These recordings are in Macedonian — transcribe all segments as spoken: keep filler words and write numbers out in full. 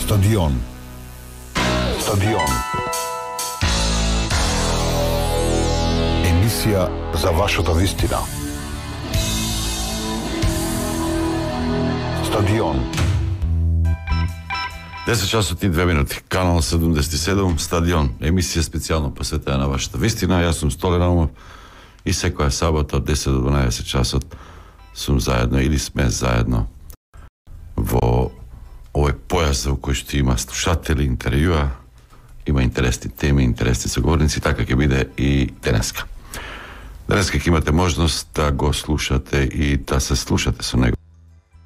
Стадион. Стадион. Емисија за вашата вистина. Стадион. десет часот и две минути. Канал седумдесет и седум, Стадион. Емисија специјално посветена на вашата вистина. Јас сум Столе Наумов и секоја сабота од десет до дванаесет часот сум заедно или сме заедно во овој појас во кој што има слушатели, интервјуа, има интересни теми, интересни соговорници, така ќе биде и денеска. Денеска ќе имате можност да го слушате и да се слушате со него,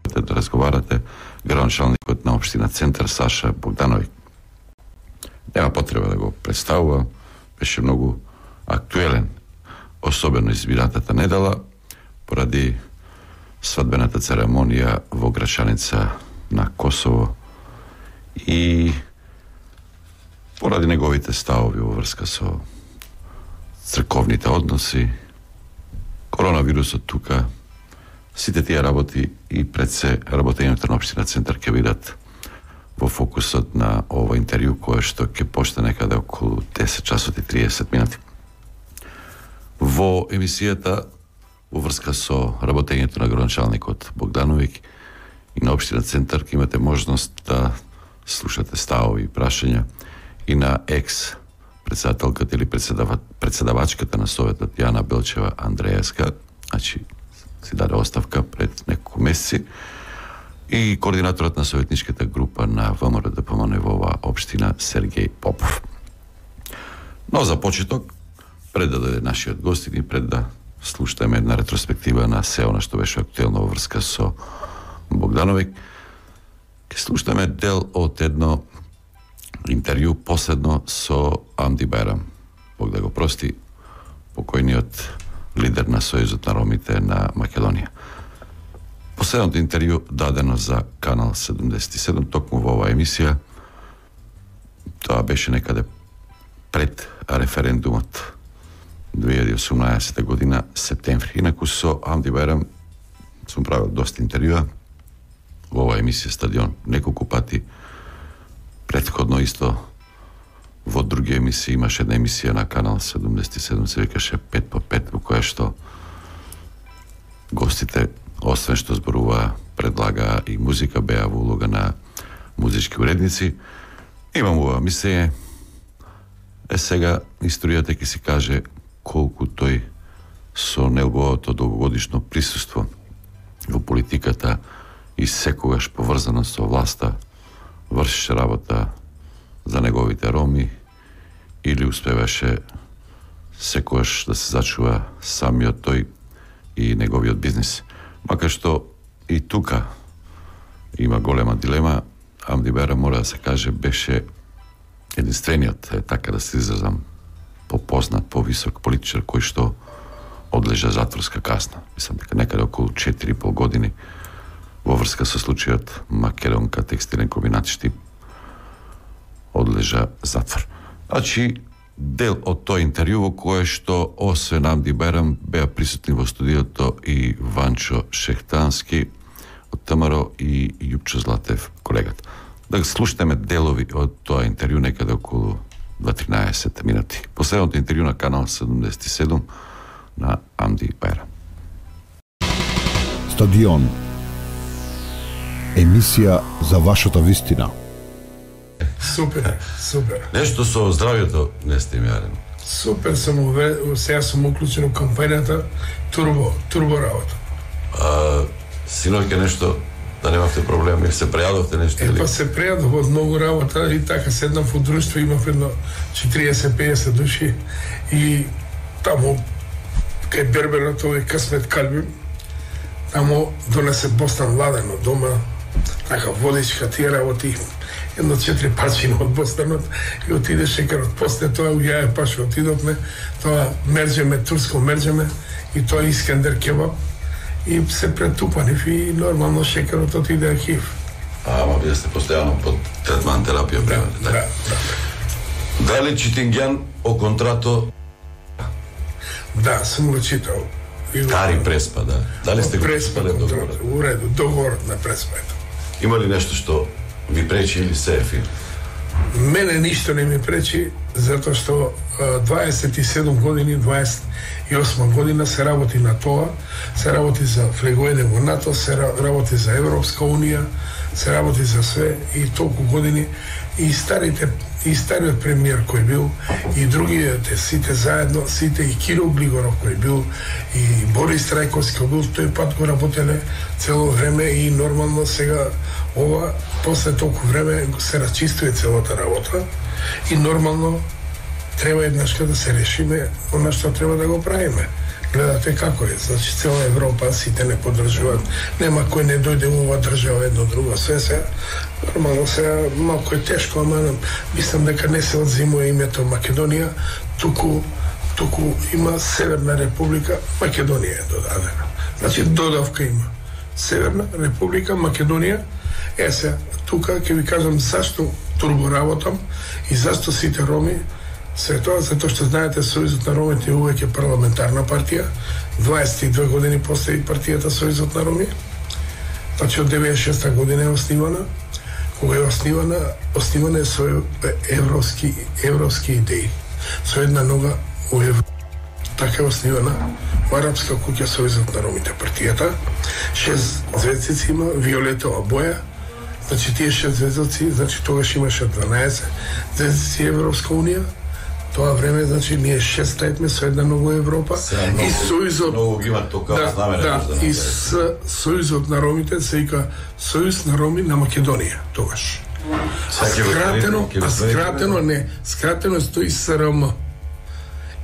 да разговарате, градоначалникот на општина Центар Саша Богдановиќ. Нема потреба да го представува, беше многу актуелен, особено избиратата недела, поради свадбената церемонија во Грачаница на Косово и поради неговите ставови во врска со црковните односи, коронавирусот тука, сите тие работи и пред се работењето на општина Центар ќе бидат во фокусот на ово интервју кое што ќе почне некаде околу десет часот и триесет минути. Во емисијата во врска со работењето на градоначалникот Богдановиќ и на општина Центар ќе имате можност да слушате ставови и прашања и на екс председателката или председава, председавачката на Советот Јана Белчева Андреевска, значи си даде оставка пред неколку месеци, и координаторот на советничката група на ВМРО Д П М Н во оваа општина Сергеј Попов. Но за почеток, пред да дојде нашиот гостин и пред да слушаме една ретроспектива на се она што беше актуелно во врска со Богдановиќ, ќе слушаме дел од едно интервју последно со Амди Байрам, Бог да го прости, покојниот лидер на Сојузот на ромите на Македонија. Последното интервју дадено за Канал седумдесет и седум, токму во оваа емисија, тоа беше некаде пред референдумот две илјади и осумнаесета година, септември. Инаку со Амди Байрам сум правил доста интервјуа во оваа емисија Стадион неколку пати. Претходно исто во други емисии имаше една емисија на Канал седумдесет и седум, се викаше пет по пет, во која што гостите, освен што зборуваа, предлагаа и музика, беа во улога на музички уредници. Имам ова мислење, е сега историјата ќе си каже колку тој со неговото долгогодишно присуство во политиката и секогаш поврзано со власта вршеше работа за неговите роми или успеваше секогаш да се зачува самиот тој и неговиот бизнис. Макар што и тука има голема дилема, Амди Байрам, мора да се каже, беше единствениот, така да се изразам, попознат, повисок политичар кој што одлежа затворска казна. Мислам дека некаде околу четири и пол години во врска со случајот Македонка текстилен комбинат Штип одлежа затвор. Значи, дел од тој интервју во кое што освен Амди Байрам беа присутни во студиото и Ванчо Шехтански од Т М Р и Јупчо Златев, колегата. Да слушаме делови од тоа интервју некаде околу два тринаесет минути. Последното интервју на Канал седумдесет и седум на Амди Байрам. Стадион. Емисија за вашата вистина. Супер, супер. Нешто со здравјето не сте ми јарен. Супер сум уве, сега сум уклучен у кампањата Турбо, Турбо работа. А, синоќа нешто, да немавте проблем, или се прејадовте нешто? Е, па се прејадов од многу работа и така седнав во друштво, имав едно четириесет до пеесет души и таму кај берберот овој Късмет Калбим, таму донесе бостан ладен од дома, така водичка тие работи, едно четири парчина од бостанот и отиде шекерот. После тоа у јаје паше отидовме, тоа мерџеме, турско мерџеме и тоа Искендер кебаб и се претупанив и нормално шекерот отиде архив. А, ама вие сте постојано под третман терапија, Да, да, да, да. Дали Читингјан о контрато? Да, сум го читал. Кари Преспа, да. Дали сте го Преспа читале контрато, договорот? у реду, договорот на Преспа. Има ли нешто што Ви пречи или се ефир? Мене ништо не ми пречи, затоа што дваесет и седум години, дваесет и осма година се работи на тоа, се работи за влегување во НАТО, се работи за Европска унија, се работи за све и толку години и старите и стариот премиер кој бил и другите сите заедно, сите и Киро Глигоров кој бил и Борис Трајковски кој бил, тој пат го работеле цело време и нормално сега ова после толку време се расчистува целата работа и нормално треба еднашка да се решиме она што треба да го правиме. Гледате како е, значи цела Европа сите не поддржуваат, нема кој не дојде во ова држава едно друго, све се нормално се малку е тешко, ама мислам дека не се одзимува името Македонија, туку туку има Северна Република Македонија е додадена. Значи додавка има. Северна Република Македонија. Е се, тука ќе ви кажам зашто турбо работам и зашто сите роми се тоа, затоа што знаете Сојузот на ромите е увеќе парламентарна партија, дваесет и две години постои партијата Сојузот на роми, значи од деветдесет и шеста година е основана, кога е основана, основана е со европски, европски идеи, со една нога у Европа. Така е основана во Арапска куќа Сојузот на ромите партијата, шест звездици има, виолетова боја, значи тие шест звездици, значи тогаш имаше дванаесет звездици Европска унија, тоа време, значи, ние шест тајтме со една нога Европа много, и Сојузот... Многу има тока да, знаме да, да, и с Сојузот на ромите се вика Сојуз на роми на Македонија, тогаш. А скратено, а скратено не, скратено стои С Р М.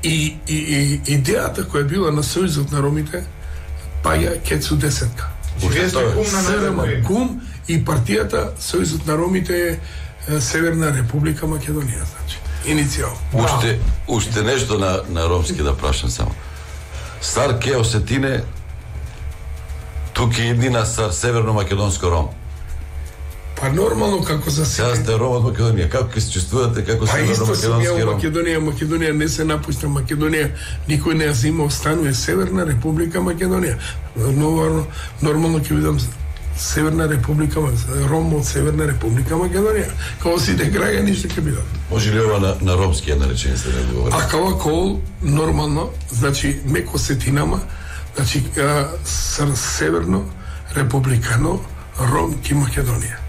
И, и, и идејата која била на Сојузот на ромите, паѓа Кецу десетка. С Р М, кум и партијата Сојузот на ромите е Северна Република Македонија, значи. Иницијал. Уште, уште нешто на, на ромски да прашам само. Стар ке осетине, тук е еднина стар северно-македонско ром. Па нормално како за сега сте ром од Македонија, како се чувствувате како па северно-македонски ром? Македонија, Македонија не се напушта, Македонија никој не ја зима, останува Северна Република Македонија. Нормално, нормално ќе видам Северна Република, ром од Северна Република Македонија. Како сите граѓани што ќе бидат. Може ли ова на, на ромски една реченица да говори? А кава кол нормално, значи меко сетинама, значи а, Северно Републикано Ромки Македонија.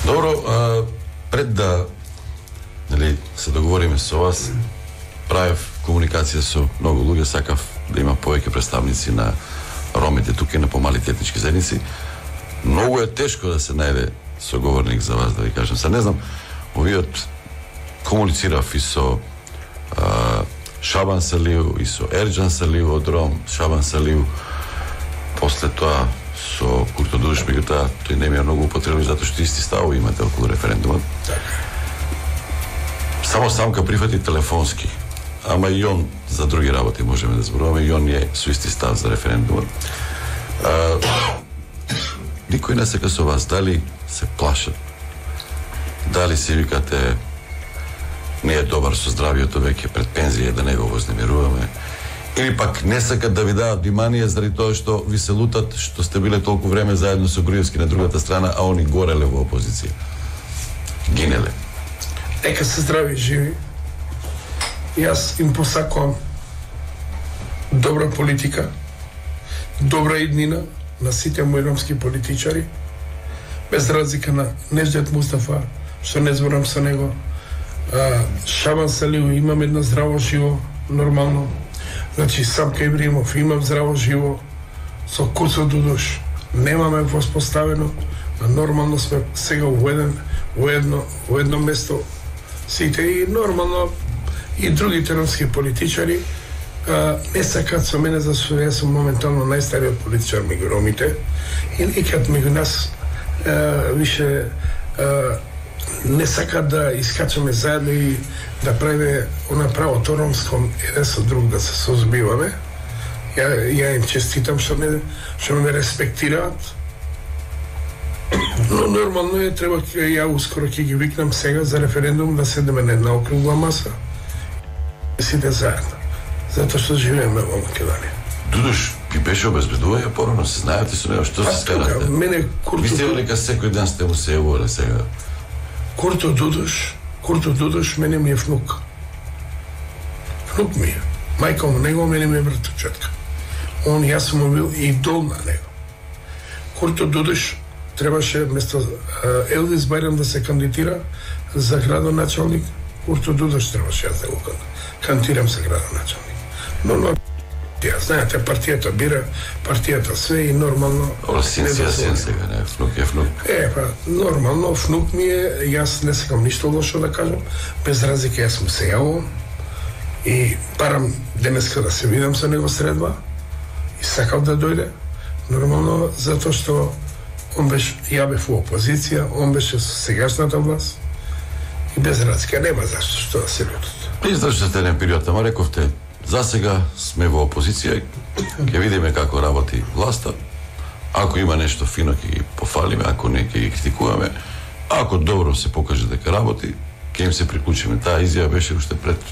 Добро, а, пред да нели се договориме со вас, правев комуникација со многу луѓе, сакав да има повеќе представници на ромите тука и на помалите етнички заедници. Многу е тешко да се најде соговорник за вас, да ви кажам. Са не знам, овиот комуницирав и со а, Шабан Салиу и со Ерџан Салиу од Ром, Шабан Салиу, после тоа со Курто Дудуш, меѓутоа тој не ми е многу употребен затоа што исти ставови имате околу референдумот. Само Самка прифати телефонски, ама и он за други работи можеме да зборуваме, и он е со исти став за референдумот. А, никој не сека со вас, дали се плашат, дали се викате не е добар со здравието веќе пред пензија да не го вознемируваме, или пак не сакат да ви дадат внимание заради тоа што ви се лутат што сте биле толку време заедно со Груевски на другата страна, а они гореле во опозиција. Гинеле. Нека се здрави и живи. Јас им посакувам добра политика, добра иднина на сите мои ромски политичари, без разлика на Неждет Мустафа, што не зборам со него, а, Шабан Салиу, имам една здраво живо, нормално. Значи, Самка Ибримов, имам здраво живо, со Курто Дудуш, немаме воспоставено, а нормално сме сега во еден, во едно, во едно место сите и нормално и другите ромски политичари а, не сакат со мене, зашто јас сум моментално најстариот политичар меѓу ромите и никад меѓу нас а, више а, не сакат да искачаме заедно и да правиме она правото ромско еден со друг да се созбиваме. Ја, ја им честитам што ме, што ме респектираат. Но нормално е, треба, ја ускоро ќе ги викнам сега за референдум да седеме на една округла маса. Сите заедно. Затоа што живееме во Македонија. Дудуш, ги беше обезбедување порано, се знаете со него, што се скарате? Мене Курто... Ви сте дека секој ден сте му се јавувале сега? Курто Дудуш, Курто Дудуш, мене ми е внук. Внук ми е. Мајка му него, мене ми е братовчетка. Он, јас сум му бил идол на него. Курто Дудуш требаше вместо Елвис Бајрам да се кандидира за градоначалник, Курто Дудуш требаше јас да го кандидирам за градоначалник. Нормално, ја знаете, партијата бира, партијата све и нормално... Ола син си, син сега, не, внук е внук. Е, па, нормално, внук ми е, јас не сакам ништо лошо да кажам, без разлика јас му се јавувам и парам денеска да се видам со него средба и сакав да дојде, нормално, затоа што он беше, ја бев во опозиција, он беше со сегашната власт и без разлика, нема зашто што да се лутат. Издржате еден период, ама рековте, за сега сме во опозиција, ќе видиме како работи власта. Ако има нешто фино ќе ги пофалиме, ако не ќе ги критикуваме. Ако добро се покаже дека работи, ќе им се приклучиме. Таа изјава беше уште пред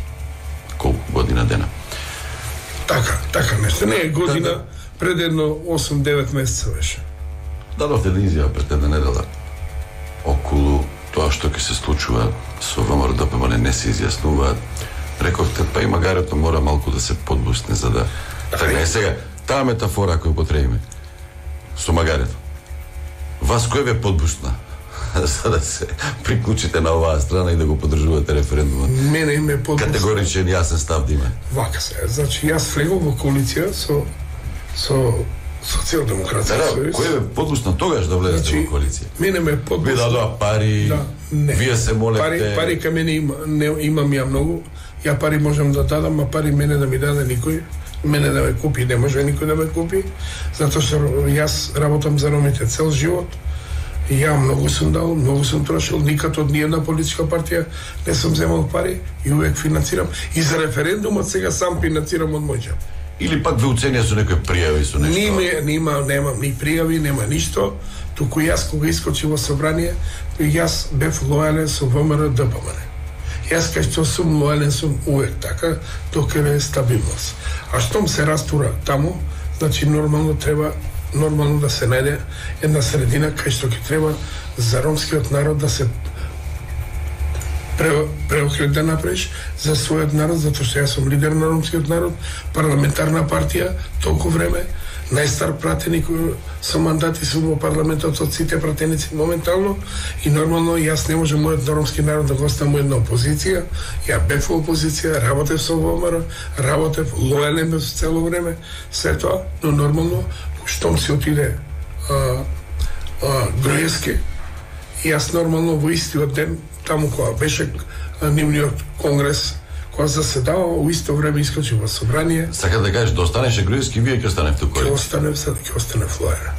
колку година дена. Така, така нешто. Не е година, пред едно осум-девет месеца беше. Дадовте да изјава пред една недела околу тоа што ќе се случува со ВМРО-ДПМН, не се изјаснуваат. Рековте, па и магарето мора малку да се подбусне за да... Така е сега, таа метафора која потребиме со магарето. Вас кој ве подбусна за да се приклучите на оваа страна и да го поддржувате референдумот? Мене ме подбусна. Категоричен јасен став да има. Вака се, значи јас влегов во коалиција со со Социјалдемократска да, сојуз. Кој ве подбусна тогаш да влезете значи, во коалиција? Мене ме подбусна. Ви дадоа пари, да, вие се молете... Пари, пари кај мене има, не, имам ја многу. Ја пари можам да дадам, а пари мене да ми даде никој. Мене да ме купи, не може никој да ме купи. Затоа што јас работам за ромите цел живот. И ја многу сум дал, многу сум трошил, никад од ниједна политичка партија не сум земал пари и увек финансирам. И за референдумот сега сам финансирам од мој џеб. Или пак ве уценија со некои пријави со нешто? Ниме, нема, немам ни пријави, нема ништо. Туку јас кога искочи во собрание, јас бев лојален со ВМРО-ДПМН. Јас кај што сум лојален сум увек така, доколе е стабилност. А штом се растура таму, значи нормално треба нормално да се најде една средина кај што ќе треба за ромскиот народ да се преокрет да направиш за својот народ, затоа што јас сум лидер на ромскиот народ, парламентарна партија, толку време, најстар пратеник со мандати сум во парламентот од сите пратеници моментално и нормално јас не можам мојот ромски народ да го оставам една опозиција. Ја бев во опозиција, работев со ВМРО, работев, лојален бев цело време, се тоа, но нормално, штом се отиде а, а, Груевски, јас нормално во истиот ден, таму кога беше нивниот конгрес, кога заседава, во исто време искочи во собрание. Сака да кажеш, да останеше Груевски, вие ќе останете во коалиција? Ќе останем сад, ќе останем флоера.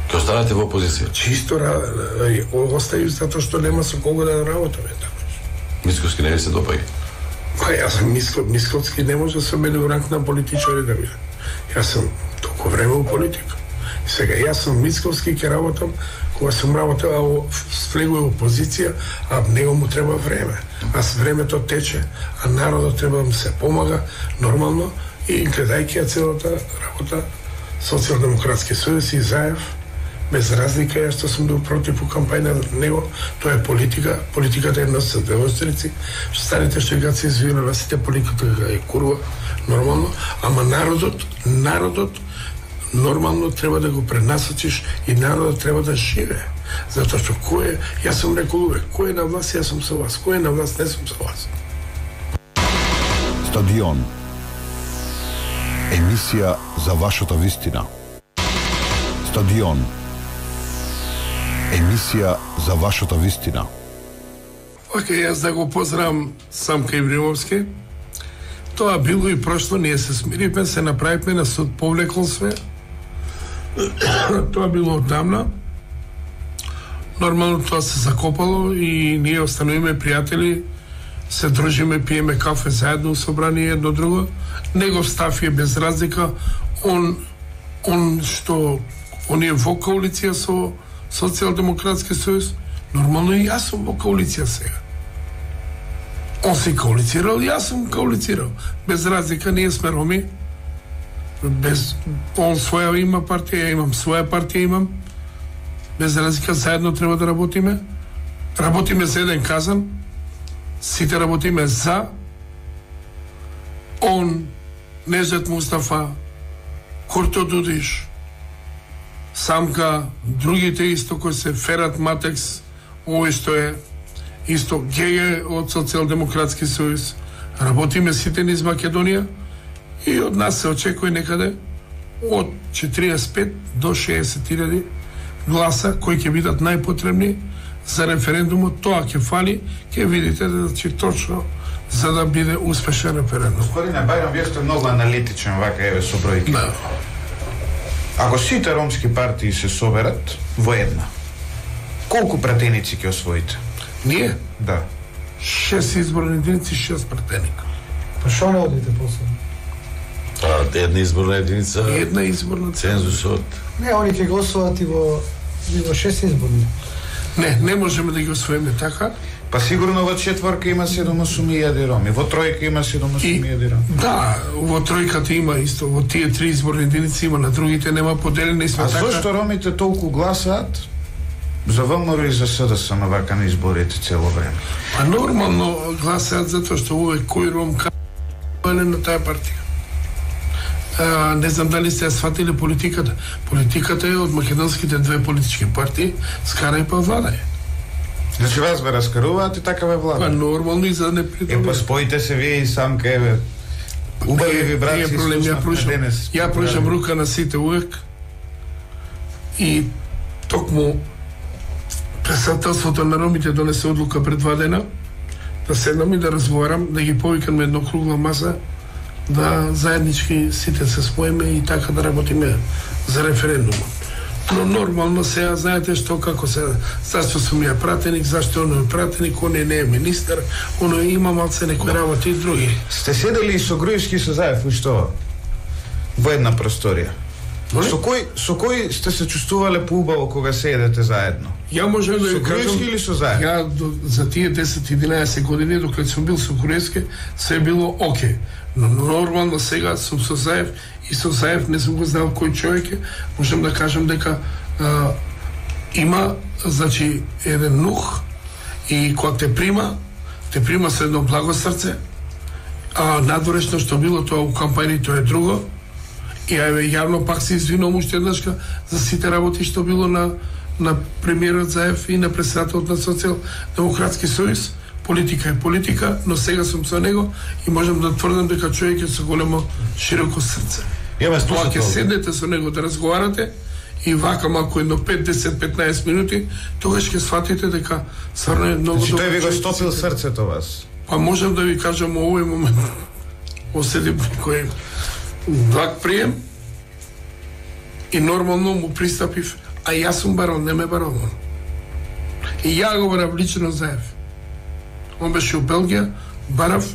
Ќе останете во опозиција? Чисто остају затоа што нема со кого да работаме таму. Мицковски не ви се допаѓа? Па јас сум Миско, Мисковски не може со мене во ранг на политичари да биде. Јас сум толку време во политика. И сега јас сум Мисковски, ќе работам кога сум работел влегува во опозиција, а него му треба време. А времето тече, а народот треба да му се помага нормално и гледајќи ја целата работа Социјалдемократски сојуз и Заев, без разлика ја што сум бил против у кампања на него, тоа е политика, политиката е нос со две острици, што станете што ја се извира на сите политиката е курва, нормално, ама народот, народот нормално треба да го пренасочиш и народот треба да живее. Затоа што кој е, јас сум рекол увек, кој е на власт, јас сум со вас, кој е на власт, не сум со вас. Стадион. Емисија за вашата вистина. Стадион. Емисија за вашата вистина. Океј, јас да го поздравам Самка Ибримовски. Тоа било и прошло, ние се смиривме, се направивме на суд, повлекол све. Тоа било оддамна. Нормално тоа се закопало и ние остановиме пријатели, се дружиме, пиеме кафе заедно, собрани едно друго. Негов став е без разлика. Он, он што, он е во коалиција со Социјалдемократски сојуз, нормално и јас сум во коалиција сега. Он се коалицирал, јас сум коалицирал. Без разлика, ние сме роми. без он своја има партија, имам своја партија имам. Без разлика заедно треба да работиме. Работиме за еден казан. Сите работиме за он, Нежет Мустафа, Курто Дудиш, Самка, другите исто кои се Ферат Матекс, овој што е исто Геге од Социјалдемократски сојуз. Работиме сите низ Македонија и од нас се очекува некаде од четириесет и пет до шеесет илјади гласа кои ќе бидат најпотребни за референдумот. Тоа ќе фали, ќе видите да че точно за да биде успешен референдум. Господине Бајрам, вие сте многу аналитичен, вака еве со бројки. Да. Ако сите ромски партии се соберат во една, колку пратеници ќе освоите? Ние? Да. Шест изборни единици, шест пратеника. Па шо не одите после? Па, една изборна единица, Една изборна цензусот. Не, они ќе гласуваат и во, и во шест изборни. Не, не можеме да ги освоиме така. Па сигурно во четворка има седум-осум илјади роми, во тројка има седум-осум илјади роми. Да, во тројката има исто, во тие три изборни единици има, на другите нема поделени сме А така. зошто ромите толку гласаат за ВМРО и за СДСМ вака на изборите цело време? А нормално гласаат затоа што овој кој ром кај на таа партија. А, не знам дали сте ја сватили политиката. Политиката е од македонските две политички партии, скара и па владај. Значи вас ве раскаруваат и така ве Па влада. нормално и за да не Е, па придобие. споите се вие и Самка, еве. Убави ви брат, Nije си problem, ja слушнавме pružam, денес. ja pružam ruka na site uvek i токму председателството на ромите донесе одлука пред два дена да седнам и да разговарам, да ги повикам на едно кругла маса, да заеднички сите се споиме и така да работиме за референдумот. Но нормално сега знаете што како се, зашто сум ја пратеник, зашто оној е пратеник, оној не е министар, оној има малце некои работи и други. Сте седели и со Груевски и со Заев, ушто во една просторија. Моли? Со кој со кој сте се чувствувале поубаво кога седете заедно? Ја можам да Со ви кажам, Груевски или со Заев? ја до, за тие десет-единаесет години, докато сум бил со Груевски, се е било оке. Но нормално сега сум со Заев и со Заев не сум го знал кој човек е, можам да кажам дека а, има, значи, еден нух и кога те прима, те прима со едно благо срце, а надворешно што било тоа у кампањи, тоа е друго. И еве јавно пак се извинувам уште еднашка за сите работи што било на на премиерот Заев и на председателот на Социјалдемократски сојуз. Политика е политика, но сега сум со него и можам да тврдам дека човек е со големо широко срце. Имаме Тоа ќе слушател. седнете со него да разговарате и вака малку едно пет, десет, петнаесет минути, тогаш ќе сватите дека стварно е многу Значи добар тој ви го човек. стопил срцето вас. Па можам да ви кажам овој момент оседи кој благ прием и нормално му пристапив, а јас сум барон, не ме барон. И ја го барав лично Заев. Он беше у Белгија, барав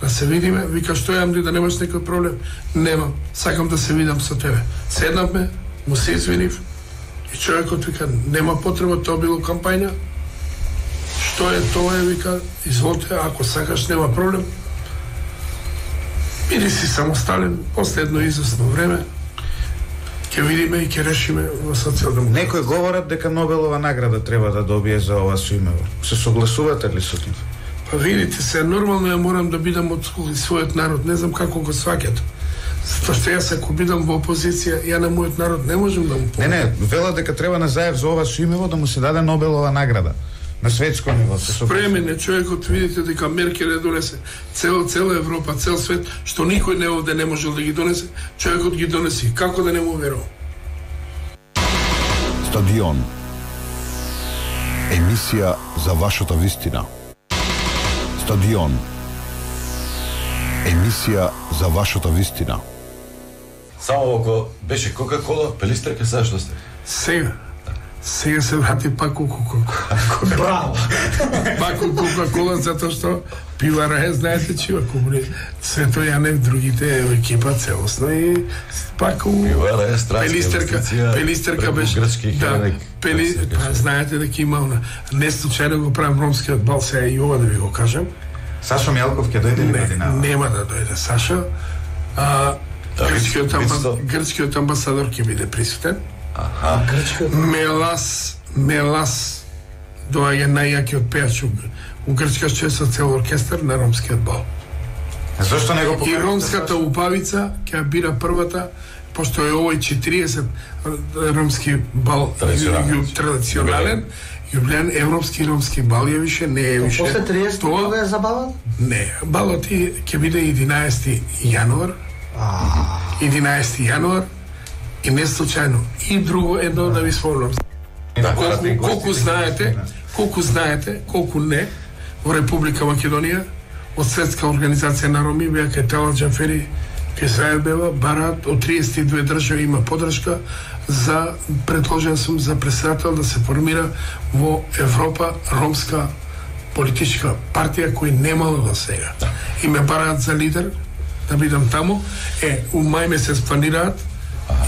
да се видиме, вика што јам да немаш некој проблем. Немам, сакам да се видам со тебе. Седнавме, му се извинив и човекот вика нема потреба, тоа било кампања. Што е тоа е, вика, изволте, ако сакаш нема проблем. Биди си самостален, после едно известно време ќе видиме и ќе решиме во социјалдемократија. Некои говорат дека Нобелова награда треба да добие за ова соимево. Се согласувате ли со тоа? Па видите се, нормално ја морам да бидам од својот народ, не знам како го сваќате. Затоа што јас ако бидам во опозиција, ја на мојот народ не можам да му Не, помогам. не, велат дека треба на Заев за ова соимево да му се даде Нобелова награда. На светско ниво. Се согласувате? Премен е човекот, видите дека Меркел ја донесе цел, цела Европа, цел свет, што никој не овде не можел да ги донесе, човекот ги донеси. Како да не му верувам? Стадион. Емисија за вашата вистина. Стадион. Емисија за вашата вистина. Само ако беше Кока-Кола, пелистерка, сега што сте? Сега. Сега се врати пак у Кока-Кола. Браво! Пак у Кока-Кола, затоа што пивара е, знаете, чива кумри. Свето Јанев, другите екипа целосно и пак у... Пивара е странска Пелистерка, инвестиција, пелистерка преку беше... грчки Да, хелек, пели... како се па, каже. знаете дека има она... Не случајно го правам ромскиот бал, сега и ова да ви го кажам. Сашо Мјалков ќе дојде ли Не, година? нема да дојде Саша. А, Грчкиот, амба... Вицто. Грчкиот амбасадор ќе биде присутен. Аха. Грчкиот. Мелас, Мелас доаѓа најјакиот пејач у, у Грчка, што е со цел оркестар на ромскиот бал. Зошто не го И покажете? ромската упавица ќе ја бира првата, пошто е овој четириесет ромски бал Традиционален. ју- традиционален, јубилеен европски ромски бал е више, не е више. После триесет кога е забавен? Не, балот и- ќе биде единаесети јануар. единаесети јануар и не случајно. И друго едно да ви спомнам. Да, Колку, колку знаете, колку знаете, колку не, во Република Македонија, од Светска организација на Роми, беа кај Талат Джафери, кај Сајбева, барат, од триесет и две држави има подршка за, предложен сум за председател да се формира во Европа ромска политичка партија кој немало до сега. И ме бараат за лидер, да бидам таму. Е, у мај месец планираат,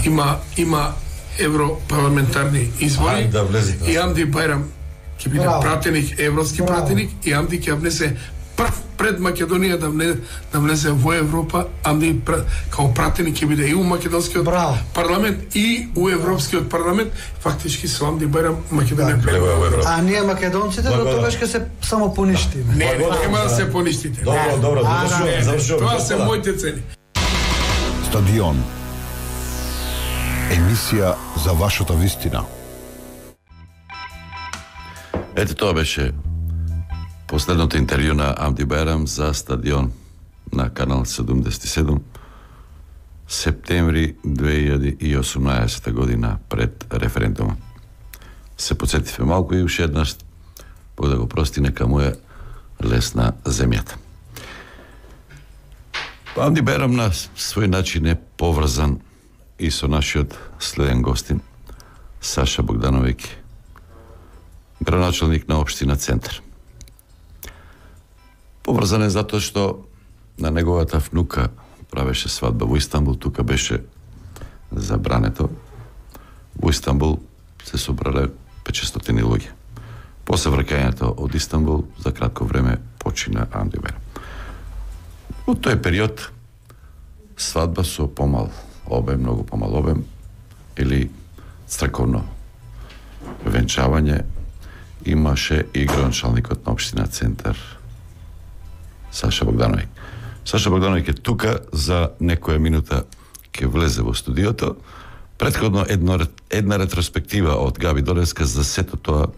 има, има европарламентарни избори. Ајде да влезете. И Амди Бајрам ќе биде Браво. пратеник, европски Браво. пратеник, и Амди ќе внесе прв пред Македонија да, влезе, да влезе во Европа. Амди пр- као пратеник ќе биде и у македонскиот Браво. парламент и у европскиот парламент. Фактички со Амди Бајрам Македонија Лево е во Европа. А ние македонците до Благодарам. тогаш ќе се само поништиме. Не, Благодарам, нема да да. се поништите. Добро, добро, А, завршуваме, Не, завршуваме. тоа се господа. моите цели. Стадион. Емисија за вашата вистина. Ете, тоа беше последното интервју на Амди Бајрам за Стадион на канал седумдесет и седум, септември две илјади и осумнаесета година пред референдума. Се подсетивме малку и уште еднаш, Бог да го прости, нека му е лесна земјата. Амди Бајрам на свој начин е поврзан и со нашиот следен гостин, Саша Богдановиќ, градоначалник на општина Центар. Поврзан е затоа што на неговата внука правеше свадба во Истанбул, тука беше забрането. Во Истанбул се собрале петстотини луѓе. После враќањето од Истанбул, за кратко време почина Амди Бајрам. Во тој период свадба со помал обем, многу помал обем, или црковно венчавање имаше и градоначалникот на општина Центар Саша Богдановиќ. Саша Богдановиќ е тука, за некоја минута ќе влезе во студиото. Претходно едно, една ретроспектива од Габи Долевска за сето тоа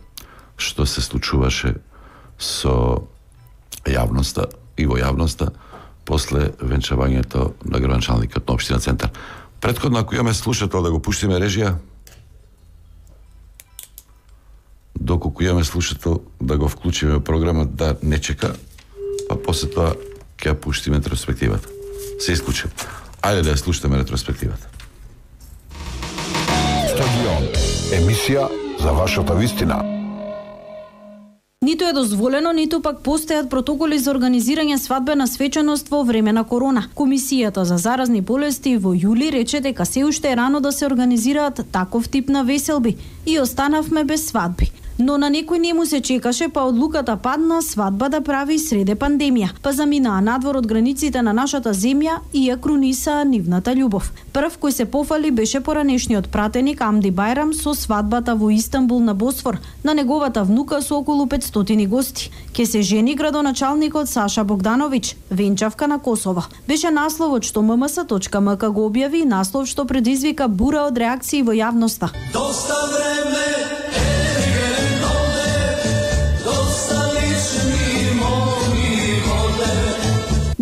што се случуваше со јавноста и во јавноста после венчавањето на градоначалникот на општина Центар. Претходно, ако имаме слушател, да го пуштиме режија. Доколку имаме слушател, да го вклучиме во програма, да не чека, па после тоа ќе ја пуштиме ретроспективата. Се исклучи. Ајде да ја слушаме ретроспективата. Стадион. Емисија за вашата вистина. Ниту е дозволено, ниту пак постојат протоколи за организирање свадбена свеченост во време на корона. Комисијата за заразни болести во јули рече дека се уште е рано да се организираат таков тип на веселби и останавме без свадби. Но на некој не му се чекаше, па одлуката падна свадба да прави среде пандемија, па заминаа надвор од границите на нашата земја и ја крунисаа нивната љубов. Прв кој се пофали беше поранешниот пратеник Амди Бајрам со свадбата во Истанбул на Босфор, на неговата внука со околу петстотини гости. Ке се жени градоначалникот Саша Богдановиќ, венчавка на Косово. Беше насловот што ем ем ес точка ем ка го објави, наслов што предизвика бура од реакции во јавноста. Доста време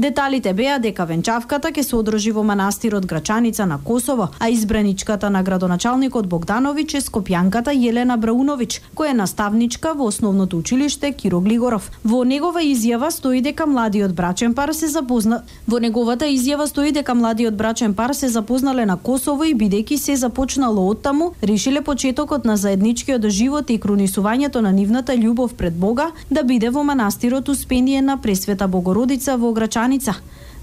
Деталите беа дека венчавката ќе се одржи во манастирот Грачаница на Косово, а избраничката на градоначалникот Богдановиќ е скопјанката Јелена Брауновиќ, која е наставничка во основното училиште Киро Глигоров. Во негова изјава стои дека младиот брачен пар се запозна Во неговата изјава стои дека младиот брачен пар се запознале на Косово и бидејќи се започнало оттаму, решиле почетокот на заедничкиот живот и крунисувањето на нивната љубов пред Бога да биде во манастирот Успение на Пресвета Богородица во Грачаница.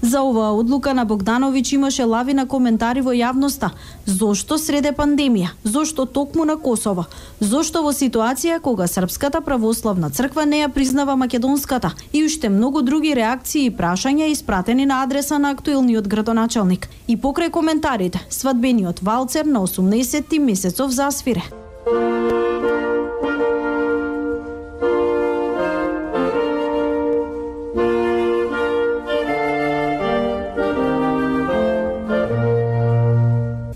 За оваа одлука на Богдановиќ имаше лавина коментари во јавноста. Зошто среде пандемија? Зошто токму на Косово? Зошто во ситуација кога Српската православна црква не ја признава македонската? И уште многу други реакции и прашања испратени на адреса на актуелниот градоначалник. И покрај коментарите, свадбениот валцер на осумнаесетти месецов засвире.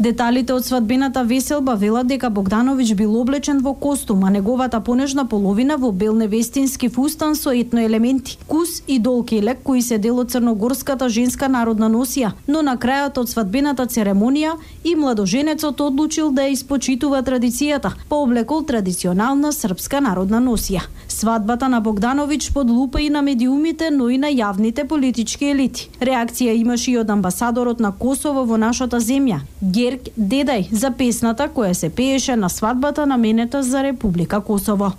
Деталите од свадбената веселба велат дека Богдановиќ бил облечен во костум, а неговата понежна половина во бел невестински фустан со етно елементи, кус и долкелек кои се дел од црногорската женска народна носија, но на крајот од свадбената церемонија и младоженецот одлучил да ја испочитува традицијата, пооблекол традиционална српска народна носија. Свадбата на Богдановиќ под лупа и на медиумите, но и на јавните политички елити. Реакција имаше и од амбасадорот на Косово во нашата земја, Герк Дедај, за песната која се пееше на свадбата наменета за Република Косово.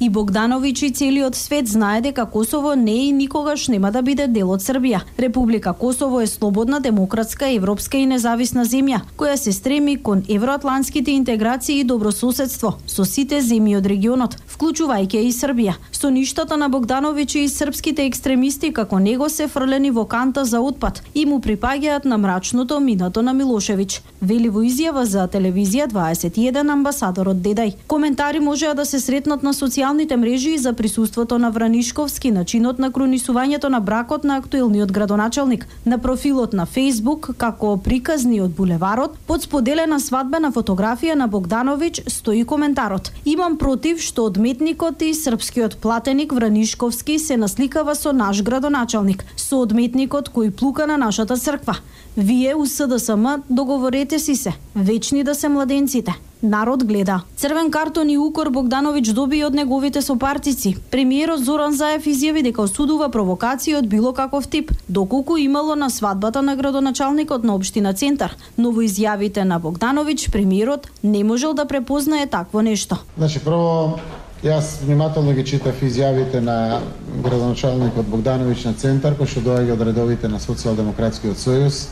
И Богдановиќ и целиот свет знае дека Косово не и никогаш нема да биде дел од Србија. Република Косово е слободна, демократска, европска и независна земја, која се стреми кон евроатлантските интеграции и добрососедство со сите земји од регионот, вклучувајќи и Србија. Со ништата на Богдановиќ и српските екстремисти како него се фрлени во канта за отпад и му припаѓаат на мрачното минато на Милошевиќ. Вели во изјава за телевизија дваесет и еден амбасадорот Дедај. Коментари можеа да се сретнат на социјалните мрежи за присуството на Вранишковски, начинот на кронисувањето на бракот на актуелниот градоначалник, на профилот на Facebook како приказни од булеварот, под споделена свадбена фотографија на Богдановиќ стои коментарот: "Имам против што одметникот и српскиот платеник Вранишковски се насликава со наш градоначалник, со одметникот кој плука на нашата црква. Вие у С Д С М договорете си се, вечни да се младенците." Народ гледа. Црвен картон и укор Богдановиќ доби од неговите сопартици. Премиерот Зоран Заев изјави дека осудува провокации од било каков тип, доколку имало на свадбата на градоначалникот на општина Центар. Но во изјавите на Богдановиќ премиерот не можел да препознае такво нешто. Значи, прво, јас внимателно ги читав изјавите на градоначалникот Богдановиќ на Центар, кој што доаѓа од редовите на Социјалдемократскиот сојуз,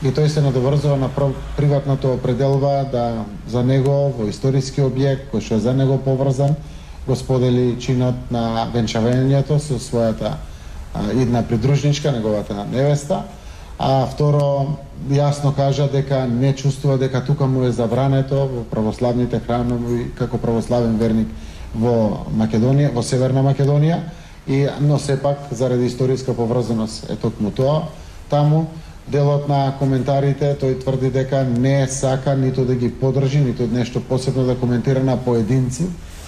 и тој се надоврзува на приватното определба да за него во историски објект кој што е за него поврзан го сподели чинот на венчавањето со својата а, идна придружничка, неговата невеста, а второ јасно кажа дека не чувствува дека тука му е забрането во православните храмови како православен верник во Македонија, во Северна Македонија, и но сепак заради историска поврзаност е токму тоа таму. Делот на коментарите тој тврди дека не сака ниту да ги поддржи, ниту нешто посебно да коментира на поединци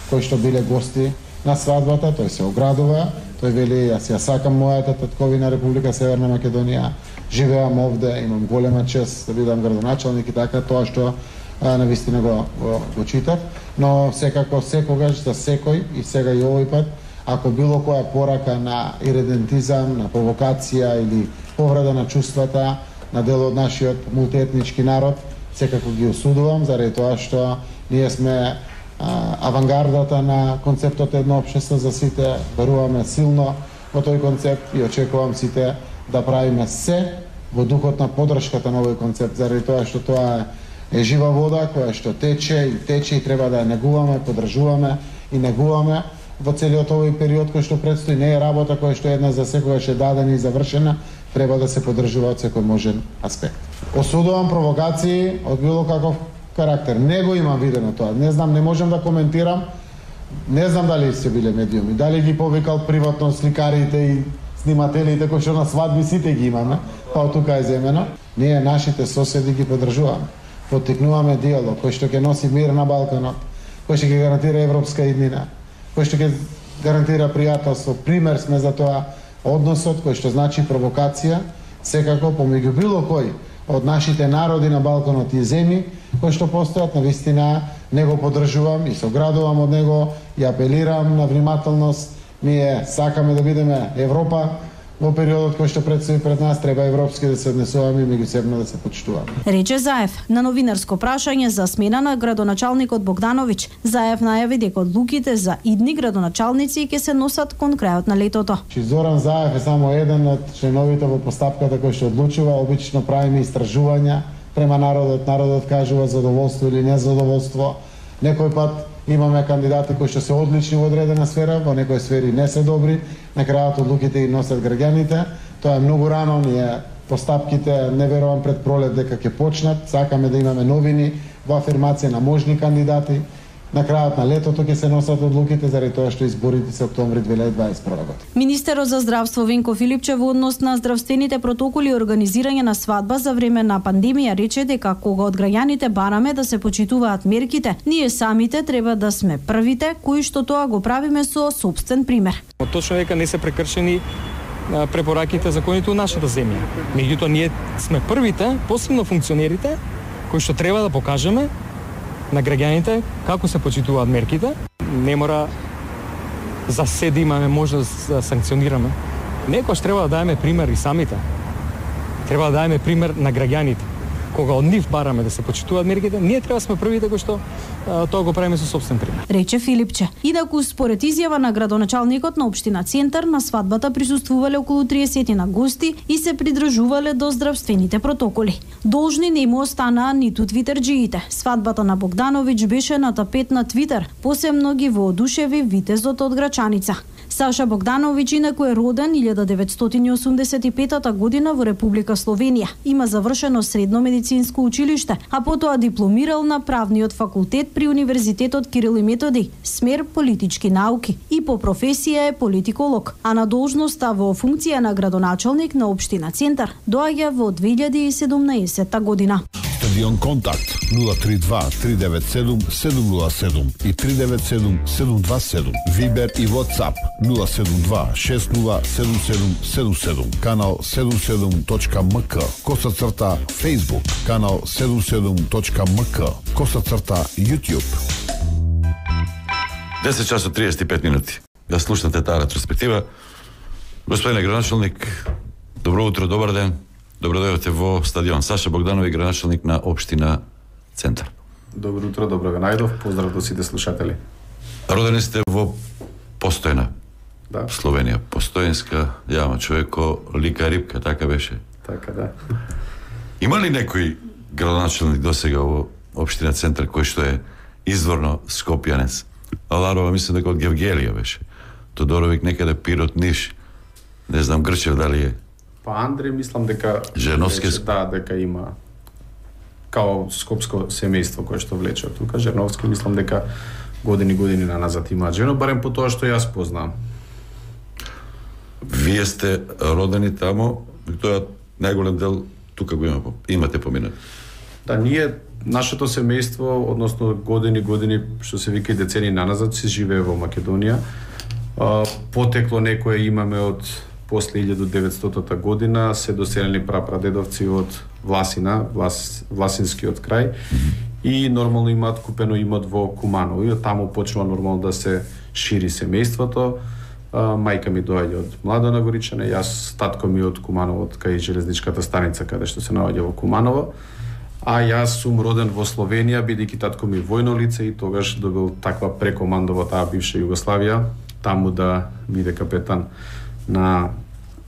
кои што биле гости на свадбата. Тој се оградува, тој вели: "Јас ја сакам мојата татковина Република Северна Македонија, живеам овде, имам голема чест да бидам градоначалник" и така, тоа што а, навистина го, го, го читав. Но секако секогаш за секој, и сега и овој пат, ако било која порака на иредентизам, на провокација или повреда на чувствата на дел од нашиот мултиетнички народ, секако ги осудувам, заради тоа што ние сме а, авангардата на концептот едно општество за сите, веруваме силно во тој концепт и очекувам сите да правиме се во духот на поддршката на овој концепт, заради тоа што тоа е жива вода која што тече и тече и треба да ја негуваме, поддржуваме и негуваме во целиот овој период кој што предстои. Не е работа која што една за секогаш е дадена и завршена, треба да се поддржува од секој можен аспект. Осудувам провокации од било каков карактер. Не го имам видено тоа. Не знам, не можам да коментирам. Не знам дали се биле медиуми, дали ги повикал приватно сликарите и снимателите кои што на свадби сите ги имаме, па од тука е земено. Ние нашите соседи ги поддржуваме. Поттикнуваме диалог кој што ќе носи мир на Балканот, кој што ќе гарантира европска иднина, кој што ќе гарантира пријателство. Пример сме за тоа односот кој што значи провокација, секако помеѓу било кој од нашите народи на Балканот и земји кои што постојат, на вистина не го поддржувам и се оградувам од него и апелирам на внимателност. Ние сакаме да бидеме Европа во периодот кој што предстои пред нас треба европски да се однесуваме и меѓусебно да се почитуваме. Рече Заев на новинарско прашање за смена на градоначалникот Богдановиќ. Заев најави дека одлуките за идни градоначалници ќе се носат кон крајот на летото. Чи Зоран Заев е само еден од членовите во постапката кој што одлучува. Обично правиме истражувања према народот, народот кажува задоволство или незадоволство. Некој пат имаме кандидати кои што се одлични во одредена сфера, во некои сфери не се добри, на крајот одлуките ги носат граѓаните. Тоа е многу рано, ние постапките не верувам пред пролет дека ќе почнат, сакаме да имаме новини во афирмација на можни кандидати. На крајот на летото ќе се носат одлуките заради тоа што изборите се октомври две илјади дваесет и прва година. Министерот за здравство Венко Филипче во однос на здравствените протоколи и организирање на свадба за време на пандемија рече дека кога од граѓаните бараме да се почитуваат мерките, ние самите треба да сме првите кои што тоа го правиме со сопствен пример. Точно дека не се прекршени препораките законите у нашата земја. Меѓутоа ние сме првите, посебно функционерите, кои што треба да покажеме на граѓаните како се почитуваат мерките. Не мора за се да имаме можност да санкционираме. Некојаш треба да даеме пример и самите. Треба да даеме пример на граѓаните. Кога од нив бараме да се почитуваат мерките, ние треба да сме првите кои што а, тоа го правиме со сопствен пример. Рече Филипче. Инаку според изјава на градоначалникот на општина Центар, на свадбата присуствувале околу триесет на гости и се придржувале до здравствените протоколи. Должни не му останаа ниту твитерџиите. Свадбата на Богдановиќ беше на тапет на Твитер, посебно ги воодушеви витезот од Грачаница. Саша Богдановиќ инаку е роден илјада деветстотини и осумдесет и петата година во Република Словенија. Има завршено средно медицинско училиште, а потоа дипломирал на правниот факултет при Универзитетот Кирил и Методи, смер политички науки, и по професија е политиколог, а на должноста во функција на градоначалник на општина Центар доаѓа во две илјади и седумнаесетта година. Стадион Контакт нула три два три девет седум седум нула седум и три девет седум седум два седум. Вибер и WhatsApp нула седум два шест нула седум седум седум седум. Канал седум седум точка ем ка. Коса црта Facebook. Канал седум седум точка ем ка. Коса црта YouTube. десет часот триесет и пет минути. Да слушнете таа ретроспектива. Господине градоначалник, добро утро, добар ден. Добро дојдовте во стадион. Саша Богдановиќ, градоначалник на општина Центар. Добро утро, добро ве најдов. Поздрав до сите слушатели. Родени сте во Постојна. Да. Словенија. Постојанска јама, човеко, лика рибка, така беше. Така да. Има ли некој градоначалник досега во општина Центар кој што е изворно скопјанец? Аларова мислам дека од Гевгелија беше. Тодоровиќ некаде Пирот, Ниш. Не знам Грчев дали е. Па Андре мислам дека Жерновски вече, да, дека има као скопско семејство кое што влече од тука. Жерновски мислам дека години години на назад има жено, барем по тоа што јас познавам. Вие сте родени тамо, тоа најголем дел тука го има, имате поминат. Да, ние нашето семејство, односно години години што се вика и децени на назад се живее во Македонија. Потекло некое имаме од после илјада деветстотата година, се доселени прапрадедовци од Власина, Влас, Власинскиот крај, и нормално имаат купено имот во Куманово. И таму почнува нормално да се шири семејството. Мајка ми доаѓа од Младо Горичане, јас татко ми од Куманово, од кај железничката станица каде што се наоѓа во Куманово. А јас сум роден во Словенија, бидејќи татко ми војно лице и тогаш добил таква прекоманда во таа бивша Југославија, таму да биде капетан на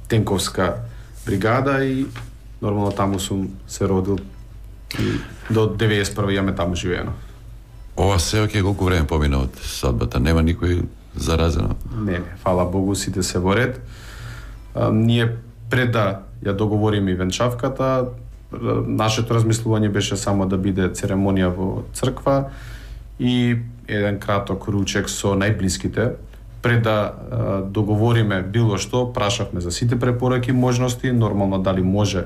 тенковска бригада и нормално таму сум се родил и до деветдесет и прва јаме таму живеено. Ова се оке колку време помина од свадбата? Нема никој заразено? Не, не, фала Богу, сите се во ред. А, ние пред да ја договориме и венчавката, нашето размислување беше само да биде церемонија во црква и еден краток ручек со најблиските. Пред да а, договориме било што, прашавме за сите препораки, можности, нормално дали може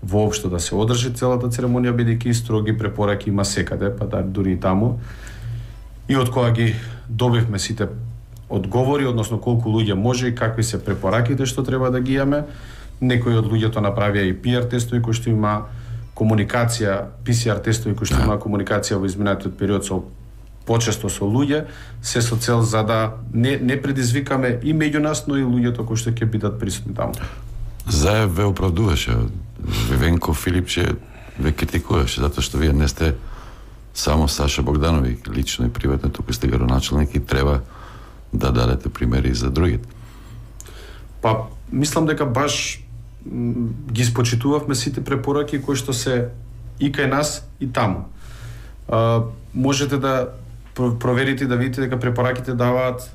воопшто да се одржи целата церемонија, бидејќи строги препораки има секаде, па да дури и таму. И од кога ги добивме сите одговори, односно колку луѓе може и какви се препораките што треба да ги имаме, некои од луѓето направија и пи ар тестови кои што има комуникација, пи си ар тестови кои што има комуникација во изминатиот период со почесто со луѓе, се со цел за да не, не предизвикаме и меѓу нас, но и луѓето кои што ќе бидат присутни таму. Заев ве оправдуваше. Вивенко Филипче ве критикуваше, затоа што вие не сте само Саша Богдановиќ, лично и приватно, туку сте градоначалник и треба да дадете примери за другите. Па, мислам дека баш м, ги спочитувавме сите препораки кои што се и кај нас и таму. А, можете да проверите да видите дека препораките даваат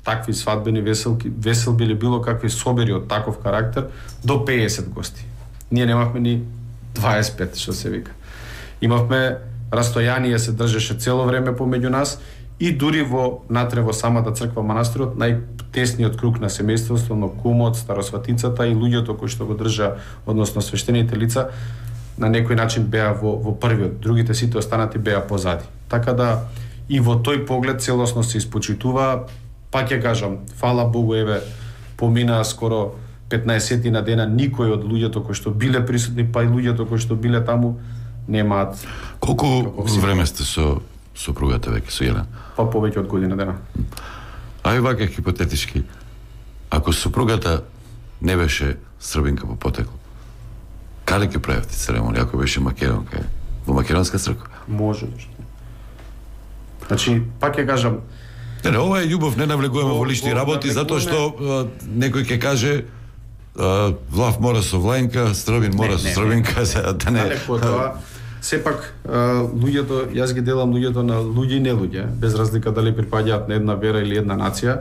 такви свадбени веселки, веселби или било какви собери од таков карактер до пеесет гости. Ние немавме ни дваесет и пет, што се вика. Имавме растојание, се држеше цело време помеѓу нас и дури во натре во самата црква манастирот, најтесниот круг на семејството, но кумот, старосватицата и луѓето кои што го држа, односно свештените лица, на некој начин беа во, во првиот, другите сите останати беа позади. Така да и во тој поглед целосно се испочитува, пак ќе кажам, фала Богу, еве, поминаа скоро петнаесет на дена, никој од луѓето кои што биле присутни, па и луѓето кои што биле таму, немаат. Колку време сте со сопругата веќе, со Елена? Па повеќе од година дена. Ај вака хипотетички, ако сопругата не беше србинка по потекло, каде ќе правевте церемонија, ако беше македонка? Во македонска црква? Може, зашто. Значи, пак ќе кажам, Не, не, ова е љубов, не навлегуваме во, во лични во, работи, затоа што а, некој ќе каже а, влав мора со влајнка, србин мора не, со не, србинка, за да не... Далеко тоа, сепак, а, луѓето, јас ги делам луѓето на луѓе и не луѓе, без разлика дали припаѓаат на една вера или една нација.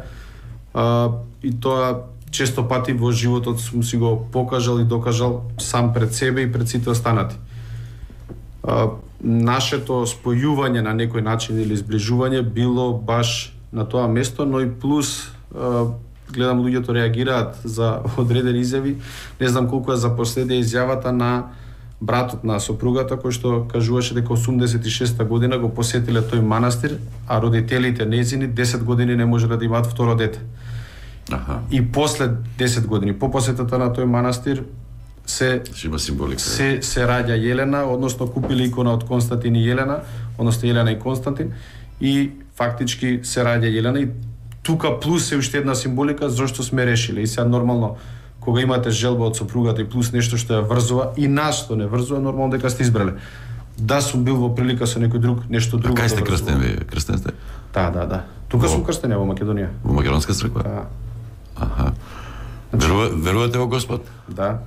А, и тоа често пати во животот сум си го покажал и докажал сам пред себе и пред сите останати. А, нашето спојување на некој начин или сближување било баш на тоа место, но и плюс а, гледам луѓето реагираат за одредени изјави. Не знам колку е за последија изјавата на братот на сопругата, кој што кажуваше дека осумдесет и шеста година го посетиле тој манастир, а родителите незини десет години не можеле да имаат второ дете. Аха. И после десет години по посетата на тој манастир се има символика. Се се раѓа Јелена, односно купили икона од Константин и Јелена, односно Јелена и Константин, и фактички се раѓа Јелена и тука плюс е уште една символика зашто сме решиле. И сега нормално кога имате желба од сопругата и плюс нешто што ја врзува и нас што не врзува, нормално дека сте избрале. Да сум бил во прилика со некој друг, нешто друго. А кај сте крстен вие? Крстен сте? Да, да, да. Тука во... сум крстен во Македонија. Во македонска црква? Да. Аха. Верува, верувате во Господ? Да.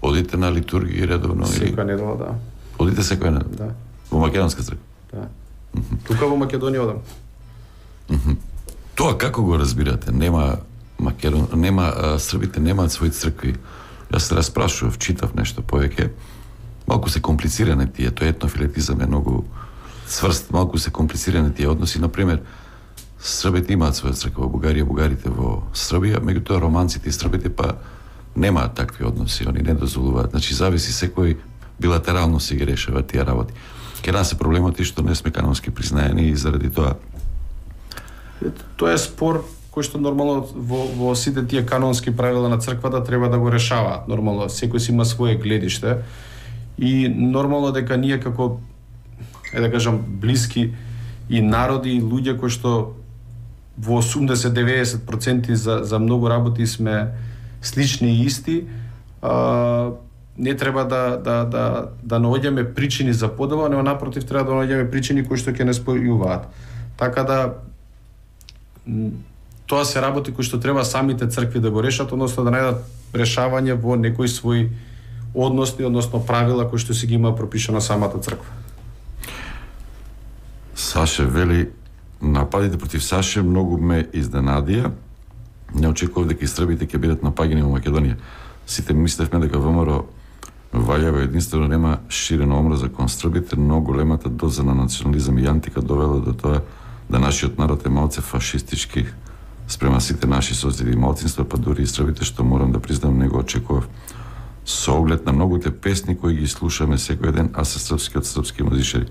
Одите на литургија редовно? Секоја недела, да. Одите секоја недела? Да. Во македонска црква? Да. Mm -hmm. Тука во Македонија одам. Mm -hmm. Тоа како го разбирате? Нема Македон, нема а, србите немаат своји цркви. Јас се распрашував, читав нешто повеќе. Малку се комплициране тие, тој етнофилетизам е многу цврст, малку се комплициране тие односи. Например, србите имаат своја црква во Бугарија, бугарите во Србија, меѓутоа романците и србите па немаат такви односи, они не дозволуваат. Значи зависи секој билатерално си ги решава тие работи. Ке нас е проблемот и што не сме канонски признаени и заради тоа. Тоа е спор кој што нормално во, во сите тие канонски правила на црквата треба да го решаваат. Нормално секој си има свое гледиште и нормално дека ние како е да кажам блиски и народи и луѓе кои што во осумдесет до деветдесет проценти за за многу работи сме слични и исти, а, не треба да да да да наоѓаме причини за подела, но напротив треба да наоѓаме причини кои што ќе не спојуваат. Така да тоа се работи кои што треба самите цркви да го решат, односно да најдат решавање во некои своји односи, односно правила кои што си ги има пропишано самата црква. Саше вели, нападите против Саше многу ме изненадија. Не очекував дека и србите ќе бидат напаѓани во Македонија. Сите мислевме дека ВМРО Ваљево единствено нема ширена омраза кон србите, но големата доза на национализам и антика довела до тоа да нашиот народ е малце фашистички спрема сите наши соседи и малцинства, па дури и србите, што морам да признам не го очекував. Со оглед на многуте песни кои ги слушаме секој ден, а се српски од српски музичари.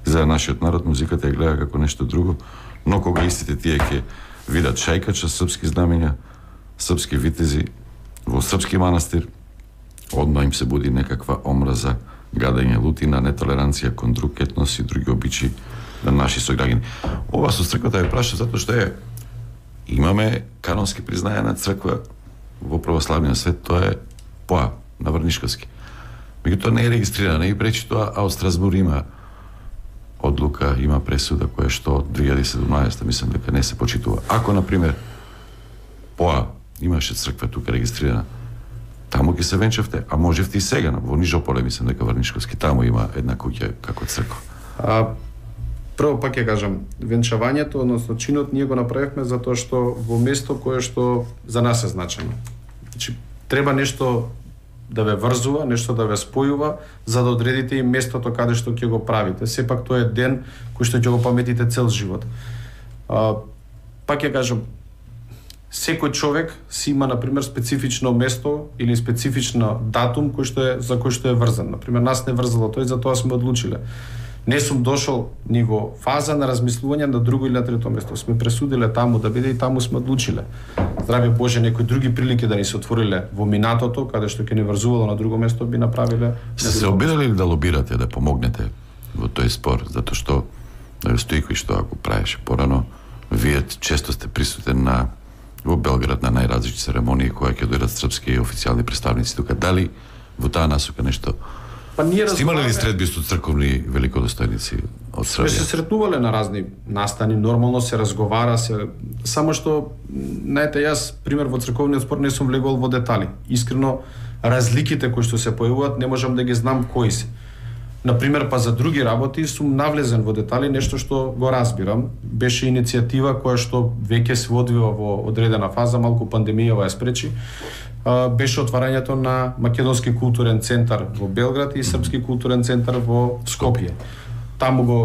За нашиот народ музиката ја гледа како нешто друго, но кога истите тие ќе видат шајкача, српски знамења, српски витези во српски манастир, одма им се буди некаква омраза, гадење, лутина, нетолеранција кон друг етнос и други обичаи на наши сограѓани. Ова со црквата ја праша затоа што е имаме канонски признаена црква во православниот свет, тоа е поа на Врнишковски. Меѓутоа не е регистрирана и пречи тоа, а од Страсбур има одлука, има пресуда која што од две илјади и седумнаесета мислам дека не се почитува. Ако на пример поа имаше црква тука регистрирана, таму ќе се венчавте, а можевте и сега во Нижополе, мислам дека Врнишковски таму има една куќа како црква. А, прво пак ќе кажам, венчавањето, односно чинот, ние го направивме затоа што во место кое што за нас е значено. Значи, треба нешто да ве врзува, нешто да ве спојува, за да одредите и местото каде што ќе го правите. Сепак тоа е ден кој што ќе го паметите цел живот. А, пак ќе кажам, секој човек си има, например, специфично место или специфична датум кој што е, за кој што е врзан. Например, нас не врзало тој, затоа сме одлучиле. Не сум дошол ни во фаза на размислување на друго или на трето место. Сме пресудиле таму да биде и таму сме одлучиле. Здраве Боже, некои други прилики да ни се отвориле во минатото, каде што ќе ни врзувало на друго место, би направиле. Се се обидели ли да лобирате, да помогнете во тој спор, затоа што Стојковиќ што ако правеше порано, вие често сте присутен на во Белград на најразлични церемонии кои ќе дојдат српски официјални представници тука. Дали во таа насока нешто? Па ние сте имале ли средби со црковни великодостојници од Србија? Сме се сретнувале на разни настани, нормално се разговара, се само што знаете, јас пример во црковниот спор не сум влегол во детали. Искрено разликите кои што се појавуваат не можам да ги знам кои се. Например, па за други работи сум навлезен во детали, нешто што го разбирам. Беше иницијатива која што веќе се одвива во одредена фаза, малку пандемијава ја спречи. Беше отварањето на Македонски културен центар во Белград и Српски културен центар во Скопје. Таму го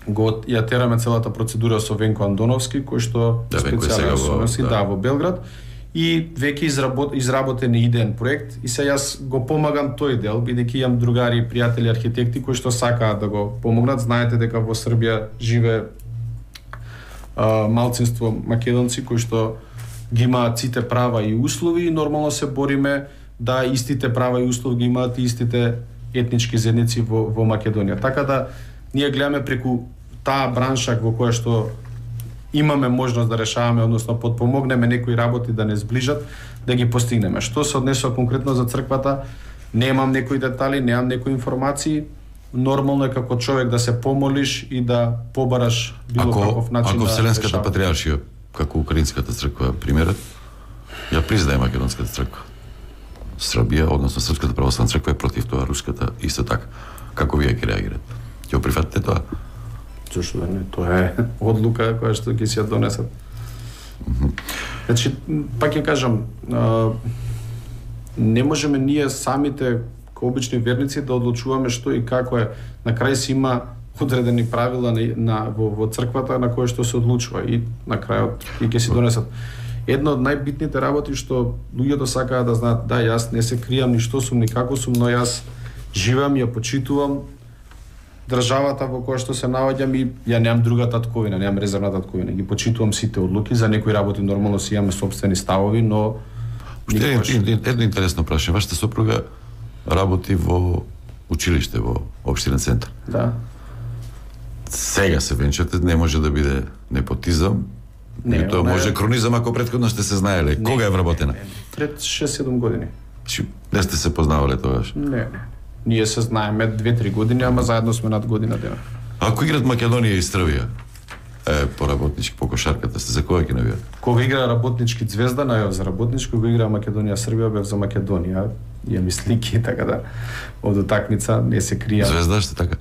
го ја тераме целата процедура со Венко Андоновски, кој што да, специјален соноси, да, во Белград. И веќе изработ, изработен идеен проект и се јас го помагам тој дел, бидејќи имам другари, пријатели, архитекти кои што сакаат да го помогнат. Знаете дека во Србија живее а, малцинство македонци кои што ги имаат сите права и услови и нормално се бориме да истите права и услови ги имаат и истите етнички заедници во, во Македонија. Така да ние гледаме преку таа бранша во која што имаме можност да решаваме, односно подпомогнеме некои работи да не сближат, да ги постигнеме. Што се однесува конкретно за црквата, немам некои детали, немам некои информации. Нормално е како човек да се помолиш и да побараш било ако, каков начин ако да Вселенската решава. патриаршија, како Украинската црква, примерот, ја признае Македонската црква. Србија, односно Српската православна црква е против тоа, руската исто така. Како вие ќе реагирате? Ќе прифатите тоа? Зошто да не? Тоа е одлука која што ќе си ја донесат. Mm -hmm. Значи, пак ќе кажам, а, не можеме ние самите, како обични верници, да одлучуваме што и како е. На крај си има одредени правила на, на, во, во црквата на кои што се одлучува и на крајот и ќе си донесат. Една од најбитните работи што луѓето сакаат да знаат, да, јас не се кријам ни што сум, ни како сум, но јас живеам, ја почитувам државата во која што се наоѓам и ја немам друга татковина, немам резервна татковина. Ги почитувам сите одлуки, за некои работи нормално си имаме собствени ставови, но никогаш... Едно интересно прашање, вашата сопруга работи во училиште во општина Центар. Да. Сега се венчате, не може да биде непотизам, не, тоа може е... кронизам ако претходно сте се знаеле. Не, кога е вработена? Пред шест-седум години. Не сте се познавале тогаш? Не, не. Ние се знаеме две-три години, ама заедно сме над година дена. Ако играт Македонија и Србија, е, по работнички, по кошарката, сте за која ќе навијат? Кога игра работнички Звезда, најав за работнички, кога игра Македонија Србија, бев за Македонија. Имам и слики, така да, од утакмица, не се кријам. Звезда сте така?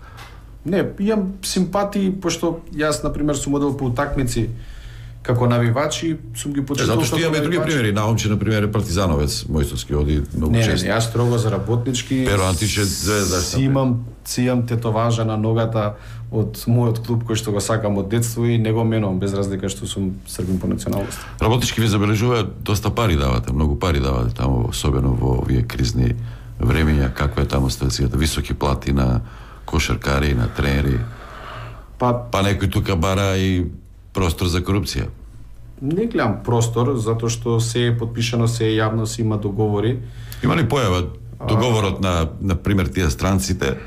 Не, имам симпатии, пошто јас, например, сум одел по утакмици како навивачи, сум ги почитувал. Затоа што имаме други примери, наомче на пример е партизановец Мојсовски оди многу не, често. Не, не, јас строго за работнички. Перо Антише Звезда. Си имам, си имам тетоважа на ногата од мојот клуб кој што го сакам од детство и не го менувам без разлика што сум србин по националност. Работнички ви забележуваат доста пари давате, многу пари давате таму, особено во овие кризни времења, каква е таму ситуацијата, високи плати на кошаркари, на тренери. Па, па некој тука бара и простор за корупција. Не гледам простор, затоа што се е подпишано, се е јавно, се има договори. Има ли појава договорот на, на пример, тие странците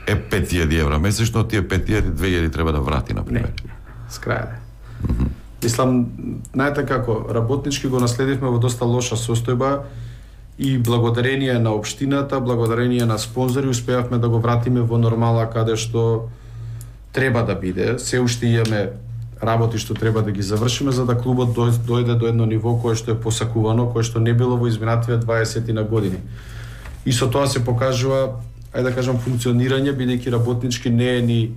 е пет илјади евра месечно, тие пет илјади, две илјади треба да врати, на пример? Не, скрајде. Mm -hmm. Мислам, знаете како, работнички го наследивме во доста лоша состојба и благодарение на општината, благодарение на спонзори успеавме да го вратиме во нормала каде што треба да биде. Се уште имаме работи што треба да ги завршиме за да клубот дојде до едно ниво кое што е посакувано, кое што не било во изминативе дваесет на години. И со тоа се покажува, ајде да кажам, функционирање, бидејќи работнички не е ни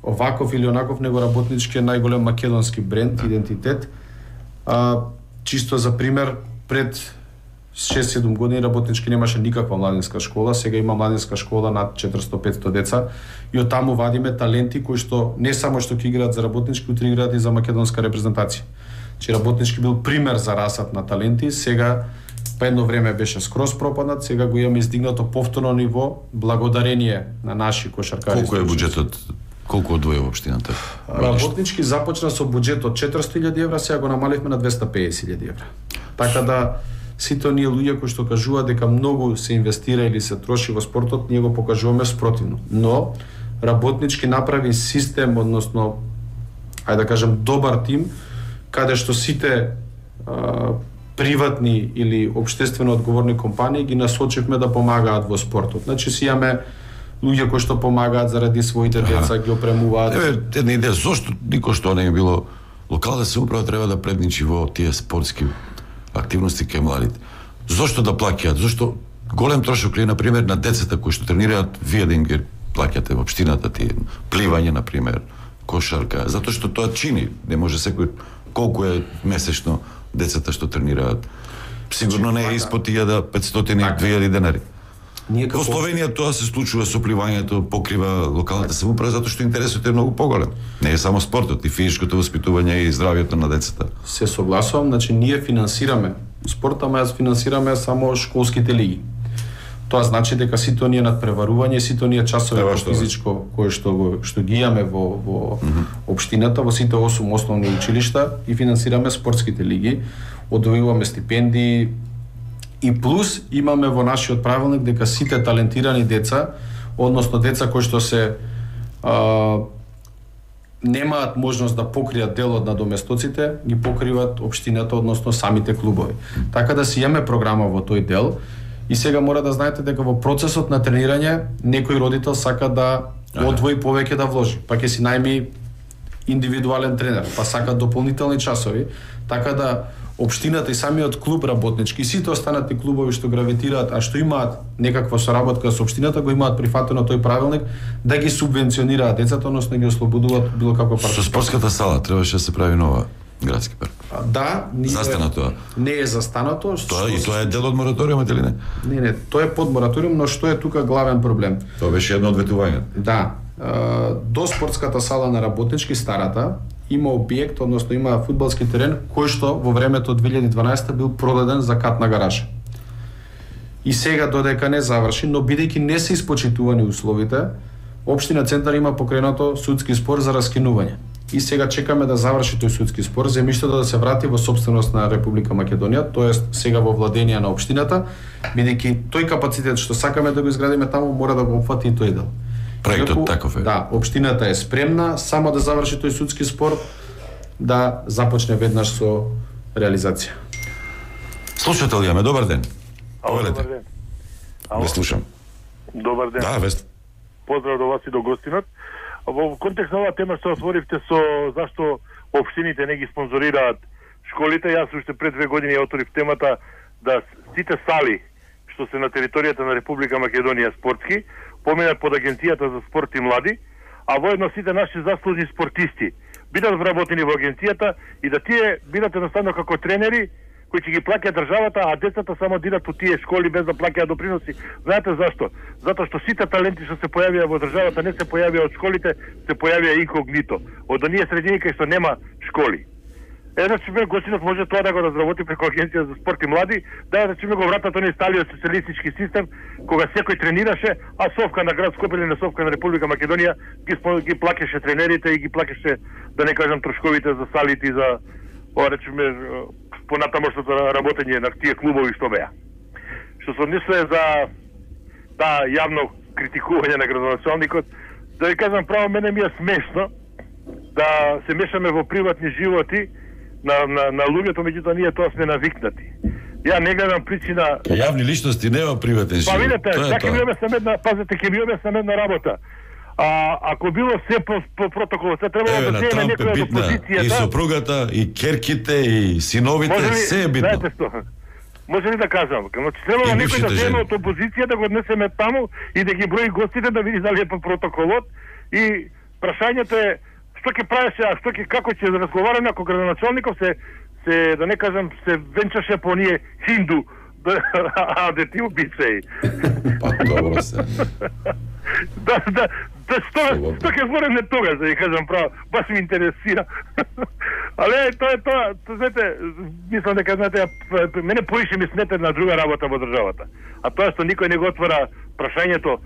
оваков или онаков, него работнички е најголем македонски бренд, идентитет. А, чисто за пример, пред шест-седум години работнички немаше никаква младинска школа, сега има младинска школа над четиристотини-петстотини деца и од таму вадиме таленти кои што не само што ќе играат за работнички, но играат и за македонска репрезентација. Че работнички бил пример за расат на таленти, сега па едно време беше скроз пропаднат, сега го имаме издигнато повторно ниво благодарение на наши кошаркари. Колку е буџетот? Колку одвојува општината? Работнички започна со буџет од четиристотини илјади евра, сега го намаливме на двесте и педесет илјади евра. Така да сите оние луѓе кои што кажуваат дека многу се инвестира или се троши во спортот, ние го покажуваме спротивно. Но работнички направи систем, односно ајде да кажем добар тим, каде што сите а, приватни или општествено одговорни компании ги насочивме да помагаат во спортот. Значи си имаме луѓе кои што помагаат заради своите деца, ги опремуваат. Еве една идеја, зошто никој што не е било локална самоуправа треба да предничи во тие спортски активности кај младите. Зошто да плаќаат? Зошто голем трошок ли, например, на децата кои што тренираат, вие да им ги плаќате во општината ти, пливање, например, кошарка, затоа што тоа чини. Не може секој, колку е месечно децата што тренираат. Сигурно не е испод илјада и петстотини до две илјади денари. Во Словенија тоа се случува со пливањето, покрива локалната самоуправа затоа што интересот е многу поголем. Не е само спортот, и физичкото воспитување и здравјето на децата. Се согласувам, значи ние финансираме спорт, ама јас финансираме само школските лиги. Тоа значи дека сите оние надпреварување, сите оние часови по физичко кои што го што ги имаме во во mm -hmm. општината, во сите осум основни училишта и финансираме спортските лиги, одвојуваме стипендии. И плюс имаме во нашиот правилник дека сите талентирани деца, односно деца кои што се а, немаат можност да покријат дел од надоместоците, ги покриват општината, односно самите клубови. Така да си имаме програма во тој дел и сега мора да знаете дека во процесот на тренирање некој родител сака да одвои повеќе да вложи, па ќе си најми индивидуален тренер, па сака дополнителни часови, така да општината и самиот клуб работнички, сите останати клубови што гравитираат, а што имаат некаква соработка со општината, го имаат прифатено тој правилник да ги субвенционираат децата, односно ги ослободуваат било каква партиципација. Со спортската сала требаше да се прави нова градски парк. Да, ние застана тоа. Не е застанато. Тоа и тоа е дел од мораториумот или не? Не, не, тоа е под мораториум, но што е тука главен проблем? Тоа беше едно од ветувањата. Да. До спортската сала на работнички, старата, има објект, односно има фудбалски терен кој што во времето од две илјади и дванаесета бил продаден за катна гаража. И сега додека не заврши, но бидејќи не се испочитувани условите, општина Центар има покренато судски спор за раскинување. И сега чекаме да заврши тој судски спор, земјиштето да се врати во собственост на Република Македонија, тоест сега во владење на општината, бидејќи тој капацитет што сакаме да го изградиме таму мора да го опфати и тој дел. Проектот таков е. Да, општината е спремна само да заврши тој судски спор, да започне веднаш со реализација. Слушател јаме, добар ден. Ало, добар ден. Ве слушам. Добар ден. Да, вест. Поздрав до вас и до гостинот. Во контекст на оваа тема што отворивте со зашто општините не ги спонзорираат школите, јас уште пред две години ја отворив темата да сите сали што се на територијата на Република Македонија спортски поминат под Агенцијата за спорт и млади, а воедно сите наши заслужни спортисти бидат вработени во агенцијата и да тие бидат едноставно како тренери кои ќе ги плаќа државата, а децата само дират по тие школи без да плаќаат доприноси. Знаете зашто? Затоа што сите таленти што се појавија во државата не се појавија од школите, се појавија инкогнито. Од оние средини кај што нема школи. Е, значи, ме гостинот може тоа да го разработи преку Агенција за спорт и млади, да значи ме го вратат оној сталиот социјалистички систем, кога секој тренираше, а совка на град Скопје или на совка на Република Македонија ги, ги плакеше тренерите и ги плакеше, да не кажам, трошковите за салите и за, ова речеме, понатамошното работење на тие клубови што беа. Што се однесува за таа јавно критикување на градоначалникот, да ви кажам право, мене ми е смешно да се мешаме во приватни животи на, на, на луѓето, меѓутоа ние тоа сме навикнати. Ја не гледам причина. Јавни личности нема приватен живот. Па видете, така ми објаснам една, пазете, ќе ми објаснам една работа. А ако било се по, по протокол, се требало да земе некоја од опозицијата. И сопругата, и керките, и синовите, се е битно. Знаете што? Може ли да кажам? Значи требало некој да земе од опозиција да го однесеме таму и да ги брои гостите да види дали е по протоколот и прашањето е што ќе правеше, а што ќе како ќе разговараме ако градоначалников се се да не кажам се венчаше по ние хинду, а да ти обичаи. Па добро се. Да, да, да, што, што ќе збореме тогаш, да ја кажам право, баш ми интересира. Але тоа е тоа, тоа, знаете, мислам дека, знаете, мене поише ми смета на друга работа во државата. А тоа што никој не го отвора прашањето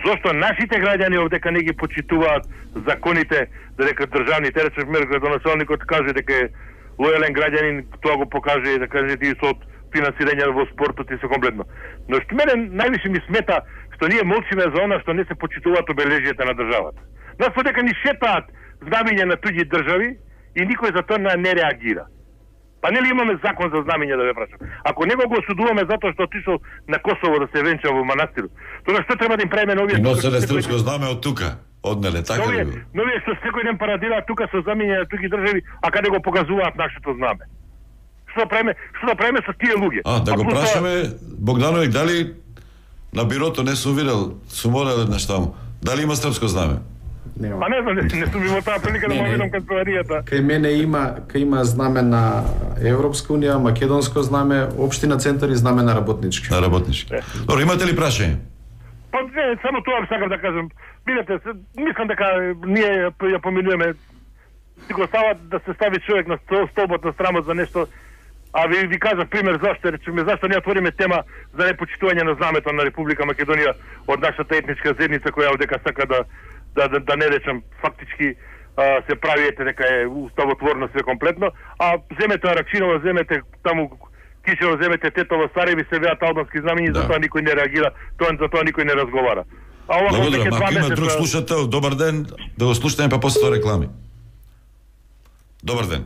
зошто нашите граѓани овдека не ги почитуваат законите, дека државните, рече пример градоначалникот каже дека е лојален граѓанин, тоа го покаже, да кажете, и со финансирање во спортот и се комплетно. Но што мене највише ми смета што ние молчиме за она што не се почитуваат обележјата на државата. Нас подека ни шетаат знамења на туѓи држави и никој за тоа не реагира. Па нели имаме закон за знамења, да ве прашам? Ако него го осудуваме затоа што отишол на Косово да се венча во манастирот, тоа што треба да им правиме новија? И носеле српско знаме од тука. Однеле, така ли? Новија што секој ден парадираат тука со знамења на туѓи држави, а каде го покажуваат нашето знаме? Што да правиме? Што да правиме со тие луѓе? А, да го прашаме Богдановиќ дали на бирото не сум видел, сум морал еднаш таму. Дали има српско знаме? Нема. Па не знам, не, не сум имал таа прилика да му видам канцеларијата. Кај мене има, кај има знаме на Европска унија, македонско знаме, општина Центар и знаме на работнички. На работнички. Добро, имате ли прашање? Па не, само тоа сакам да кажам. Видете, мислам дека ние ја помилуваме. Си го става да се стави човек на столбот на страмот за нешто. А ви ви кажав пример зашто, речеме, зашто не отвориме тема за непочитување на знамето на Република Македонија од нашата етничка заедница која одека сака да да да, да не речам фактички а, се прави ете дека е уставотворно све комплетно, а земете Аракчинова, земете таму Кишево, земете Тетово, Сареви се веат албански знамења, да. Затоа никој не реагира, тоа за тоа никој не разговара. А ова благодарам, ако има месеца... друг слушател, добар ден, да го слушаме па после тоа реклами. Добар ден.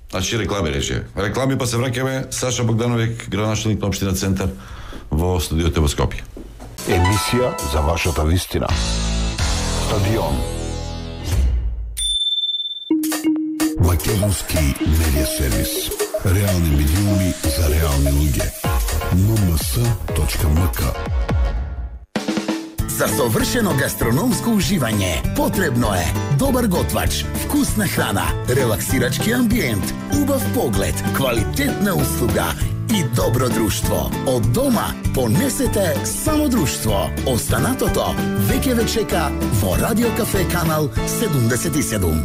Значи реклами рече. Реклами па се враќаме. Саша Богдановиќ, градоначалник на општина Центар во студиото во Скопје. Емисија за вашата вистина. Стадион. Македонски медиа сервис. Реални медиуми за реални луѓе. ен ем ес точка ем ка. За совршено гастрономско уживање потребно е добар готвач, вкусна храна, релаксирачки амбиент, убав поглед, квалитетна услуга и добро друштво. Од дома понесете само друштво. Останатото веќе ве чека во Радио Кафе канал седумдесет и седум.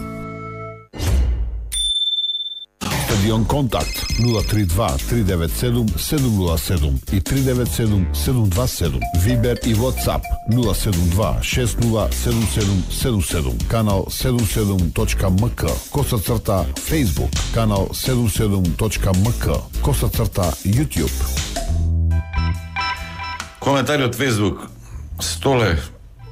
Стадион Контакт нула три два три девет седум седум нула седум и три девет седум седум два седум. Вибер и WhatsApp нула седум два шест нула седум седум седум седум. Канал седум седум точка ем ка. Коса црта Facebook. Канал седум седум точка ем ка. Коса црта YouTube. Коментари од Facebook. Столе,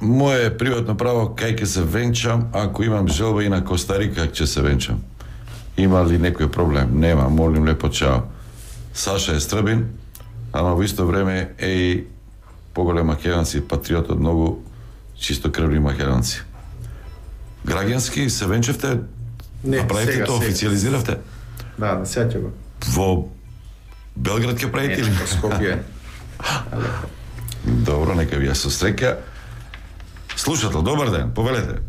моje приватно право кај ќе се венчам, ако имам желба и на Костарика ќе се венчам. Има ли некој проблем? Нема, молим лепо, чао. Саша е Стрбин, ама во исто време е и поголем македонци, патриот од многу чистокрвни македонци. Граѓански се венчевте? Не, направите сега, тоа, сега. официализиравте? Да, да сеќа го. Во Белград ќе правите или? Не, во Скопје. Добро, нека ви ја со среќа. Слушател, добар ден, повелете.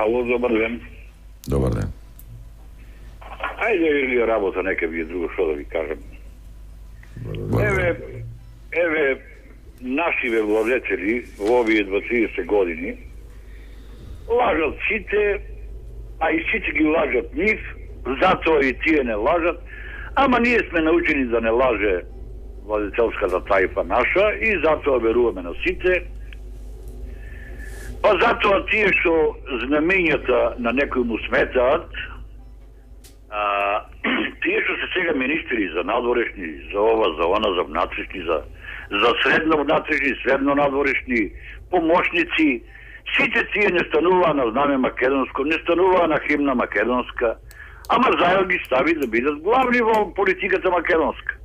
Ало, добар ден. Добар ден. Ајде или работа, нека би е друго што да ви кажам. Еве, еве, нашиве владетели во овие дваесет години лажат сите, а и сите ги лажат нив, затоа и тие не лажат, ама ние сме научени да не лаже владетелската тајфа наша и затоа веруваме на сите. Па затоа тие што знамењата на некој му сметаат, А, тие што се сега министри за надворешни, за ова, за она, за внатрешни, за, за средно внатрешни, средно надворешни, помошници, сите тие не стануваа на знаме македонско, не стануваа на химна македонска, ама заедно ги стави да бидат главни во политиката македонска.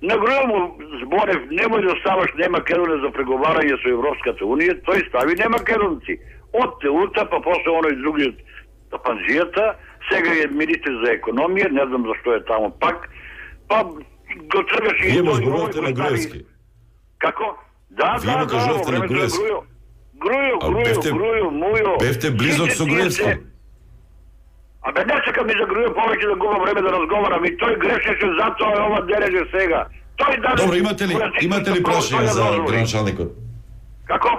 Нагроил му Зборев, немој да ставаш не Македонија за преговарање со Европската Унија, тој стави не македонци. Од Теута, па после оној другиот Панжијата, сега е министр за економија, не знам зашто е таму пак, па го тргаше и... Вие му зборувате на Груевски. Како? Да, Вие да, му кажувате на Груевски. Грујо, Грујо, Грујо, Мујо... Бевте близок со Груевски. Абе, не сакам и за Грујо повеќе да губам време да разговарам, и тој грешеше, затоа е ова дереже сега. Тој даде... Добро, имате ли, имате ли прашање за градоначалникот? Како?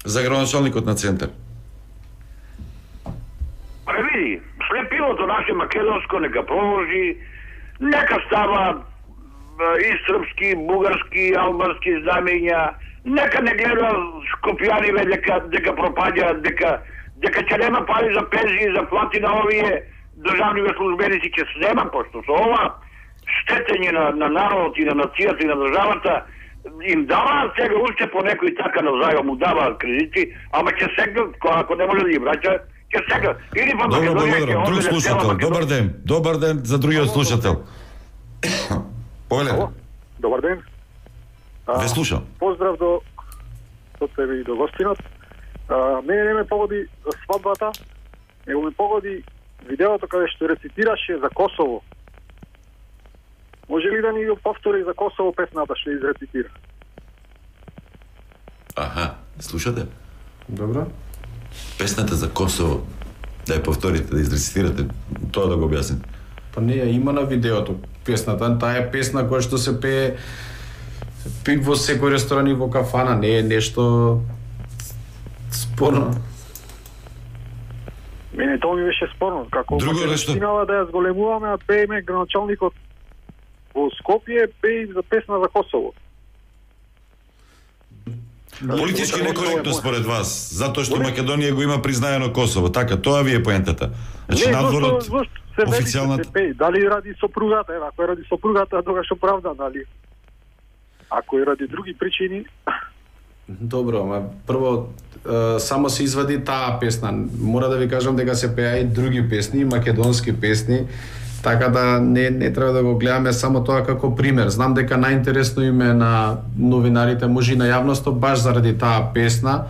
За градоначалникот на Центар. Пре види, слепилото наше македонско нека продолжи, нека става и српски, бугарски, албански знамења, нека не гледа скопјаниве дека дека пропаѓа, дека дека ќе нема пари за пензии, за плати на овие државниве службеници, ќе снема, пошто со ова штетење на, на народот и на нацијата и на државата им дава сега уште по некој така на зајом му дава кредити, ама ќе сегнат, ако не може да ги враќа, ќе сегнат. Или па Добро, благодарам. Друг слушател. Добар ден. Добар ден за другиот слушател. Повелете. Добар ден. Ве слушам. Поздрав до до тебе и до гостинот. А, мене не ме погоди свадбата, него ме погоди видеото каде што рецитираше за Косово. Може ли да ни го повтори за Косово песната што изрецитира? Аха, слушате? Добро. Песната за Косово. Да ја повторите, да изрецитирате, тоа да го објасните. Па не ја има на видеото песната, таа е песна која што се пее пи во секој ресторан и во кафана, не е нешто спорно. Мене тоа ми беше спорно, како македонцинава да ја зголемуваме, а пееме градоначалникот во Скопје пее за песна за Косово. Политички некоректно според вас, затоа што Македонија го има признаено Косово, така, тоа ви е поентата. Значи надворот официјалната се пее, дали ради сопругата, ева, ако е ради сопругата, тогаш оправдан, дали? Ако е ради други причини... Добро, ама прво е, само се извади таа песна. Мора да ви кажам дека се пеа и други песни, македонски песни, така да не не треба да го гледаме само тоа како пример. Знам дека најинтересно им е на новинарите, може и на јавноста баш заради таа песна,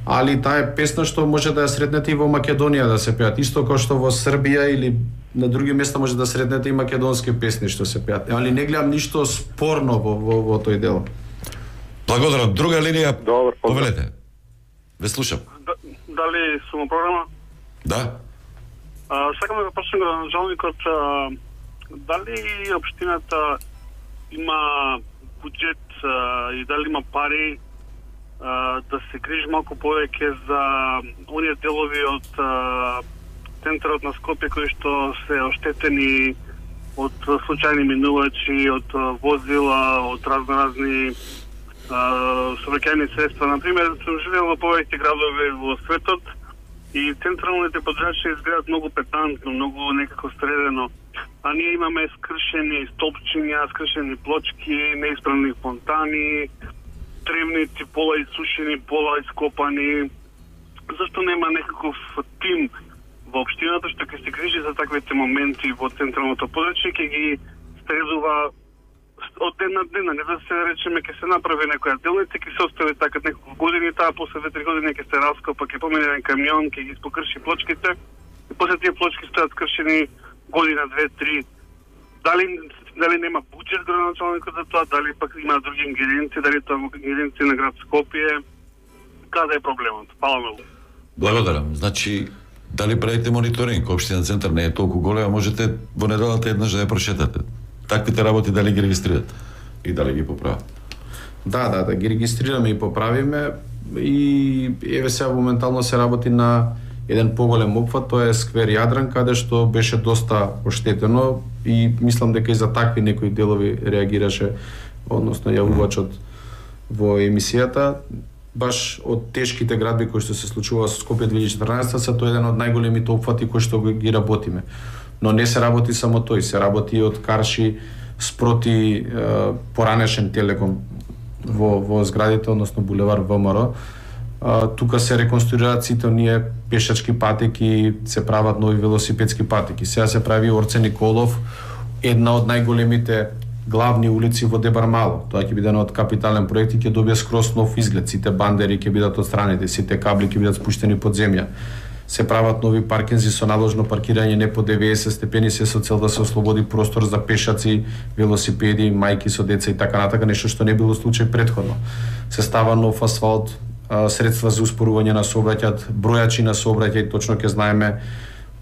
али таа е песна што може да ја сретнете и во Македонија да се пеат, исто како што во Србија или на други места може да сретнете и македонски песни што се пеат. Али не гледам ништо спорно во во, во тој дел. Благодарам. Друга линија. Добар, повелете. Ве слушам. Да, дали сум во програма? Да. А, сакам да го прашам градоначалникот, дали општината има буџет а, и дали има пари а, да се грижи малку повеќе за оние делови од а, центарот на Скопје кои што се оштетени од случајни минувачи, од возила, од разноразни сообраќајни средства. Например, сум живеел во повеќе градови во светот и централните подрачја изгледат многу петантно, многу некако средено. А ние имаме скршени столпчиња, скршени плочки, неисправни фонтани, тревници пола исушени, пола ископани. Зашто нема некаков тим во општината што ќе се грижи за таквите моменти во централното подрачје, ќе ги средува од ден на ден, не да се речеме ќе се направи некоја делница, ќе се остави така неколку години, таа после две-три години ќе се раскопа, ќе помине на камион, ќе ги покрши плочките и после тие плочки стојат скршени година, две-три. Дали дали нема буџет градоначалникот за тоа, дали пак има други ингредиенти, дали тоа ингредиенти на град Скопје, каде е проблемот? Фала многу. Благодарам. Значи, дали правите мониторинг? Општина Центар не е толку голема, можете во неделата еднаш да ја прошетате. Таквите работи дали ги регистрират и дали ги поправат? Да, да, да ги регистрираме и поправиме и еве сега моментално се работи на еден поголем опфат, тоа е сквер Јадран, каде што беше доста оштетено и мислам дека и за такви некои делови реагираше, односно јавувачот во емисијата. Баш од тешките градби кои што се случува со Скопје две илјади и четрнаесетта се тоа еден од најголемите опфати кои што ги работиме. Но не се работи само тој, се работи и од карши спроти е, поранешен Телеком во, во зградите, односно булевар ВМР. А, тука се реконструираат сите оние пешачки патеки, се прават нови велосипедски патеки. Сега се прави Орце Николов, една од најголемите главни улици во Дебармало. Тоа ќе биде еден од капитален проект и ќе добие скроз нов изглед. Сите бандери ќе бидат отстранети, сите кабли ќе бидат спуштени под земја. Се прават нови паркинзи со наложно паркирање не по деведесет степени, се со цел да се ослободи простор за пешаци, велосипеди, мајки со деца и така натака, нешто што не било случај претходно. Се става нов асфалт, средства за успорување на сообраќајот, бројачи на сообраќај, точно ќе знаеме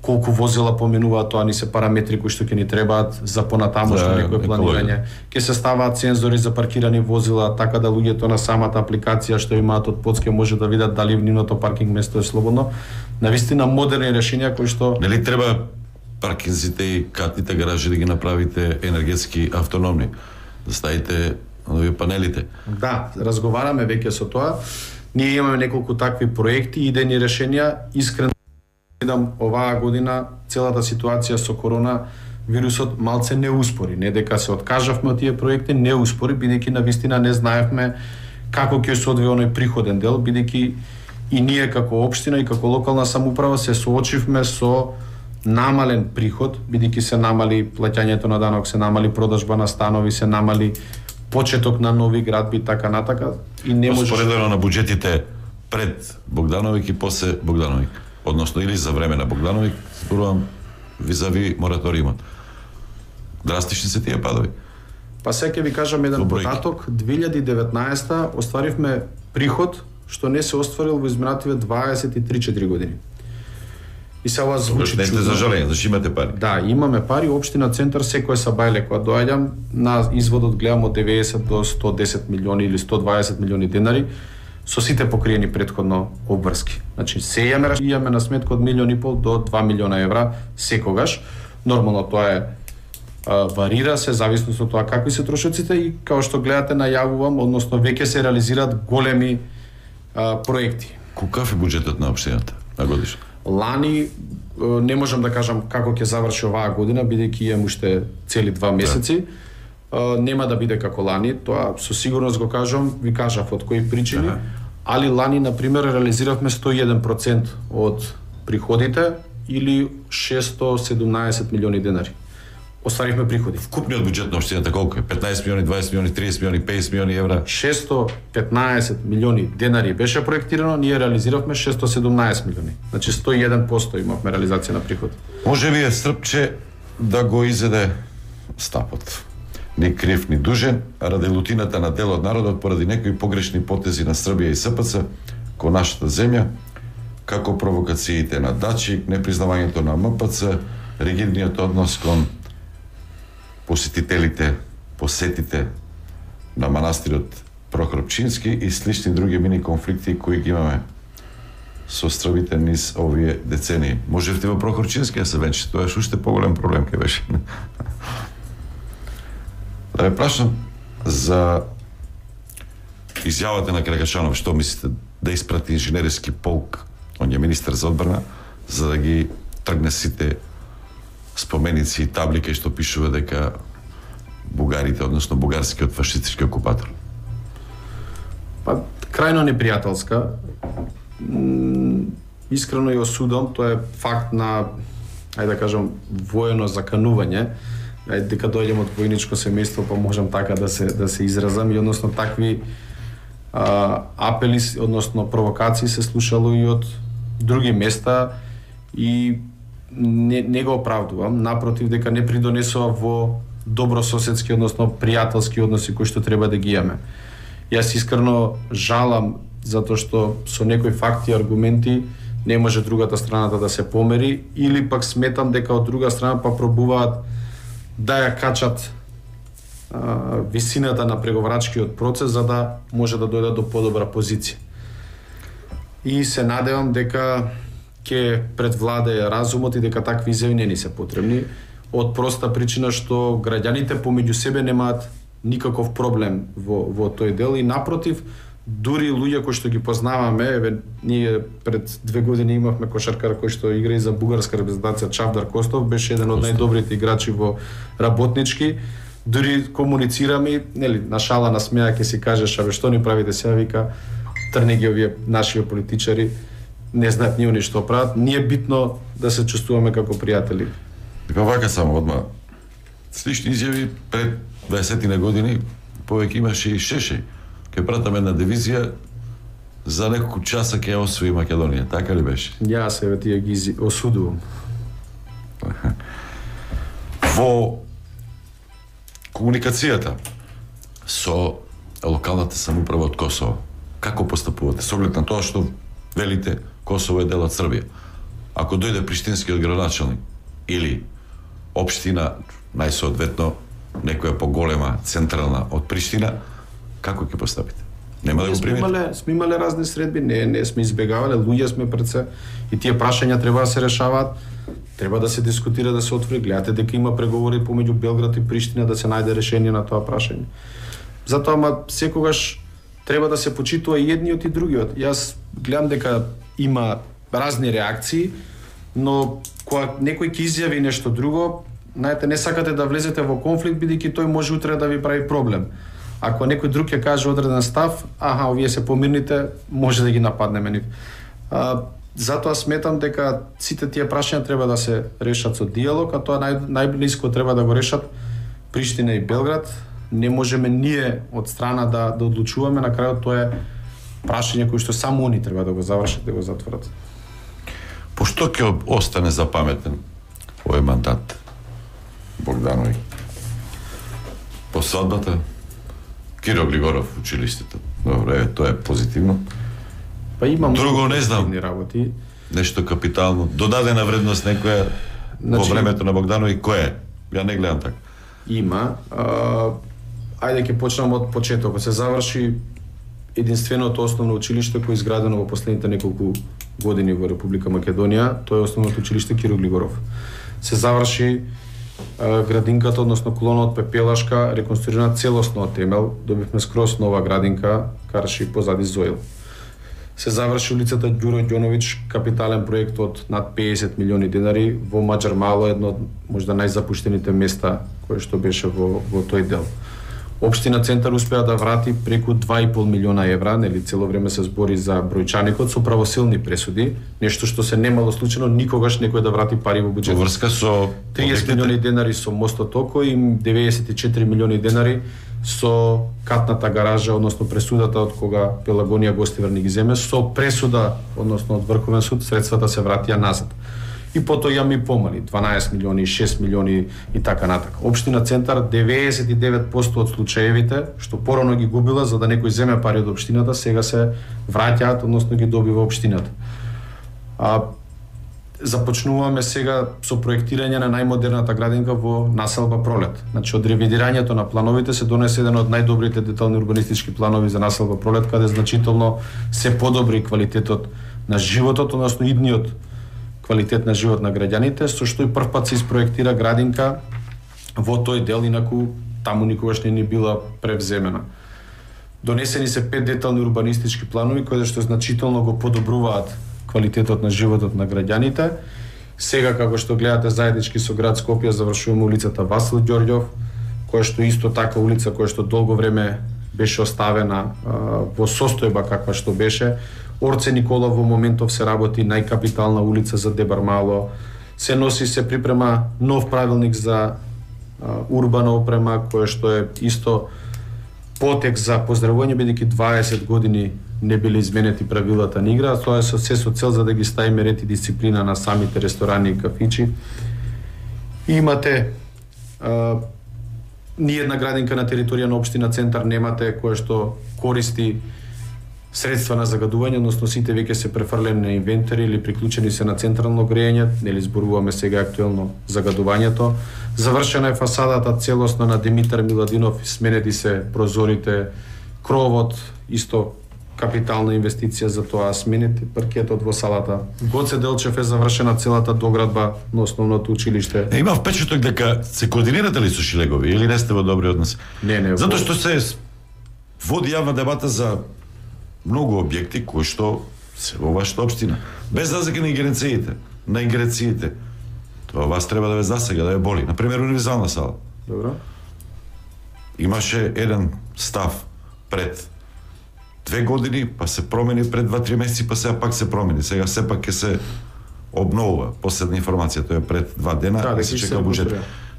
колку возила поминуваат, тоа ни се параметри кои што ќе ни требаат за понатамошно да, некое планирање. Ќе се ставаат сензори за паркирани возила, така да луѓето на самата апликација што имаат од подске може да видат дали нивното паркинг место е слободно. Навистина модерни решенија кои што нели треба паркинзите и катните гаражи да ги направите енергетски автономни, да ставите нови панелите. Да, разговараме веќе со тоа. Ние имаме неколку такви проекти и идејни решенија. Искрено видам оваа година целата ситуација со корона вирусот малце не успори, не дека се откажавме од тие проекти, не успори, бидејќи навистина не знаевме како ќе се одвие оној приходен дел, бидејќи и ние како општина и како локална самоуправа се соочивме со намален приход, бидејќи се намали плаќањето на данок, се намали продажба на станови, се намали почеток на нови градби и така натака, и не може споредено на буџетите пред Богдановик и после Богдановик, односно или за време на Богдановик, зборувам визави мораториумот. Драстични се тие падови. Па сега ќе ви кажам еден податок. две илјади и деветнаесета остваривме приход што не се остварил во изминативе дваесет и три четири години. И се ова звучи чудно. Не сте за жалење, зашто имате пари. Да, имаме пари. Општина Центар секој сабајле кога доаѓам на изводот гледам од деветдесет до сто и десет милиони или сто и дваесет милиони денари со сите покриени претходно обврски. Значи се имаме имаме на сметка од милион и пол до два милиона евра секогаш. Нормално тоа е а, варира се зависно од тоа какви се трошоците и како што гледате најавувам, односно веќе се реализираат големи а, проекти. Каков е буџетот на општината на годишно? Лани не можам да кажам како ќе заврши оваа година, бидејќи имам уште цели два месеци. Да. Нема да биде како лани, тоа со сигурност го кажам, ви кажав од кои причини, ага. Али лани, например, реализиравме сто и еден процент од приходите или шестстотини и седумнаесет милиони денари. Остварихме приходи. Вкупниот буџет на општината колку е? петнаесет милиони, дваесет милиони, триесет милиони, педесет милиони евра? шестстотини и петнаесет милиони денари беше проектирано, ние реализиравме шестстотини и седумнаесет милиони. Значи сто и еден проценти имавме реализација на приход. Може би е стрпче да го изеде стапот. Ни крив, ни дужен, ради лутината на дел од народот поради некои погрешни потези на Србија и СПЦ кон нашата земја, како провокациите на Дачик, непризнавањето на МПЦ, ригидниот однос кон посетителите, посетите на манастирот Прохорчински и слични други мини конфликти кои ги имаме со србите низ овие децении. Можевте во Прохорчински да се венчи, тоа е уште поголем проблем ке беше. Да ве прашам за изјавата на Крагачанов, што мислите да испрати инженерски полк, он е министер за одбрана, за да ги тргне сите споменици и таблика што пишува дека бугарите, односно бугарскиот фашистички окупатор? Па, крајно непријателска. Искрено ја осудам, тоа е факт на, ајде да кажам, воено заканување. Ајде, дека дојдем од војничко семејство, па можам така да се да се изразам, и односно такви а, апели, односно провокации се слушало и од други места и не, не го оправдувам, напротив, дека не придонесува во добрососедски, односно пријателски односи кои што треба да ги имаме. Јас искрено жалам затоа што со некои факти и аргументи не може другата страната да се помери, или пак сметам дека од друга страна па пробуваат да ја качат а, висината на преговарачкиот процес за да може да дојдат до подобра позиција. И се надевам дека ќе предвладее разумот и дека такви изјави не ни се потребни, од проста причина што граѓаните помеѓу себе немаат никаков проблем во, во тој дел и напротив, дури луѓе кои што ги познаваме, еве ние пред две години имавме кошаркар кој што игра и за бугарска репрезентација, Чавдар Костов, беше еден од најдобрите играчи во работнички. Дури комуницираме, нели, на шала, на смеа ќе си кажеш, абе што ни правите сега, вика, трнеги овие наши политичари, не знаат ни они што прават, ни е битно да се чувствуваме како пријатели. Па вака само одма. Слични изјави пред дваесет години повеќе имаше и Шешеј. Ке пратаме една дивизија за неколку часа ќе освои Македонија, така ли беше? Јас еве тие ги осудувам. Во комуникацијата со локалната самоуправа од Косово, како постапувате со оглед на тоа што велите Косово е дел од Србија? Ако дојде приштинскиот градоначалник или општина, најсоодветно некоја поголема централна од Приштина, како ќе постапите? Нема да го примите? Имале, сме имале разни средби, не, не сме избегавале, луѓе сме пред се и тие прашања треба да се решаваат, треба да се дискутира, да се отвори. Гледате дека има преговори помеѓу Белград и Приштина да се најде решение на тоа прашање. Затоа, ама секогаш треба да се почитува и едниот и другиот. Јас гледам дека има разни реакции, но кога некој ќе изјави нешто друго, знаете, не сакате да влезете во конфликт, бидејќи тој може утре да ви прави проблем. Ако некој друг ќе каже одреден став, аха, овие се помирните, може да ги нападнеме нив. А, затоа сметам дека сите тие прашања треба да се решат со диалог, а тоа нај, најблиско треба да го решат Приштина и Белград. Не можеме ние од страна да, да одлучуваме, на крајот тоа е прашање кои што само они треба да го завршат, да го затворат. Пошто ќе остане запаметен овој мандат Богдановиќ? По свадбата? Киро Глигоров училиштето. Добро, е, тоа е позитивно. Па имам друго не знам. Работи. Нешто капитално, додадена вредност некоја значи, во времето на Богдановиќ, кој е? Ја не гледам така. Има. А, ајде ќе почнам од почетокот. Се заврши единственото основно училиште кој е изградено во последните неколку години во Република Македонија, тоа е основното училиште Киро Глигоров. Се заврши а, градинката, односно колонот Пепелашка, реконструирана целосно од темел, добивме скроз нова градинка, карши позади Зоил. Се заврши улицата Ѓуро Ѓоновиќ, капитален проект од над педесет милиони денари во Маџар Мало, едно од можда најзапуштените места кое што беше во, во тој дел. Општина Центар успеа да врати преку два и пол милиона евра, нели цело време се збори за бројчаникот со правосилни пресуди, нешто што се немало случајно никогаш некој да врати пари во буџетот. Во врска со триесет милиони денари со мостот Око и деветдесет и четири милиони денари со катната гаража, односно пресудата од кога Пелагонија Гостивар ни ги земе, со пресуда, односно од Врховен суд, средствата се вратија назад. И потоа имаме и помали, дванаесет милиони, шест милиони и така натака. Општина Центар деветдесет и девет проценти од случаевите што порано ги губила за да некој земе пари од општината, сега се враќаат, односно ги добива општината. А започнуваме сега со проектирање на најмодерната градинка во населба Пролет. Значи од ревидирањето на плановите се донесе еден од најдобрите детални урбанистички планови за населба Пролет, каде значително се подобри квалитетот на животот, односно идниот квалитет на живот на граѓаните, со што и првпат се испроектира градинка во тој дел, инаку таму никогаш не ни била превземена. Донесени се пет детални урбанистички планови кои што значително го подобруваат квалитетот на животот на граѓаните. Сега, како што гледате заеднички со град Скопје, завршуваме улицата Васил Ѓорѓов, која што исто така улица која што долго време беше оставена а, во состојба каква што беше. Орце Никола во моментов се работи најкапитална улица за Дебар Мало. Се носи, се припрема нов правилник за а, урбана опрема, која што е исто потек за поздравување, бидејќи дваесет години не биле изменети правилата на игра, тоа е со се со цел за да ги ставиме ред и дисциплина на самите ресторани и кафичи. И имате а, ни една градинка на територија на општина Центар немате која што користи средства на загадување, односно сите веќе се префрлени на инвентари или приклучени се на централно грејење, нели зборуваме сега актуелно загадувањето. Завршена е фасадата целосно на Димитар Миладинов, сменети се прозорите, кровот, исто капитална инвестиција за тоа, сменети паркетот во салата. Гоце Делчев е завршена целата доградба на основното училиште. Е, има впечаток дека се координирате ли со Шилегови или не сте во добри односи? Не, не. Затоа што се води јавна дебата за многу објекти кои што се во вашата општина. Без разлика на ингеренциите, на ингеренциите. Тоа вас треба да ве засега, да ве боли. Например, универзална сала. Добро. Имаше еден став пред две години, па се промени пред два-три месеци, па сега пак се промени. Сега сепак ќе се обновува. Последна информација, тоа е пред два дена, да, се чека буџет.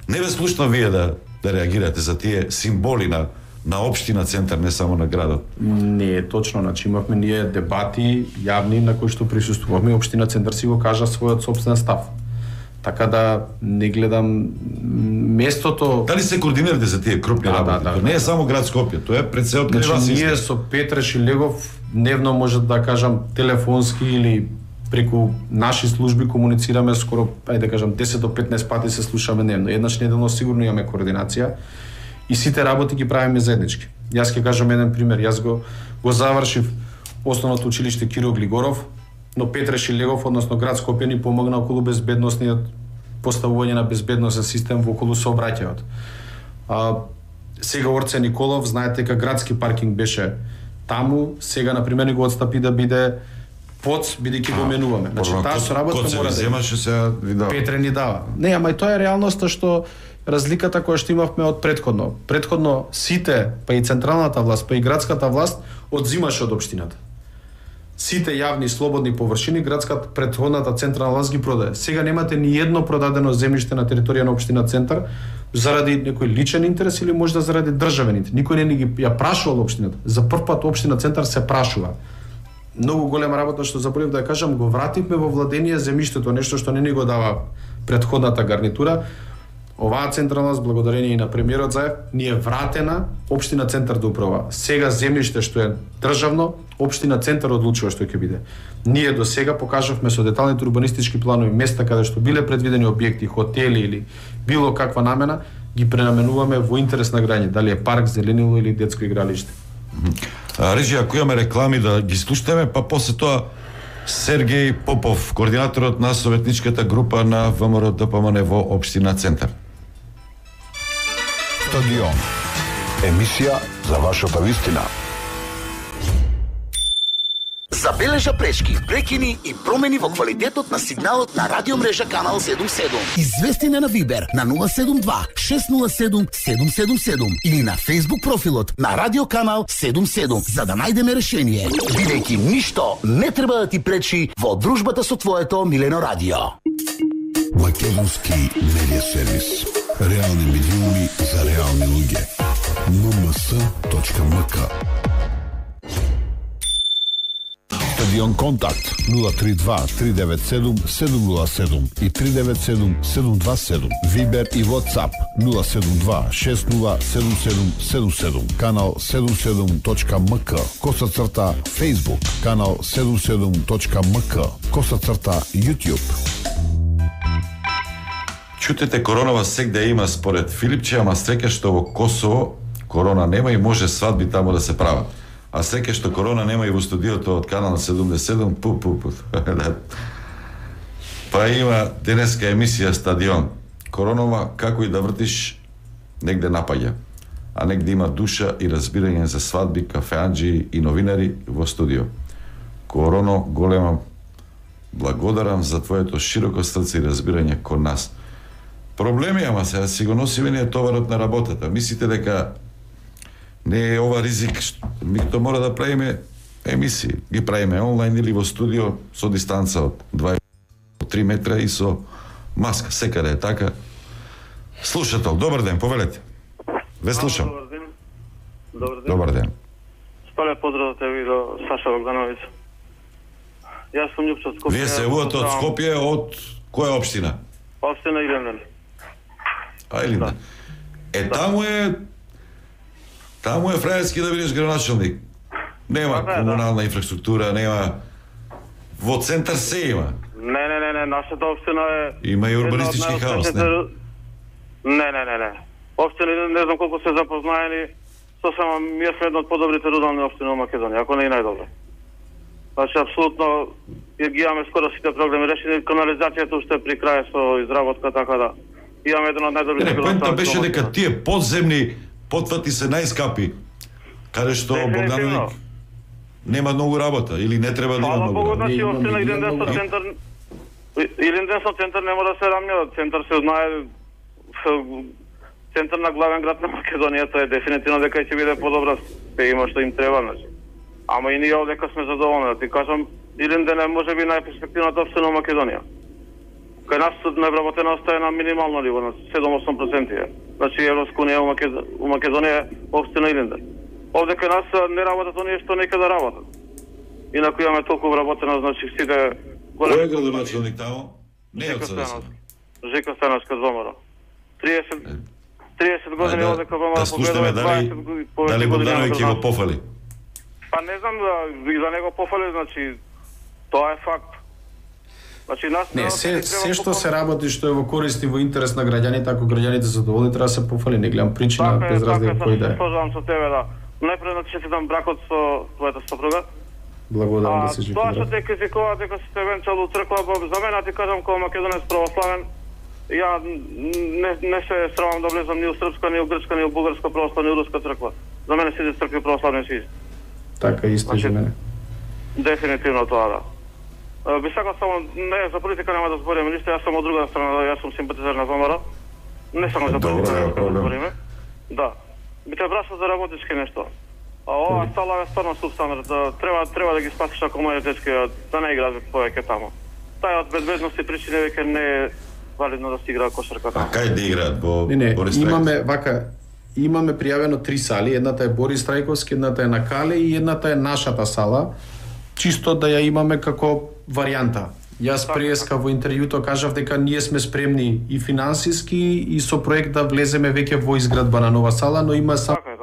Не ве слушна вие да да реагирате за тие символи на на општина центар, не само на градот. Не е точно, значи имавме ние дебати јавни на кои што присуствувавме, општина центар си го кажа својот собствен став. Така да не гледам местото. Дали се координирате за тие крупни да, работи? Да, да, не е да. само град Скопје, тоа е пред се од значи, ние со Петре Шилегов дневно може да кажам телефонски или преку наши служби комуницираме скоро, ајде да кажам десет до петнаесет пати се слушаме дневно. Еднаш неделно сигурно имаме координација и сите работи ги правиме заеднички. Јас ќе кажам еден пример. Јас го го завршив основното училиште Киро Глигоров, но Петре Шилегов, односно град Скопје, ни помогна околу безбедносниот поставување на безбедносен систем во околу сообраќајот. А сега Орце Николов, знаете дека градски паркинг беше таму, сега на пример ни го отстапи да биде ПОЦ, бидејќи го менуваме. Значи таа соработка мора да земаше сега ви дава. Петре ни дава. Не, ама и тоа е реалноста што разликата која што имавме од претходно. Претходно сите, па и централната власт, па и градската власт одзимаше од општината. Сите јавни слободни површини градската претходната централна власт ги продаде. Сега немате ни едно продадено земјиште на територија на општина Центар заради некој личен интерес или можда заради државен интерес. Никој не ни ги ја прашувал општината. За прв пат општина Центар се прашува. Многу голема работа што заборев да ја кажам, го вративме во владение земјиштето, нешто што не ни го дава претходната гарнитура. Оваа централна, благодарение и на премиерот Заев, ни е вратена општина Центар да управува. Сега земјиште што е државно, општина Центар одлучува што ќе биде. Ние до сега покажавме со деталните урбанистички планови места каде што биле предвидени објекти, хотели или било каква намена, ги пренаменуваме во интерес на граѓаните, дали е парк, зеленило или детско игралиште. Режи, ако имаме реклами да ги слушаме, па после тоа Сергеј Попов, координаторот на советничката група на ВМРО ДПМН во општина Центар. Стадион. Емисија за вашата вистина. Забележа пречки, прекини и промени во квалитетот на сигналот на радиомрежа Канал седум седум. Извести на Вибер на нула седум два шест нула седум седум седум седум или на Facebook профилот на Радио Канал седум седум за да најдеме решение. Бидејќи ништо не треба да ти пречи во дружбата со твоето милено радио. Македонски медиа сервис. Реални медиуми за реални луѓе. ен ем ес точка ем ка. Стадион Контакт нула три два три девет седум седум нула седум и три девет седум седум два седум. Вибер и WhatsApp нула седум два шест нула седум седум седум седум. Канал седум седум точка ем ка. Коса црта Facebook. Канал седум седум точка ем ка. Коса црта YouTube. Чутете, коронава сегде има според Филипче, ама среќа што во Косово корона нема и може свадби таму да се прават. А среќа што корона нема и во студиото од Канал седумдесет и седум, пу, пу, пу. Па има денеска емисија Стадион. Коронова, како и да вртиш, негде напаѓа. А негде има душа и разбирање за свадби, кафеанџи и новинари во студио. Короно, голема благодарам за твоето широко срце и разбирање кон нас. Проблеми, ама сега си го носиме ние товарот на работата. Мислите дека не е ова ризик, ми тоа мора да правиме емисии. Ги правиме онлайн или во студио со дистанца од два до три метра и со маска. Секаде е така. Слушател, добар ден, повелете. Ве слушам. Добар ден. Добар ден. Добар ден. Спале поздрав те ви до Саша Богдановиќ. Јас сум Љупчо од Скопје. Вие се увате од Скопје, од која општина? Општина Илинден. А, Илинден. Е, таму е Таму е фрајерски да бидеш градоначалник. Нема да, комунална да. инфраструктура, нема... Во центар се има. Не, не, не, не, нашата општина е... Има и урбанистички хаос, не? Не, не, не, не. Општина, не знам колку се запознаени, со само ми сме една од подобрите рурални општини во Македонија, ако не и најдобре. Значи, апсолутно, ги имаме скоро сите проблеми решени, канализацијата уште при крај со изработка, така да... Имаме едно од најдобрите градоначалници. Поента беше дека тие подземни потвати се најскапи, каде што Богдановиќ нема многу работа или не треба да има многу работа. Значи, општина Илинден со центар Илинден со центар не мора да се рамња, центар се знае центар на главен град на Македонија, тоа е дефинитивно дека ќе биде подобра, се има што им треба, значи. Ама и ние овдека сме задоволни, да ти кажам, Илинден е може би најперспективната општина во Македонија. Кај нас невработеноста е на минимално ниво, на седум-осум проценти. Значи Европска унија у Македонија е општина Илинден. Овде кај нас не работат оние што некаде работат. Инаку имаме толку вработено, значи сите големи... Кој е градоначалник тамо? Не е од СДС. Жека Становска ВМРО. триесет години овде кај ВМРО да слушаме дали дали Богдановиќ ќе го пофали. Па не знам да и за него пофали, значи тоа е факт. Значи нас не се се што се работи што е во корист и во интерес на граѓаните, ако граѓаните се задоволни, треба да се пофали, не гледам причина без разлика кој да е. Сложувам со тебе, да. Најпред да честитам бракот со твојата сопруга. Благодарам да се живи. Тоа што те критикува дека си те венчал у црква, за мене ти кажам како македонец православен, ја не не се срамам да влезам ни у српска, ни у грчка, ни у бугарска православна, ни у руска црква. За мене сите цркви православни си. Така исто за мене. Дефинитивно тоа да. Би сакал само, не, за политика нема да збориме ништо, јас сум од друга страна, јас сум симпатизер на ВМРО. Не само за политика да збориме. Да. Би те прашал за работнички нешто. А ова сала е стварно субстандард, да треба треба да ги спасиш ако моје дечки да не играат повеќе тамо. Тај од безбедности причини веќе не е валидно да се играа кошарка тамо. А кај да играат во не, не, Борис имаме вака имаме пријавено три сали, едната е Борис Трајковски, едната е на Кале и едната е нашата сала, чисто да ја имаме како варијанта. Јас преска во интервјуто кажав дека ние сме спремни и финансиски и со проект да влеземе веќе во изградба на нова сала, но има само така е,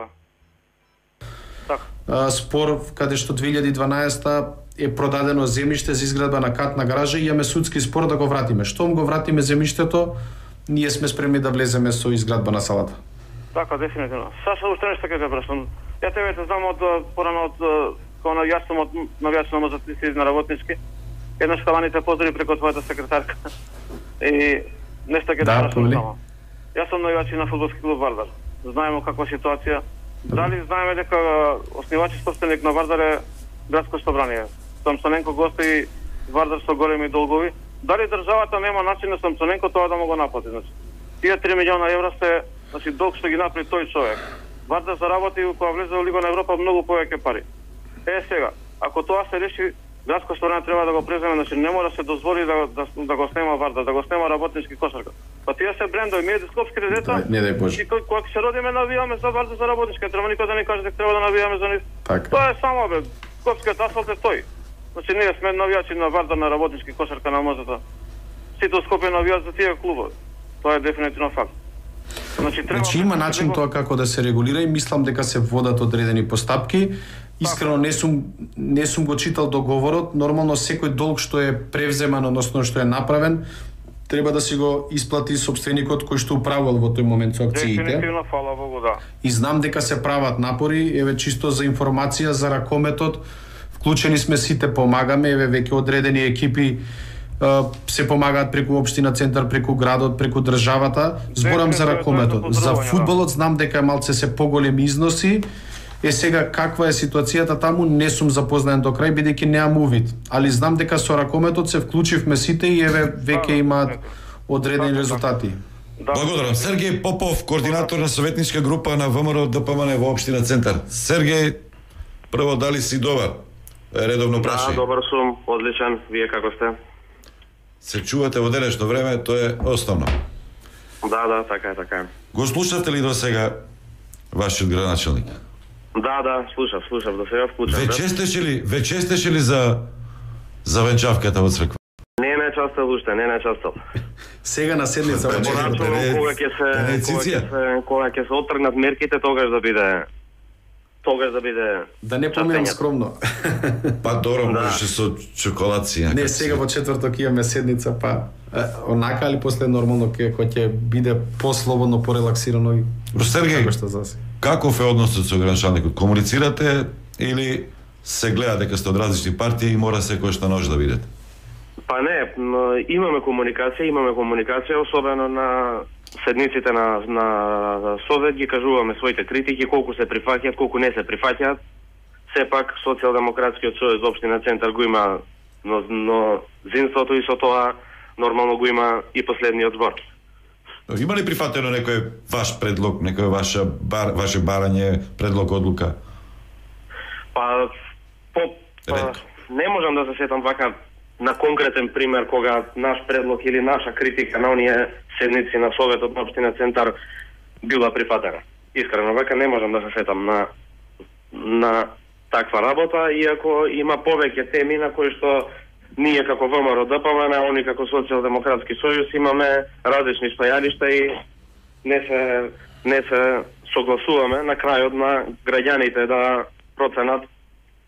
така. спор каде што две илјади и дванаесета е продадено земјиште за изградба на катна гаража и имаме судски спор да го вратиме. Штом го вратиме земјиштето, ние сме спремни да влеземе со изградба на салата. Така, дефинитивно. Саша, уште нешто ќе те прашам. Ја тебе те знам од порано од кога на јас сум од навијач на мозатици на работнички. Еднаш каваните поздрави преку твојата секретарка. И нешто ќе те да, прашам само. Јас сум навијач на фудбалски клуб Вардар. Знаеме каква ситуација. Дали знаеме дека основач и собственик на Вардар е градско собрание. Самсоненко гостои Вардар со големи долгови. Дали државата нема начин на Самсоненко тоа да му го наплати? Значи, тие три милиона евра се значи долг што ги направи тој човек. Вардар заработи кога влезе во Лига на Европа многу повеќе пари. Е сега, ако тоа се реши, градско собрание треба да го преземе, значи не мора да се дозволи да, да, да го снема Вардар, да го снема работнички кошарка. Па тие се брендови, ние скопските деца, да, не дај Боже. И кога ќе се родиме навијаме за Вардар за работнички, треба никој да не каже дека треба да навијаме за нив. Така. Тоа е само бе, скопскиот асфалт е тој. Значи ние сме навијачи на Вардар на работнички кошарка на Мозата. Сите у Скопје навијаат за тие клубови. Тоа е дефинитивно факт. Значи, треба значи има начин него... тоа како да се регулира и мислам дека се водат одредени постапки. Искрено не сум не сум го читал договорот, нормално секој долг што е превземан, односно што е направен, треба да си го исплати собственикот кој што управувал во тој момент со акциите. Дефинитивно, фала Богу, да. И знам дека се прават напори, еве чисто за информација за ракометот, вклучени сме сите, помагаме, еве веќе одредени екипи се помагаат преку општина центар, преку градот, преку државата. Зборам за ракометот. За фудбалот знам дека малце се поголеми износи. Е сега каква е ситуацијата таму не сум запознаен до крај бидејќи немам увид, али знам дека со ракометот се вклучивме сите и еве веќе имаат одредени резултати. Благодарам. Сергеј Попов, координатор на советничка група на ВМРО ДПМН во општина центар. Сергеј, прво дали си добар? Редовно прашај. Да, добар сум, одличен. Вие како сте? Се чувате во денешно време, тоа е основно. Да, да, така е, така е. Го слушате ли до сега вашиот градоначалник? Да, да, слушав, слушав, до сега вклучав. Ве честеше ли, ве честеше ли за за венчавката во црква? Не ме частал уште, не ме частал. Сега на седница во Порачувам кога ќе се кога ќе се кога ќе се отргнат мерките, тогаш да биде тогаш да биде да не поминам скромно. Па добро, можеше со чоколадци. Не, сега во четврток имаме седница, па онака али после нормално ќе кој ќе биде послободно, порелаксирано и Сергеј, каков е односот со градоначалникот? Комуницирате или се гледа дека сте од различни партии и мора секој што може да видите? Па не, имаме комуникација, имаме комуникација, особено на седниците на, на Совет, ги кажуваме своите критики, колку се прифаќаат, колку не се прифаќаат. Сепак, Социјалдемократскиот сојуз општина Центар го има, но, но зинството и со тоа нормално го има и последниот збор. Има ли прифатено некој ваш предлог, некој ваше, бар, ваше барање, предлог, одлука? Па, По, па, не можам да се сетам вака на конкретен пример кога наш предлог или наша критика на оние седници на Советот на Општина Центар била прифатена. Искрено вака не можам да се сетам на на таква работа, иако има повеќе теми на кои што ние како ВМРО-ДПМН, а они како Социјалдемократски сојуз имаме различни стојалишта и не се не се согласуваме на крајот на граѓаните да проценат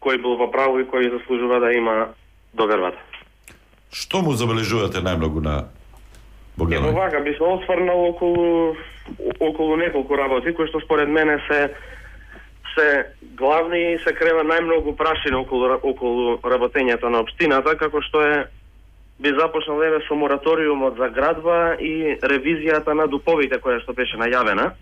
кој бил во право и кој заслужува да има довербата. Што му забележувате најмногу на Богдановиќ? Ево вака би се осврнал околу околу неколку работи кои што според мене се се главни и се крива најмногу прашина околу околу работењето на општината, како што е би започнал еве со мораториумот за градба и ревизијата на дуповите која што беше најавена.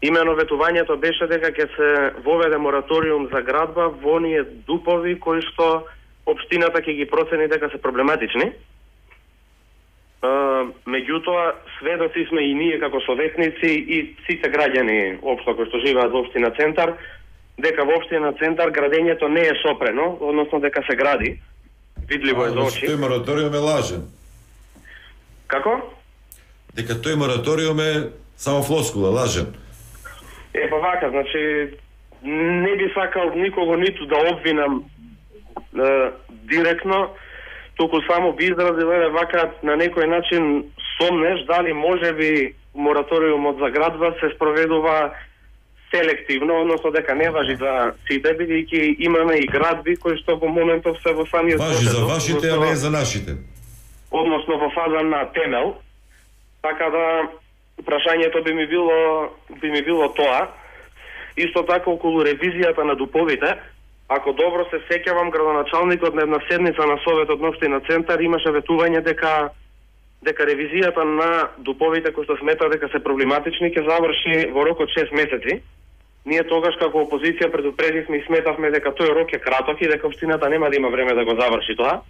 Имено ветувањето беше дека ќе се воведе мораториум за градба во оние дупови кои што општината ќе ги процени дека се проблематични. Uh, меѓутоа, сведоци сме и ние како советници и сите граѓани општо кои што живеат во Општина Центар, дека во Општина Центар градењето не е сопрено, односно дека се гради. Видливо е за очи. Тој мораториум е лажен. Како? Дека тој мораториум е само флоскула, лажен. Е, па вака, значи, не би сакал никого ниту да обвинам е, директно, туку само би изразил еве вака на некој начин сомнеш дали може би мораториумот за градба се спроведува селективно, односно дека не важи за сите, бидејќи имаме и градби кои што во моментов се во самиот важи за вашите, а не за нашите. Односно во фаза на темел. Така да прашањето би ми било би ми било тоа. Исто така околу ревизијата на дуповите. Ако добро се сеќавам, градоначалникот на една седница на Советот на Општина Центар имаше ветување дека дека ревизијата на дуповите кои што смета дека се проблематични ќе заврши во рок од шест месеци. Ние тогаш како опозиција предупредивме и сметавме дека тој рок е краток и дека општината нема да има време да го заврши тоа.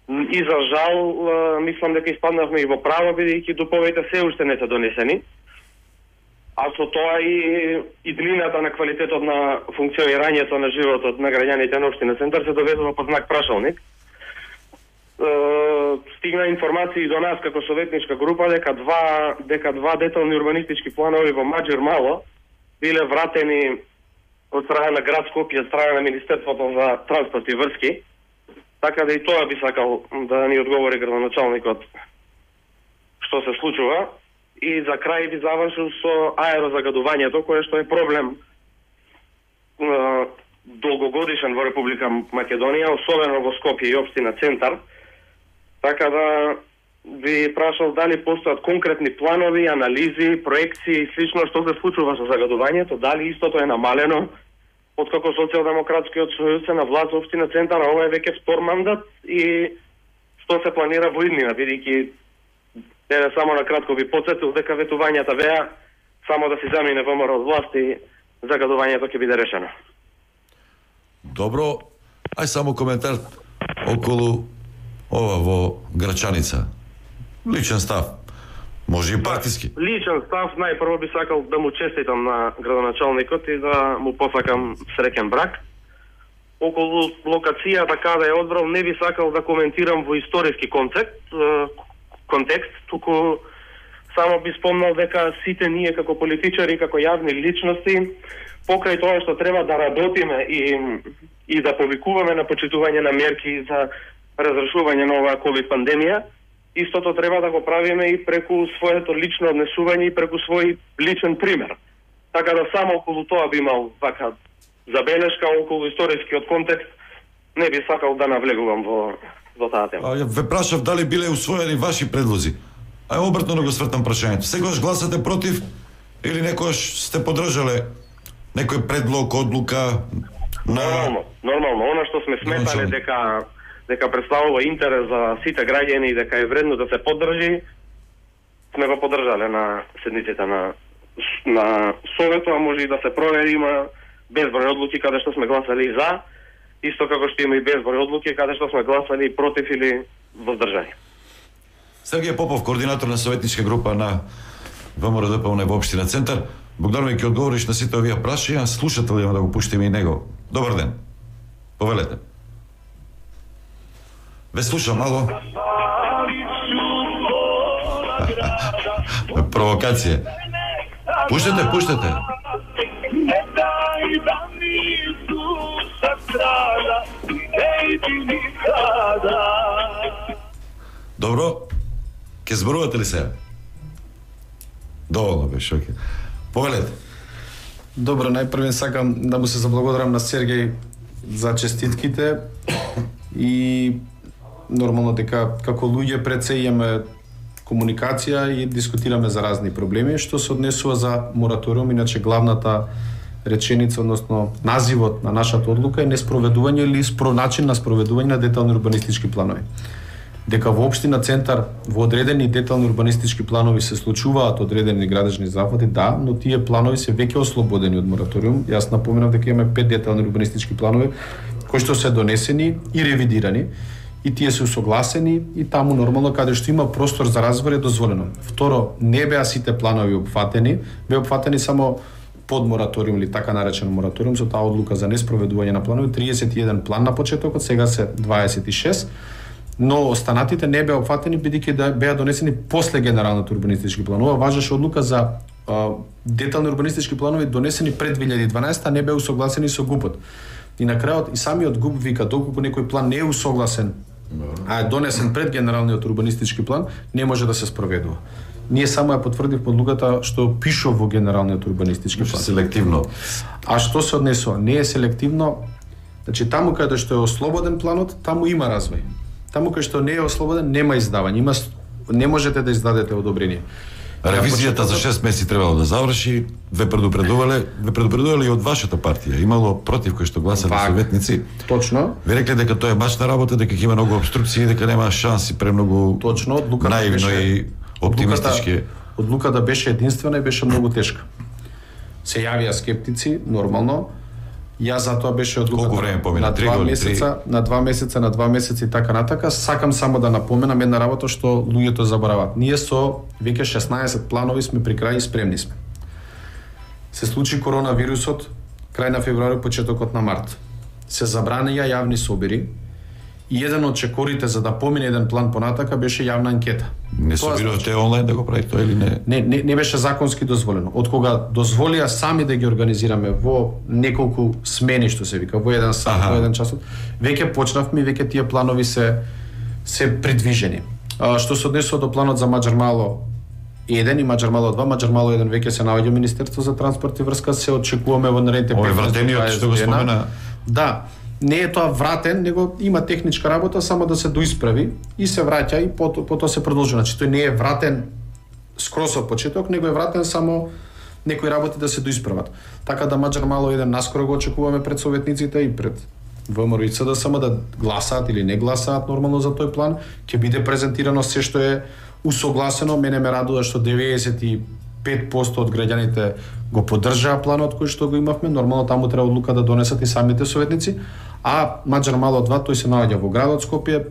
И за жал, мислам дека испаднавме и во право, бидејќи дуповите се уште не се донесени. А со тоа и, и длината на квалитетот на функционирањето на животот на граѓаните на Општина Центар се доведува под знак прашалник. Е, стигна информации до нас како советничка група дека два дека два детални урбанистички планови во Маџир Мало биле вратени од страна на град Скопје, од страна на Министерството за транспорт и врски. Така да и тоа би сакал да ни одговори градоначалникот што се случува. И за крај би завршил со аерозагадувањето, кое што е проблем е, долгогодишен во Република Македонија, особено во Скопје и Општина Центар. Така да би прашал дали постојат конкретни планови, анализи, проекции и слично што се случува со загадувањето, дали истото е намалено откако Социјалдемократскиот сојуз се на власт во Општина Центар, а ова е веќе втор мандат и што се планира во иднина, бидејќи еве само на кратко би потсетил дека ветувањата веа само да си замине ВМРО од власт и загадувањето ќе биде решено. Добро, ај само коментар околу ова во Грачаница. Личен став. Може и партиски. Личен став, најпрво би сакал да му честитам на градоначалникот и да му посакам среќен брак. Околу локацијата каде е одбрал не би сакал да коментирам во историски концепт, контекст, туку само би спомнал дека сите ние како политичари, како јавни личности, покрај тоа што треба да работиме и, и да повикуваме на почитување на мерки за разрешување на оваа ковид пандемија, истото треба да го правиме и преку своето лично однесување и преку свој личен пример. Така да само околу тоа би имал вака забелешка, околу историскиот контекст не би сакал да навлегувам во во таа тема. А, ве прашав дали биле усвоени ваши предлози. Ај обратно да го свртам прашањето. Секогаш гласате против или некогаш сте поддржале некој предлог, одлука на... Нормално, нормално. Она што сме сметале дека дека представува интерес за сите граѓани и дека е вредно да се поддржи, сме го поддржале на седниците на на Советот, а може и да се провери, има безброј одлуки каде што сме гласали за, исто како што има и безброј одлуки каде што сме гласали против или воздржани. Сергеј Попов, координатор на советничка група на ВМРО-ДПМН во Општина Центар. Богдановиќ, ќе одговориш на сите овие прашања, слушатели да го пуштиме и него. Добар ден. Повелете. Ве слушам, ало. Провокација. Пуштете, пуштете. Добро. Ке зборувате ли се? Доволно беше, окей. Повелете. Добро, најпрвен сакам да му се заблагодарам на Сергеј за честитките и нормално дека како луѓе пред се имаме комуникација и дискутираме за разни проблеми. Што се однесува за мораториум, иначе главната реченица, односно називот на нашата одлука е неспроведување или спро начин на спроведување на детални урбанистички планови. Дека во општина Центар во одредени детални урбанистички планови се случуваат одредени градежни зафати, да, но тие планови се веќе ослободени од мораториум. Јас напоменав дека имаме пет детални урбанистички планови кои што се донесени и ревидирани и тие се усогласени и таму нормално каде што има простор за развој е дозволено. Второ, не беа сите планови опфатени, беа опфатени само под мораториум или така наречен мораториум со таа одлука за неспроведување на планови, триесет и еден план на почетокот, сега се дваесет и шест, но останатите не беа опфатени бидејќи да беа донесени после генералните урбанистички планови. Важеше одлука за а, детални урбанистички планови донесени пред две илјади и дванаесета, не беа усогласени со ГУП-от. И на крајот и самиот ГУП вика доколку некој план не е усогласен, а е донесен пред генералниот урбанистички план, не може да се спроведува. Ние само ја потврдивме одлуката што пише во генералниот урбанистички план. Селективно. А што се однесува? Не е селективно. Значи таму каде што е ослободен планот, таму има развој. Таму каде што не е ослободен, нема издавање. Има не можете да издадете одобрение. Ревизијата за шест месеци требало да заврши, ве предупредувале, ве предупредувале и од вашата партија. Имало против кои што гласале советници. Точно. Ви рекле дека тоа е башна работа, дека ќе има многу обструкции, дека нема шанси, премногу. Точно, одлуката наивно беше, и оптимистички. Одлуката беше единствена и беше многу тешка. Се јавија скептици, нормално. Јас затоа беше одлуката. Колку време помина? На два месеца, на два месеца, на два месеца и така натака. Сакам само да напоменам една работа што луѓето забораваат. Ние со веќе шеснаесет планови сме при крај и спремни сме. Се случи коронавирусот крај на февруари, почетокот на март. Се забранија јавни собири и еден од чекорите за да помине еден план понатака беше јавна анкета. Не собирате онлайн да го правите тоа или не? Не, не, не беше законски дозволено. Од кога дозволија сами да ги организираме во неколку смени, што се вика, во еден сат, Аха. во еден часот, веќе почнавме и веќе тие планови се се придвижени. А, што се однесува до планот за Маџар Мало еден и Маџар Мало два, Маџар Мало еден веќе се наоѓа Министерство за транспорт и врска, се очекуваме во наредните Овој петнаесет до вратениот дваесет што го дена. спомена. Да, не е тоа вратен, него има техничка работа само да се доисправи и се враќа и пото, потоа се продолжува. Значи тој не е вратен скрос од почеток, него е вратен само некои работи да се доисправат. Така да Маџар Мало еден наскоро го очекуваме пред советниците и пред ВМРО и ЦДСМ да гласаат или не гласаат нормално за тој план. Ќе биде презентирано се што е усогласено. Мене ме радува што деветдесет и пет проценти од граѓаните го поддржаа планот кој што го имавме. Нормално таму треба одлука да донесат и самите советници. А Маџар Мало два, тој се наоѓа во градот Скопје.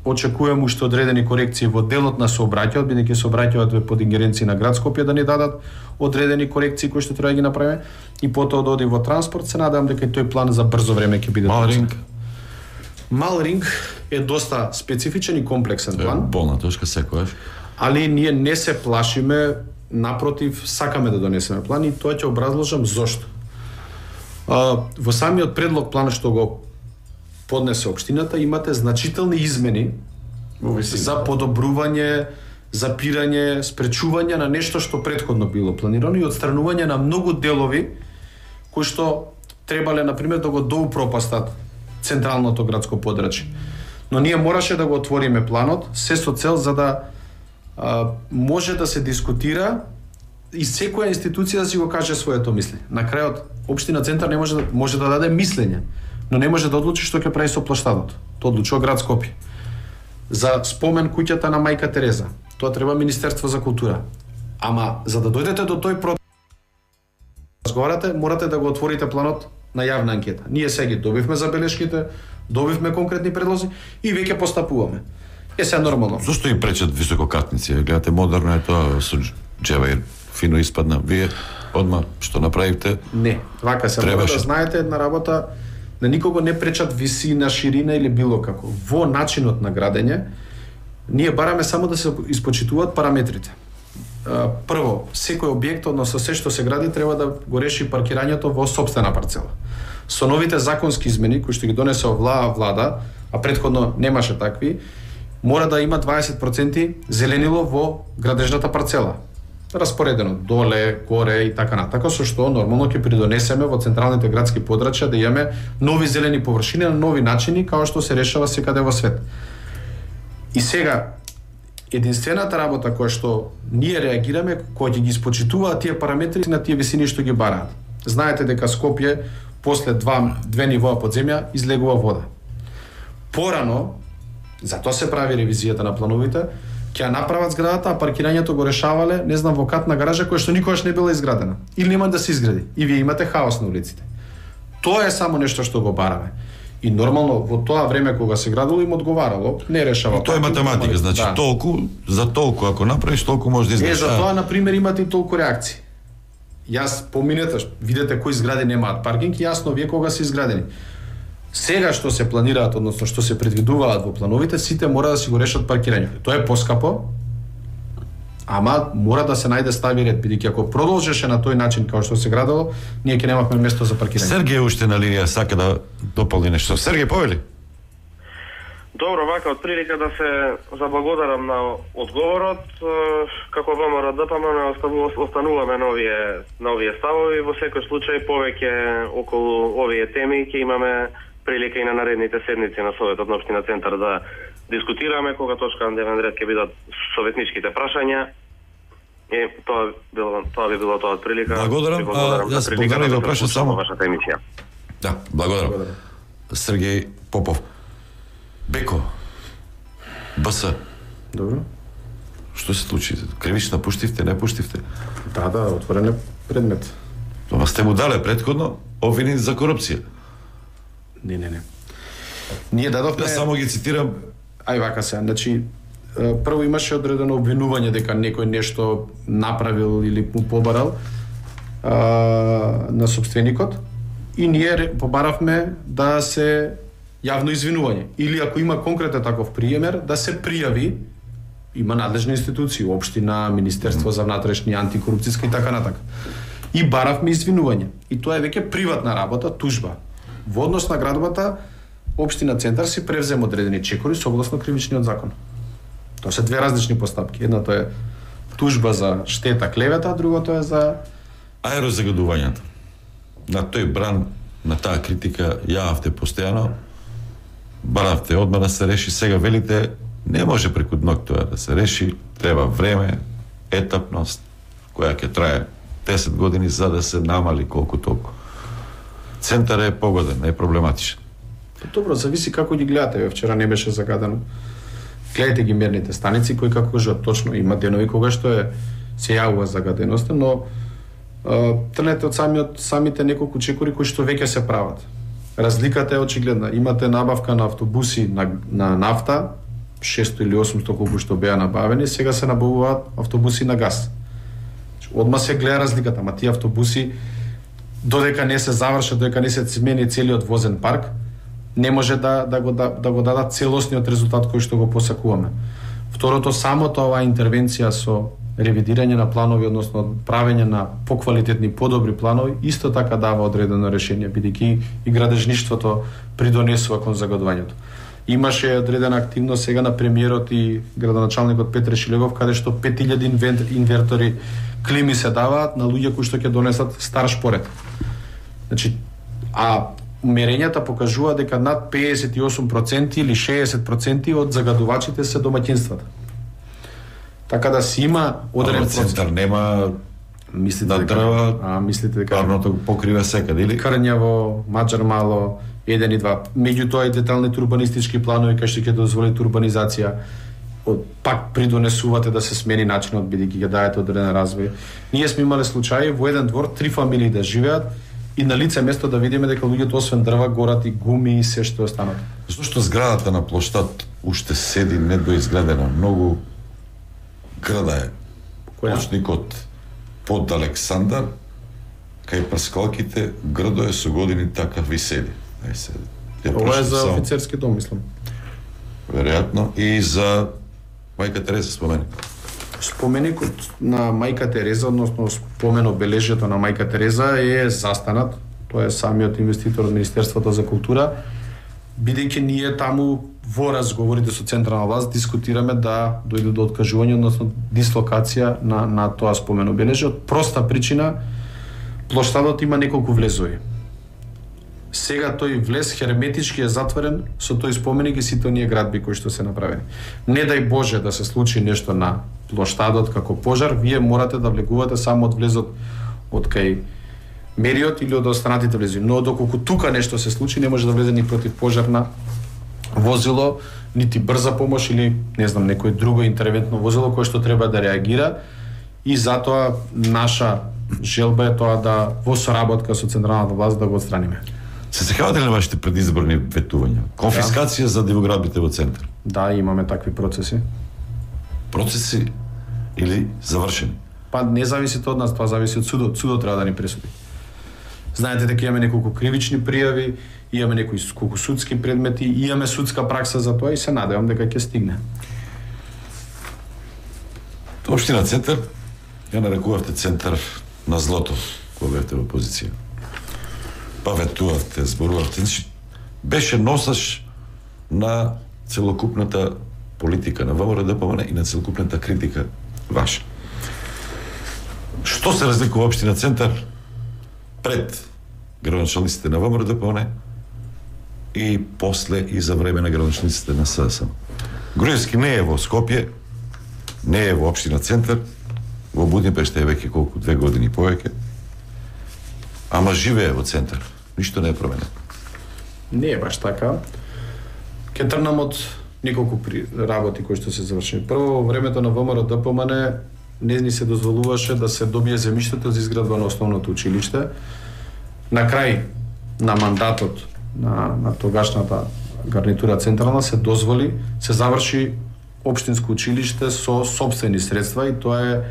Очекувам уште одредени корекции во делот на сообраќајот, бидејќи сообраќајот е под ингеренција на град Скопје да ни дадат одредени корекции кои што треба да ги направиме и потоа да оди во транспорт. Се надевам дека и тој план за брзо време ќе биде. Мал ринг. Мал ринг е доста специфичен и комплексен план. Болна точка секојаш. Али ние не се плашиме, напротив, сакаме да донесеме план и тоа ќе образложам зошто. А, во самиот предлог план што го поднесе општината имате значителни измени за подобрување, запирање, спречување на нешто што претходно било планирано и отстранување на многу делови кои што требале на пример да го доупропастат централното градско подрачје. Но ние мораше да го отвориме планот се со цел за да а, може да се дискутира и секоја институција да си го каже своето мислење. На крајот општина Центар не може да може да даде мислење, но не може да одлучи што ќе прави со плоштадот. Тоа одлучува град Скопје. За спомен куќата на мајка Тереза, тоа треба Министерство за култура. Ама за да дојдете до тој процес разговарате, морате да го отворите планот на јавна анкета. Ние сега добивме забелешките, добивме конкретни предлози и веќе постапуваме. Е се нормално. Зошто и пречат висококатници? Гледате, модерно е тоа со джева и фино испадна. Вие одма што направивте? Не, вака се мора да знаете една работа. на никого не пречат висина, ширина или било како. Во начинот на градење, ние бараме само да се испочитуваат параметрите. Прво, секој објект, односно се што се гради, треба да го реши паркирањето во сопствена парцела. Со новите законски измени, кои што ги донесе оваа влада, а претходно немаше такви, мора да има дваесет проценти зеленило во градежната парцела. Распоредено доле, горе и така натака, со што нормално ќе придонесеме во централните градски подрачја да имаме нови зелени површини на нови начини, како што се решава секаде во свет. И сега, единствената работа која што ние реагираме, која ќе ги испочитуваат тие параметри на тие висини што ги бараат. Знаете дека Скопје после два, две нивоа под земја излегува вода. Порано, затоа се прави ревизијата на плановите, ќе ја направат зградата, а паркирањето го решавале, не знам, во катна гаража која што никогаш не била изградена. Или нема да се изгради. И вие имате хаос на улиците. Тоа е само нешто што го бараме. И нормално во тоа време кога се градило им одговарало, не решава. И тоа е математика, значи да. толку за толку ако направиш толку може да изградиш. Е, за тоа на пример имате и толку реакции. Јас поминете, видете кои згради немаат паркинг, јасно вие кога се изградени. Сега што се планираат, односно што се предвидуваат во плановите, сите мора да си го решат паркирањето. Тоа е поскапо, ама мора да се најде стави ред, бидејќи ако продолжеше на тој начин како што се градило, ние ќе немавме место за паркирање. Сергеј уште на линија сака да дополни нешто. Сергеј, повели? Добро, вака, од прилика да се заблагодарам на одговорот. Како ВМРО ДПМН остануваме на овие, на овие ставови. Во секој случај повеќе околу овие теми ќе имаме прилика и на наредните седници на Советот на Општина Центар да дискутираме, кога точка на дневен ред ќе бидат советничките прашања. И тоа било тоа би било тоа од прилика. Благодарам. А, јас благодарам да прашам само вашата емисија. Да, благодарам. благодарам. Сергеј Попов. Беко. БС. Добро. Што се случи? Кривична пуштивте, не пуштивте? Да, да, отворен е предмет. Тоа сте му дале претходно обвинени за корупција. Не, не, не. Ние дадовме... Да, само ги цитирам. Ај вака се, значи, прво имаше одредено обвинување дека некој нешто направил или му побарал а, на собственикот и ние побаравме да се јавно извинување. Или ако има конкретен таков приемер, да се пријави, има надлежни институции, општина, Министерство за внатрешни, антикорупцијска и така натака. И баравме извинување. И тоа е веќе приватна работа, тужба. Во однос на градовата, Општина Центар си превзема одредени чекори согласно кривичниот закон. Тоа се две различни постапки. Едното е тужба за штета, клевета, а другото е за аерозагадувањето. На тој бран, на таа критика јававте постојано, баравте одма да се реши, сега велите не може преку ног тоа да се реши, треба време, етапност, која ќе трае десет години за да се намали колку толку. Центар е погоден, е проблематичен. Добро, зависи како ги гледате. Вчера не беше загадено. Гледате ги мерните станици кои како кажат точно има денови кога што е се јавува загаденоста, но а, трнете од самиот самите неколку чекори кои што веќе се прават. Разликата е очигледна. Имате набавка на автобуси на, на нафта, шесто или осумсто колку што беа набавени, сега се набавуваат автобуси на газ. Одма се гледа разликата, ама тие автобуси додека не се завршат, додека не се смени целиот возен парк, не може да, да, го, да, да го дадат целосниот резултат кој што го посакуваме. Второто, самото оваа интервенција со ревидирање на планови, односно правење на поквалитетни, подобри планови, исто така дава одредено решение, бидејќи и градежништвото придонесува кон загадувањето. Имаше одредена активност сега на премиерот и градоначалникот Петре Шилегов, каде што пет илјади инвертори клими се даваат на луѓе кои што ќе донесат стар шпоред. Значи, а мерењата покажува дека над педесет и осум проценти или шеесет проценти од загадувачите се домаќинствата. Така да си има одреден Центар нема мислите да дека дрва, а мислите дека парното го покрива секаде или Крњево, Маџар мало, еден и два. Меѓутоа и деталните урбанистички планови кои што ќе дозволат урбанизација, пак придонесувате да се смени начинот, бидејќи ќе дајете одреден развој. Ние сме имале случаи во еден двор три фамилии да живеат и на лице место да видиме дека луѓето освен дрва горат и гуми и се што е останато. Зошто зградата на плоштад уште седи недоизградена, многу града е. Почникот под Александар, кај Паскалките, градо е со години така ви седи. Е, се, Ова е за само... офицерски дом, мислам. Веројатно и за Мајка Тереза споменик. Споменикот на Мајка Тереза, односно спомен обележјето на Мајка Тереза е застанат. Тоа е самиот инвеститор од Министерството за култура, бидејќи ние таму во разговорите со централна власт дискутираме да дојде до откажување, односно дислокација на на тоа спомен обележје од проста причина. Плоштадот има неколку влезови. Сега тој влез херметички е затворен со тој споменик и сите оние градби кои што се направени. Не дај Боже да се случи нешто на плоштадот како пожар, вие морате да влегувате само од влезот од кај мериот или од останатите влези. Но доколку тука нешто се случи, не може да влезе ни противпожарна возило, нити брза помош или не знам некој друго интервентно возило кое што треба да реагира, и затоа наша желба е тоа да во соработка со централната власт да го отстраниме. Се сеќавате ли на вашите предизборни ветувања? Конфискација да. за дивоградбите во центар? Да, имаме такви процеси. Процеси или завршени? Па не зависи тоа од нас, тоа зависи од судот. Судот треба да ни пресуди. Знаете дека имаме неколку кривични пријави, имаме некои колку судски предмети, имаме судска пракса за тоа и се надевам дека ќе стигне. Општина Центар, ја нарекувавте центар на злото, кога бевте во опозиција. Па ветувавте, зборувавте, значи беше носаш на целокупната политика на ВМРО-ДПМН и на целокупната критика ваша. Што се разликува општина Центар пред градоначалниците на ВМРО-ДПМН и после и за време на градоначалниците на СДСМ? Груевски не е во Скопје, не е во општина Центар, во Будимпешта е веќе колку две години повеќе, ама живее во Центар. Ништо не е променено. Не е баш така. Ке тргнам од неколку при... работи кои што се завршени. Прво, во времето на ВМРО-ДПМН не ни се дозволуваше да се добие земјиштето за изградба на основното училиште. На крај на мандатот на, на тогашната гарнитура централна се дозволи, се заврши општинско училиште со сопствени средства и тоа е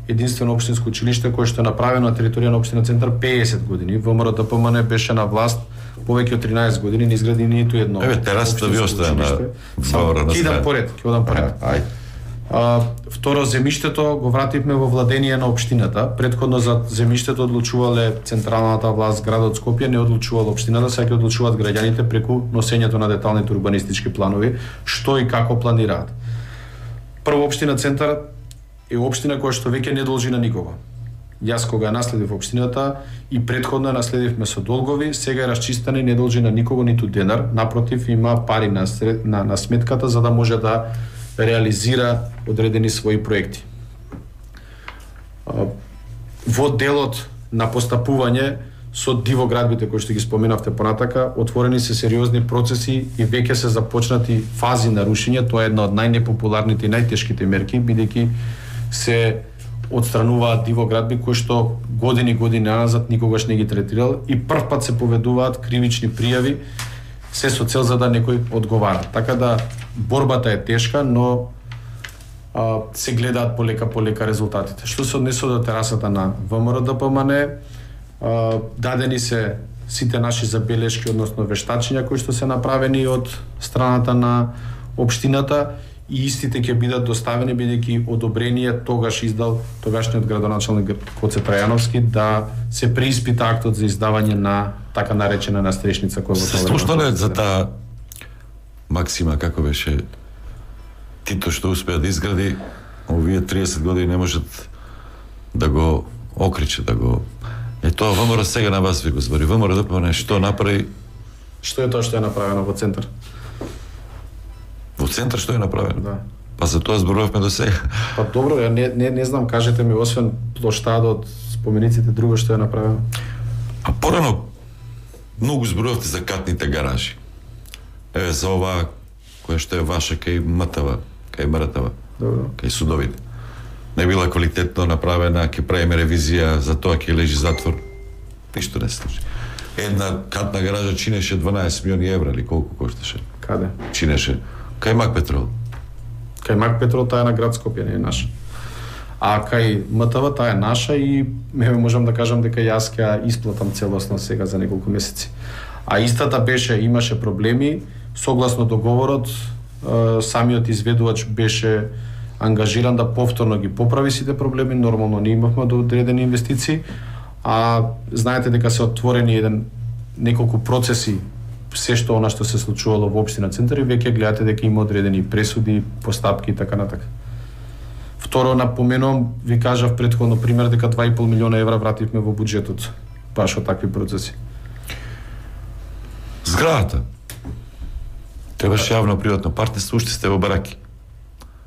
единствено општинско училиште кое што е направено на територија на општина Центар педесет години. ВМРО-ДПМН беше на власт повеќе од тринаесет години, не изгради ниту едно. Еве терасата ви остана на ВМРО на страна. Ќе поред, ќе одам поред. Ај. А, второ, земјиштето го вративме во владение на општината. Претходно за земјиштето одлучувале централната власт, градот Скопје, не одлучувала општината, сега ќе одлучуваат граѓаните преку носењето на деталните урбанистички планови, што и како планираат. Прво, општина Центар е општина која што веќе не должи на никого. Јас кога ја наследив општината и претходно ја наследивме со долгови, сега е расчистена и не должи на никого ниту денар, напротив има пари на, сред, на, на сметката за да може да реализира одредени своји проекти. Во делот на постапување со дивоградбите кои што ги споменавте понатака, отворени се сериозни процеси и веќе се започнати фази на рушење. Тоа е една од најнепопуларните и најтешките мерки, бидејќи се отстрануваат дивоградби кои што години години назад никогаш не ги третирал и прв пат се поведуваат кривични пријави, се со цел за да некој одговара. Така да борбата е тешка, но а, се гледаат полека полека резултатите. Што се однесува до терасата на ВМРО-ДПМН, а, дадени се сите наши забелешки, односно вештачења кои што се направени од страната на општината и истите ќе бидат доставени бидејќи одобрение тогаш издал тогашниот градоначалник Гоце Трајановски да се преиспита актот за издавање на така наречена настрешница која во тоа време. Што не за таа максима како беше Тито што успеа да изгради, овие триесет години не можат да го окриче, да го Е тоа ВМРО сега на вас ви го збори. ВМРО-ДПМН што направи? Што е тоа што е направено во Центар? Во Центар што е направено? Да. Па за тоа зборувавме до сега. Па добро, ја не, не, не знам, кажете ми, освен плоштадот, спомениците, друго што е направено? А порано многу зборувавте за катните гаражи. Еве за ова која што е ваша кај МТВ, кај МРТВ, кај судовите. Не била квалитетно направена, ќе правиме ревизија, за тоа ќе лежи затвор. Ништо не се случи. Една катна гаража чинеше дванаесет милиони евра или колку кошташе? Каде? Чинеше кај Мак Петрол. Кај Мак Петрол таа е на град Скопје, не е наша. А кај МТВ таа е наша и ме можам да кажам дека јас ќе исплатам целосно сега за неколку месеци. А истата беше, имаше проблеми, согласно договорот, самиот изведувач беше ангажиран да повторно ги поправи сите проблеми, нормално не имавме до одредени инвестиции, а знаете дека се отворени еден неколку процеси се што она што се случувало во општина Центар и веќе гледате дека има одредени пресуди, постапки и така натака. Второ, напоменувам, ви кажав претходно пример дека два и пол милиона евра вративме во буџетот баш од такви процеси. Зградата. Требаше јавно-приватно партнерство, уште сте во бараки.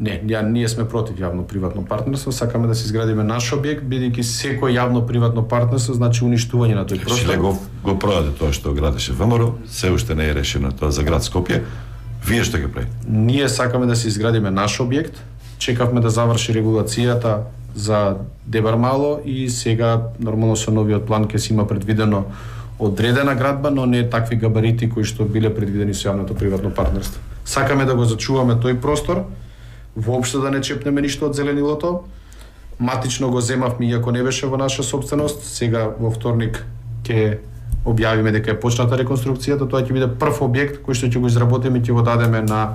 Не, ја, ние сме против јавно-приватно партнерство, сакаме да се изградиме наш објект, бидејќи секој јавно-приватно партнерство значи уништување на тој простор. Шле го, го продаде тоа што градеше ВМРО, се уште не е решено тоа за град Скопје. Вие што ќе правите? Ние сакаме да се изградиме наш објект, чекавме да заврши регулацијата за Дебармало и сега нормално со новиот план ќе си има предвидено одредена градба, но не такви габарити кои што биле предвидени со јавното приватно партнерство. Сакаме да го зачуваме тој простор, воопшто да не чепнеме ништо од зеленилото. Матично го земавме иако не беше во наша собственост. Сега во вторник ќе објавиме дека е почната реконструкцијата. Тоа ќе биде прв објект кој што ќе го изработиме и ќе го дадеме на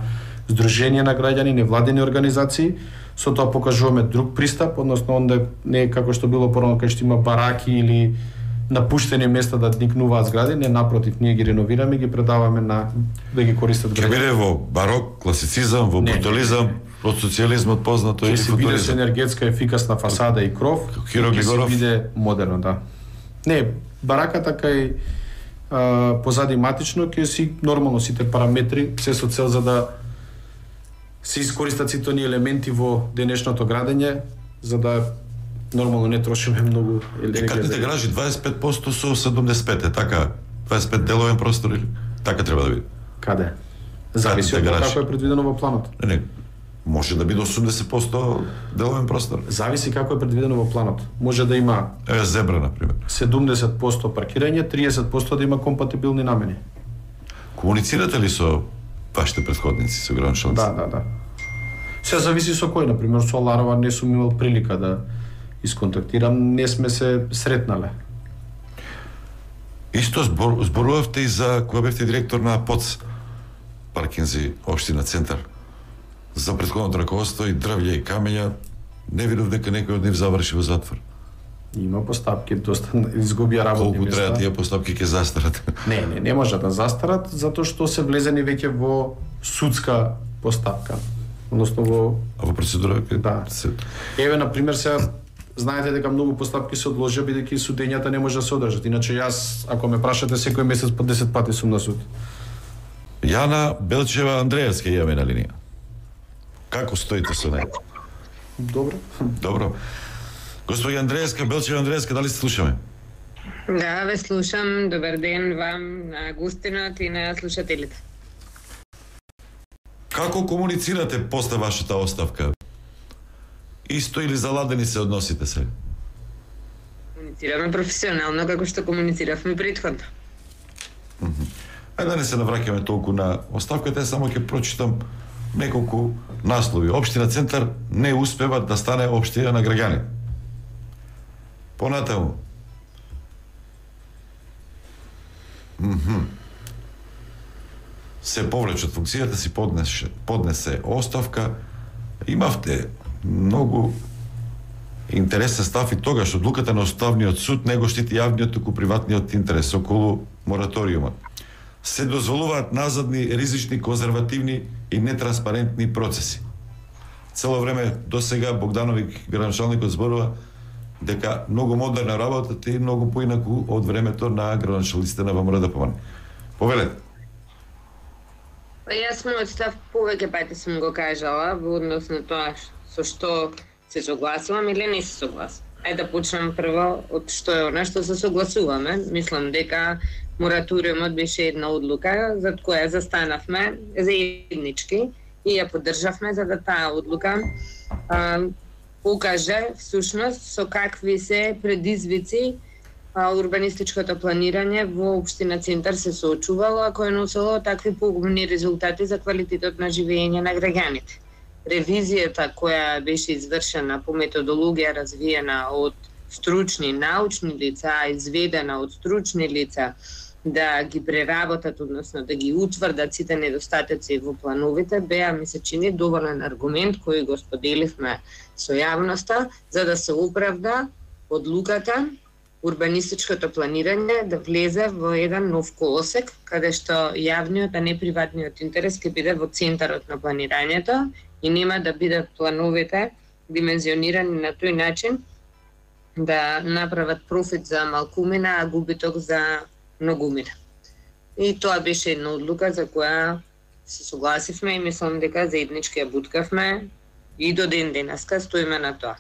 Сдружение на граѓани, невладени организации. Со тоа покажуваме друг пристап, односно онде не е како што било порано кај што има бараки или напуштени места да никнуваат згради, не, напротив, ние ги реновираме и ги предаваме на да ги користат граѓани. Ќе биде во барок, класицизам, во брутализам, од социјализмот познато или футуризам. Ќе се биде со енергетска ефикасна фасада и кров, ќе се биде модерно, да. Не, бараката кај а, позади матично ќе си нормално сите параметри, се со цел за да се искористат сите оние елементи во денешното градење, за да нормално не трошиме многу енергија. Катните гаражи дваесет и пет проценти со седумдесет и пет е така, дваесет и пет деловен простор или така треба да биде. Каде? Зависи од како е предвидено во планот. Не, не. Може да биде осумдесет проценти деловен простор. Зависи како е предвидено во планот. Може да има Еве зебра на пример. седумдесет проценти паркирање, триесет проценти да има компатибилни намени. Комуницирате ли со вашите претходници, со градоначалници? Да, да, да. Се зависи со кој, на пример со Ларова не сум имал прилика да исконтактирам, не сме се сретнале. Исто збор, зборувавте и за кога бевте директор на ПОЦ Паркинзи, општина Центар. За претходното раководство и дрвља и камења, не видов дека некој од нив заврши во затвор. Има постапки, доста изгубија работни места. Колку траат тие постапки ќе застарат? Не, не, не може да застарат, затоа што се влезени веќе во судска постапка. Односно во... А во процедура? Да. Се... Еве, на пример, сега знаете дека многу постапки се одложија бидејќи судењата не може да се одржат. Иначе јас, ако ме прашате, секој месец по десет пати сум на суд. Јана Белчева Андреевска имаме на линија. Како стоите со неја? Добро. Добро. Господја Андреевска, Белчева Андреевска, дали се слушаме? Да, ве слушам. Добар ден вам, на Агустинот и на слушателите. Како комуницирате после вашата оставка? Исто или заладени се односите се? Комуницираме професионално како што комунициравме претходно. Ајде да не се навраќаме толку на оставката, само ќе прочитам неколку наслови. Општина Центар не успева да стане општина на граѓани. Понатаму. Mm-hmm. Се повлече од функцијата си, поднесе, поднесе оставка. Имавте многу интересен став и тогаш одлуката на Уставниот суд не го штити јавниот, туку приватниот интерес околу мораториумот. Се дозволуваат назадни, ризични, конзервативни и нетранспарентни процеси. Цело време до сега Богдановик, градоначалникот, зборува дека многу модерна работата и многу поинаку од времето на градоначалниците на ВМРО ДПМН. Повелете. Јас мојот став повеќе пати сум го кажала во однос на тоа со што се согласувам или не се согласувам. Ајде да почнам прво од што е она што се согласуваме. Мислам дека мораториумот беше една одлука за која застанавме заеднички и ја поддржавме за да таа одлука а, покаже всушност со какви се предизвици а, урбанистичкото планирање во општина Центар се соочувало, ако е носило такви погубни резултати за квалитетот на живење на граѓаните. Ревизијата која беше извршена по методологија развиена од стручни научни лица, изведена од стручни лица да ги преработат, односно да ги утврдат сите недостатоци во плановите, беа, ми се чини, доволен аргумент кој го споделивме со јавноста, за да се оправда одлуката урбанистичкото планирање да влезе во еден нов колосек, каде што јавниот, а не приватниот интерес ќе биде во центарот на планирањето и нема да бидат плановите димензионирани на тој начин да направат профит за малкумина, а губиток за многумина. И тоа беше една одлука за која се согласивме и мислам дека заеднички ја буткавме и до ден денеска стоиме на тоа.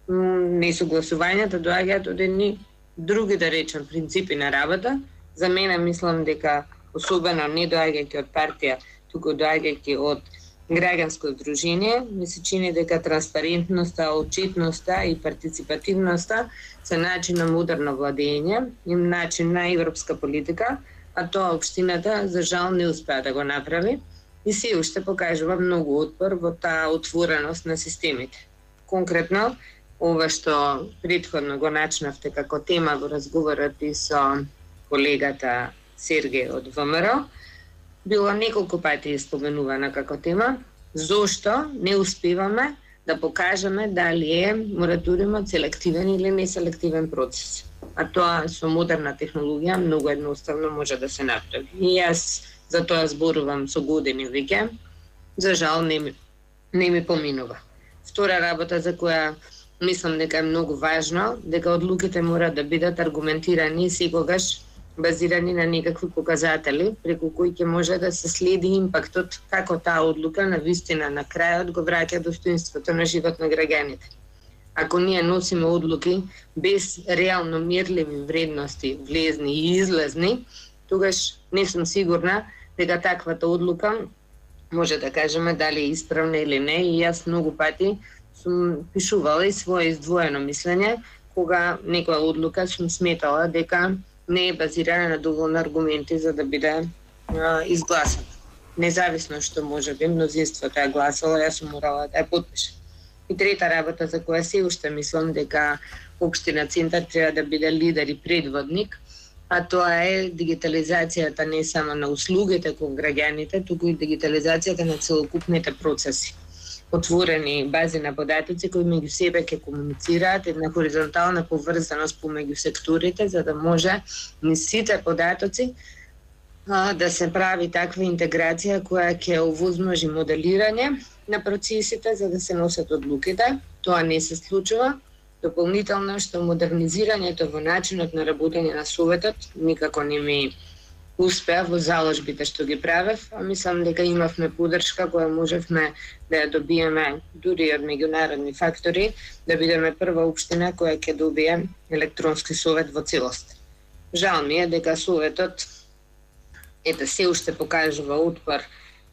Несогласувањата доаѓаат од едни други, да речем, принципи на работа. За мене мислам дека особено не доаѓајќи од партија, туку доаѓајќи од граѓанско здружение, ми се чини дека транспарентноста, отчетноста и партиципативноста се начин на модерно владење и начин на европска политика, а тоа општината за жал не успеа да го направи и се уште покажува многу отпор во таа отвореност на системите. Конкретно, ова што претходно го начнавте како тема во разговорот и со колегата Сергеј од ВМРО, било неколку пати споменувана како тема, зошто не успеваме да покажеме дали е мораториумот селективен или неселективен процес. А тоа со модерна технологија многу едноставно може да се направи. И јас за тоа зборувам со години веќе, за жал не ми, не ми поминува. Втора работа за која мислам дека е многу важно, дека одлуките мора да бидат аргументирани и секогаш базирани на некакви показатели, преку кои ќе може да се следи импактот како таа одлука на вистина на крајот го враќа достоинството на живот на граѓаните. Ако ние носиме одлуки без реално мерливи вредности, влезни и излезни, тогаш не сум сигурна дека таквата одлука може да кажеме дали е исправна или не. И јас многу пати сум пишувала и свое издвоено мислење, кога некоја одлука сум сметала дека не е базирана на доволно аргументи за да биде а, изгласана. Независно што може би мнозинството е гласало, јас сум морала да ја потпишам. И трета работа за која се уште мислам дека Општина Центар треба да биде лидер и предводник, а тоа е дигитализацијата не само на услугите кон граѓаните, туку и дигитализацијата на целокупните процеси. Отворени бази на податоци кои меѓу себе ќе комуницираат, една хоризонтална поврзаност помеѓу секторите, за да може низ сите податоци а, да се прави таква интеграција која ќе овозможи моделирање на процесите за да се носат одлуките. Тоа не се случува. Дополнително што модернизирањето во начинот на работење на Советот никако не ми успеа во заложбите што ги правев, а мислам дека имавме поддршка која можевме да ја добиеме дури од меѓународни фактори, да бидеме прва општина која ќе добие електронски совет во целост. Жал ми е дека Советот ете се уште покажува отпор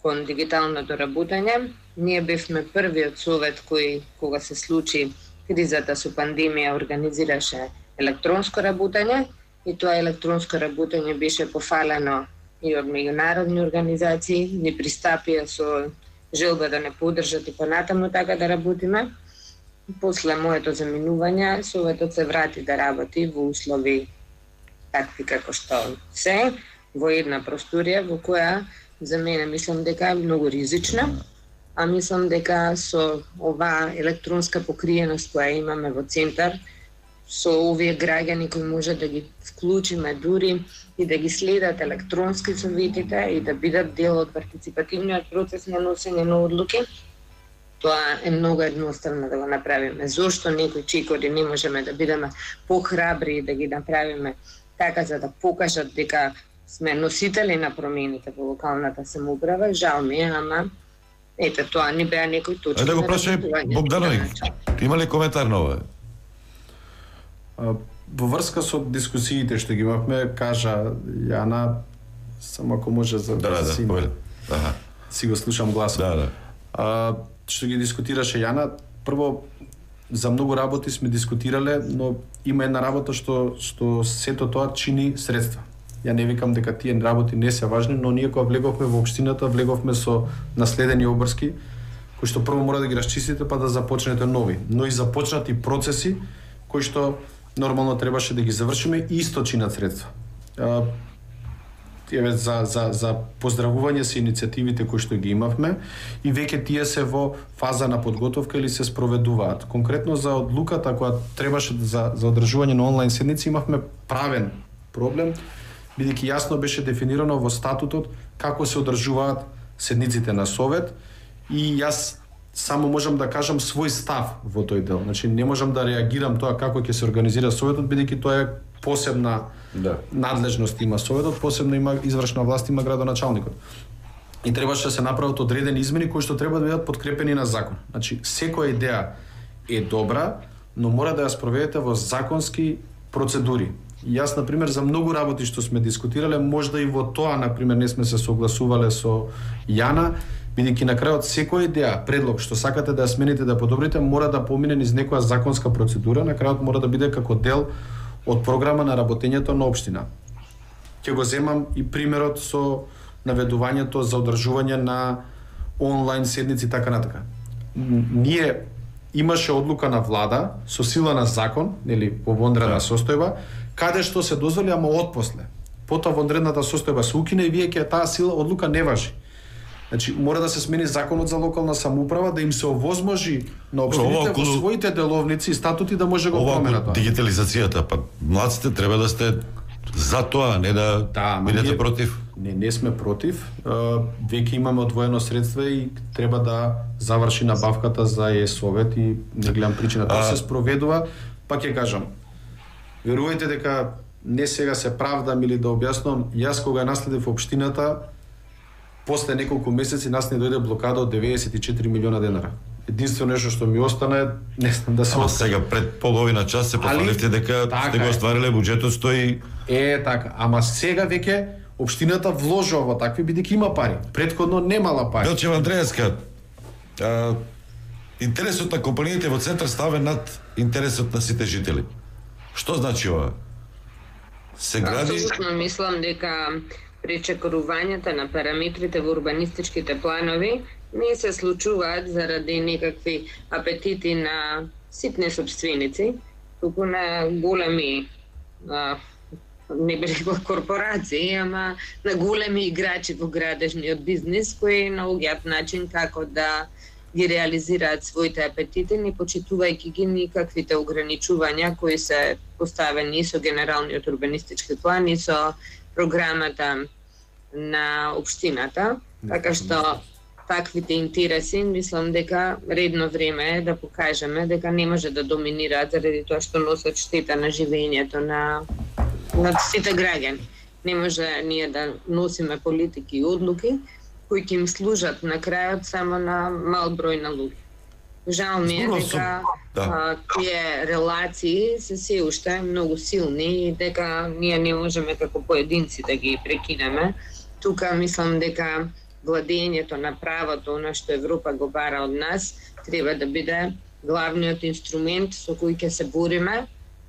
кон дигиталното работење. Ние бевме првиот совет кој, кога се случи кризата со пандемија, организираше електронско работење и тоа електронско работење беше пофалено и од меѓународни организации, ни пристапија со желба да не поддржат и понатаму така да работиме. После моето заминување, Советот се врати да работи во услови такви како што се, во една просторија во која за мене мислам дека е многу ризична, а мислам дека со оваа електронска покриеност која имаме во Центар, со овие граѓани кои може да ги вклучиме дури и да ги следат електронски советите и да бидат дел од партиципативниот процес на носење на одлуки, тоа е многу едноставно да го направиме. Зошто некои чекори не можеме да бидеме похрабри и да ги направиме така за да покажат дека сме носители на промените во локалната самоуправа? Жал ми е, ама ете тоа не беа некои точки. Ајде да го прашај Богдановиќ, има ли коментар на ова? Во врска со дискусиите што ги имавме, кажа Јана, само ако може за да, да, си, да, да. си го слушам гласот. Да, да. А, што ги дискутираше Јана, прво за многу работи сме дискутирале, но има една работа што што сето тоа чини средства. Ја не викам дека тие работи не се важни, но ние кога влеговме во општината, влеговме со наследени обрски, кои што прво мора да ги расчистите па да започнете нови, но и започнати процеси кои што нормално требаше да ги завршиме и исто чинат средства. еве за за за поздравување се иницијативите кои што ги имавме и веќе тие се во фаза на подготовка или се спроведуваат. Конкретно за одлуката која требаше за за одржување на онлайн седници имавме правен проблем, бидејќи јасно беше дефинирано во статутот како се одржуваат седниците на совет и јас само можам да кажам свој став во тој дел. Значи не можам да реагирам тоа како ќе се организира советот, бидејќи тоа е посебна да. надлежност има советот, посебно има извршна власт, има градоначалникот. И требаше да се направат одредени измени кои што треба да бидат подкрепени на закон. Значи секоја идеја е добра, но мора да ја спроведете во законски процедури. И јас, например, за многу работи што сме дискутирале, можда и во тоа, например, не сме се согласувале со Јана, бидејќи на крајот секоја идеја, предлог што сакате да ја смените, да подобрите, мора да помине низ некоја законска процедура, на крајот мора да биде како дел од програма на работењето на општина. Ќе го земам и примерот со наведувањето за одржување на онлайн седници така натака. Ние имаше одлука на влада со сила на закон, нели, во вонредна состојба, каде што се дозволи, ама отпосле. Потоа вонредната состојба се укине и вие ќе таа сила одлука не важи. Значи мора да се смени законот за локална самоуправа, да им се овозможи на општините во своите деловници и статути да може го променат. Ова дигитализацијата, па младците треба да сте за тоа, не да, да бидете ние, против. Не, не сме против. Веќе имаме одвоено средства и треба да заврши набавката за е-совет и не гледам причина. Тоа се спроведува, па ќе кажам. Верувајте дека не сега се правдам или да објаснам, јас кога наследив општината, после неколку месеци нас не дојде блокада од деветдесет и четири милиона денара. Единствено нешто што ми остана е, не знам да се... Ама сега пред половина час се пофаливте дека така сте го оствариле буџетот стои... Е, така, ама сега веќе општината вложува во такви, бидејќи има пари. Претходно немала пари. Белчева Андреевска, а, интересот на компаниите во центар ставен над интересот на сите жители. Што значи ова? Се гради... Апсолутно мислам дека пречекорувањата на параметрите во урбанистичките планови не се случуваат заради некакви апетити на ситни собственици, туку на големи, а, не би рекла корпорации, ама на големи играчи во градежниот бизнис кои наоѓаат начин како да ги реализираат своите апетити, не почитувајќи ги никаквите ограничувања кои се поставени и со генералниот урбанистички план и со програмата на општината, така што таквите интереси, мислам дека редно време е да покажеме дека не може да доминираат заради тоа што носат штета на живењето на, на сите граѓани. Не може ние да носиме политики и одлуки кои ќе им служат на крајот само на мал број на луѓе. Жал ми е дека да. тие релации се се уште многу силни и дека ние не можеме како поединци да ги прекинеме. Тука мислам дека владењето на правото, на што Европа го бара од нас, треба да биде главниот инструмент со кој ќе се бориме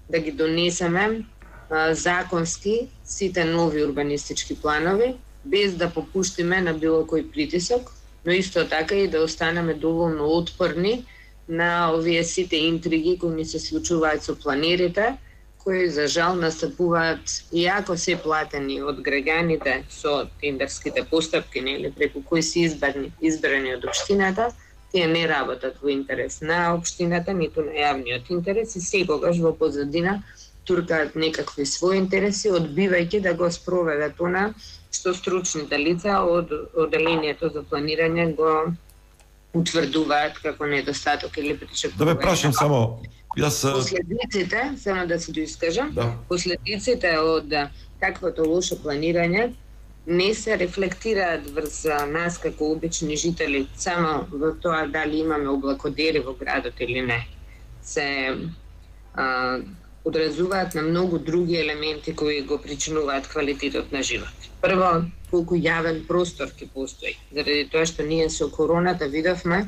да ги донесеме а, законски сите нови урбанистички планови, без да попуштиме на било кој притисок, но исто така и да останеме доволно отпорни на овие сите интриги кои ни се случуваат со планерите, кои за жал настапуваат иако се платени од граѓаните со тендерските постапки, нели, преку кои се избрани, избрани од општината, тие не работат во интерес на општината, ниту на јавниот интерес и секогаш во позадина туркаат некакви своји интереси, одбивајќи да го спроведат она што стручните лица од одделението за планирање го утврдуваат како недостаток или пречекување. Да ве прашам само, јас последиците, само да се доискажам, да. последиците од таквото лошо планирање не се рефлектираат врз нас како обични жители само во тоа дали имаме облакодери во градот или не. Се а, одразуваат на многу други елементи кои го причинуваат квалитетот на живот. Прво, колку јавен простор ќе постои. Заради тоа што ние со короната видовме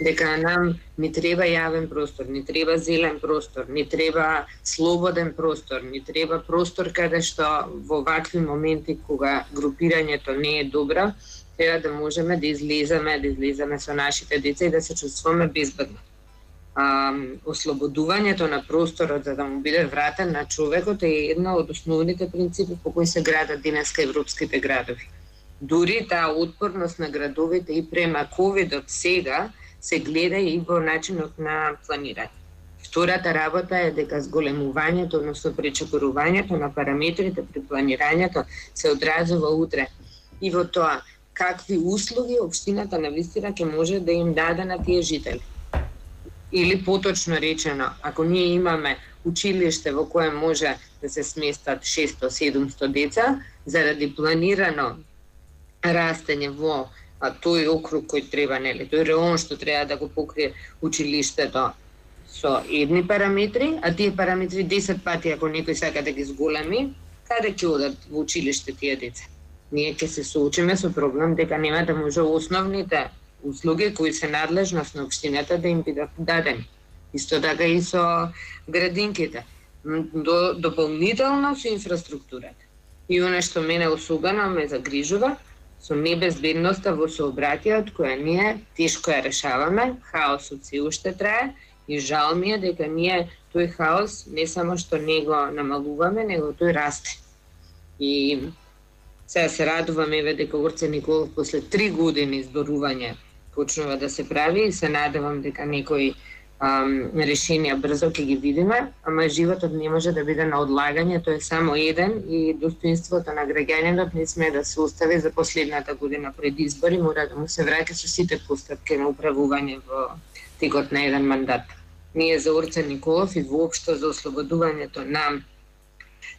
дека нам ни треба јавен простор, ни треба зелен простор, ни треба слободен простор, ни треба простор каде што во вакви моменти кога групирањето не е добро, треба да можеме да излеземе, да излеземе со нашите деца и да се чувствуваме безбедно. а, ослободувањето на просторот за да му биде вратен на човекот е една од основните принципи по кои се градат денеска европските градови. Дури таа отпорност на градовите и према ковидот сега се гледа и во начинот на планирање. Втората работа е дека зголемувањето, односно пречекорувањето на параметрите при планирањето се одразува утре и во тоа какви услуги општината навистина ќе може да им даде на тие жители. Или поточно речено, ако ние имаме училиште во кое може да се сместат шесто седумсто деца, заради планирано растење во а, тој округ кој треба, нели, тој реон што треба да го покрие училиштето со едни параметри, а тие параметри десет пати ако некој сака да ги зголеми, каде ќе одат во училиште тие деца? Ние ќе се соочиме со проблем дека нема да може основните услуги кои се надлежност на општината да им бидат дадени. Исто така и со градинките. До, дополнително со инфраструктурата. И оно што мене особено ме загрижува, со небезбедноста во сообраќајот која ние тешко ја решаваме, хаосот се уште трае и жал ми е дека ние тој хаос не само што не го намалуваме, него тој расте. И сега се радуваме еве дека Орце Николов после три години зборување почнува да се прави и се надевам дека некои ам, решенија брзо ќе ги видиме, ама животот не може да биде на одлагање, тој е само еден и достоинството на граѓаниот не сме да се остави за последната година пред избори, мора да му се враќа со сите постапки на управување во текот на еден мандат. Ние за Орце Николов и воопшто за ослободувањето на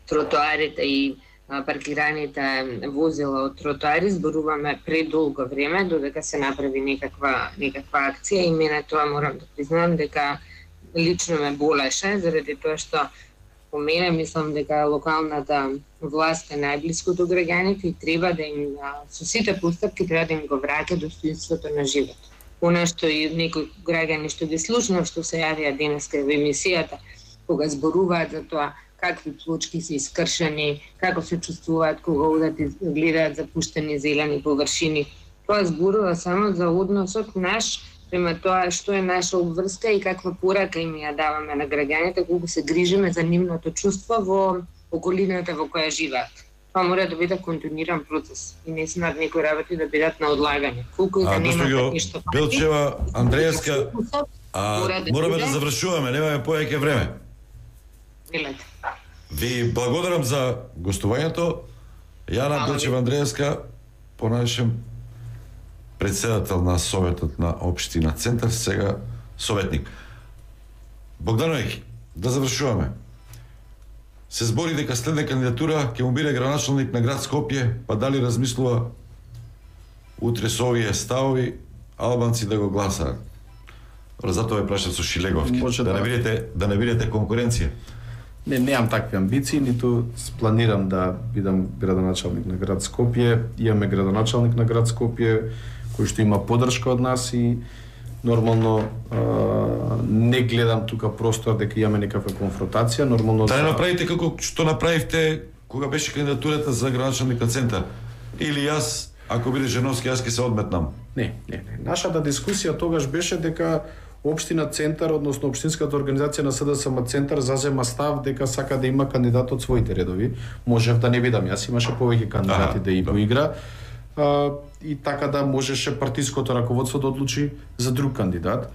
тротоарите и паркираните возила од тротоари зборуваме предолго време додека се направи некаква некаква акција и мене тоа морам да признам дека лично ме болеше заради тоа што по мене мислам дека локалната власт е најблиску до граѓаните и треба да им со сите постапки треба да им го враќа достоинството на живот. Она што и некои граѓани што ги слушнав што се јавија денеска во емисијата кога зборуваат за тоа какви плочки се искршени, како се чувствуваат кога одат и гледаат запуштени зелени површини. Тоа зборува само за односот наш према тоа што е наша обврска и каква порака им ја даваме на граѓаните, колку се грижиме за нивното чувство во околината во која живеат. Тоа мора да биде континуиран процес и не смеат некои работи да бидат на одлагање. Колку и да немате ништо пати. Белчева, Андреевска, а, мораме да завршуваме, немаме повеќе време. Милете. Ви благодарам за гостувањето. Јана Белчева Андреевска, понајшем председател на Советот на општина Центар, сега советник. Богдановиќ, да завршуваме. Се збори дека следна кандидатура ќе му биде градоначалник на град Скопје, па дали размислува утре со овие ставови албанци да го гласаат? Затоа ве прашам со Шилеговски, да, да не бидете да не бидете конкуренција. Не, немам такви амбиции, ниту планирам да бидам градоначалник на град Скопје. Имаме градоначалник на град Скопје кој што има поддршка од нас и нормално а, не гледам тука простор дека имаме некаква конфронтација, нормално да не направите како што направивте кога беше кандидатурата за градоначалник на Центар. Или јас, ако биде Женовски, јас ќе се одметнам. Не, не, не. Нашата дискусија тогаш беше дека Општина Центар, односно Општинската организација на СДСМ Центар зазема став дека сака да има кандидат од своите редови. Можев да не видам, јас имаше повеќе кандидати да и поигра. А, и така да можеше партиското раководство да одлучи за друг кандидат.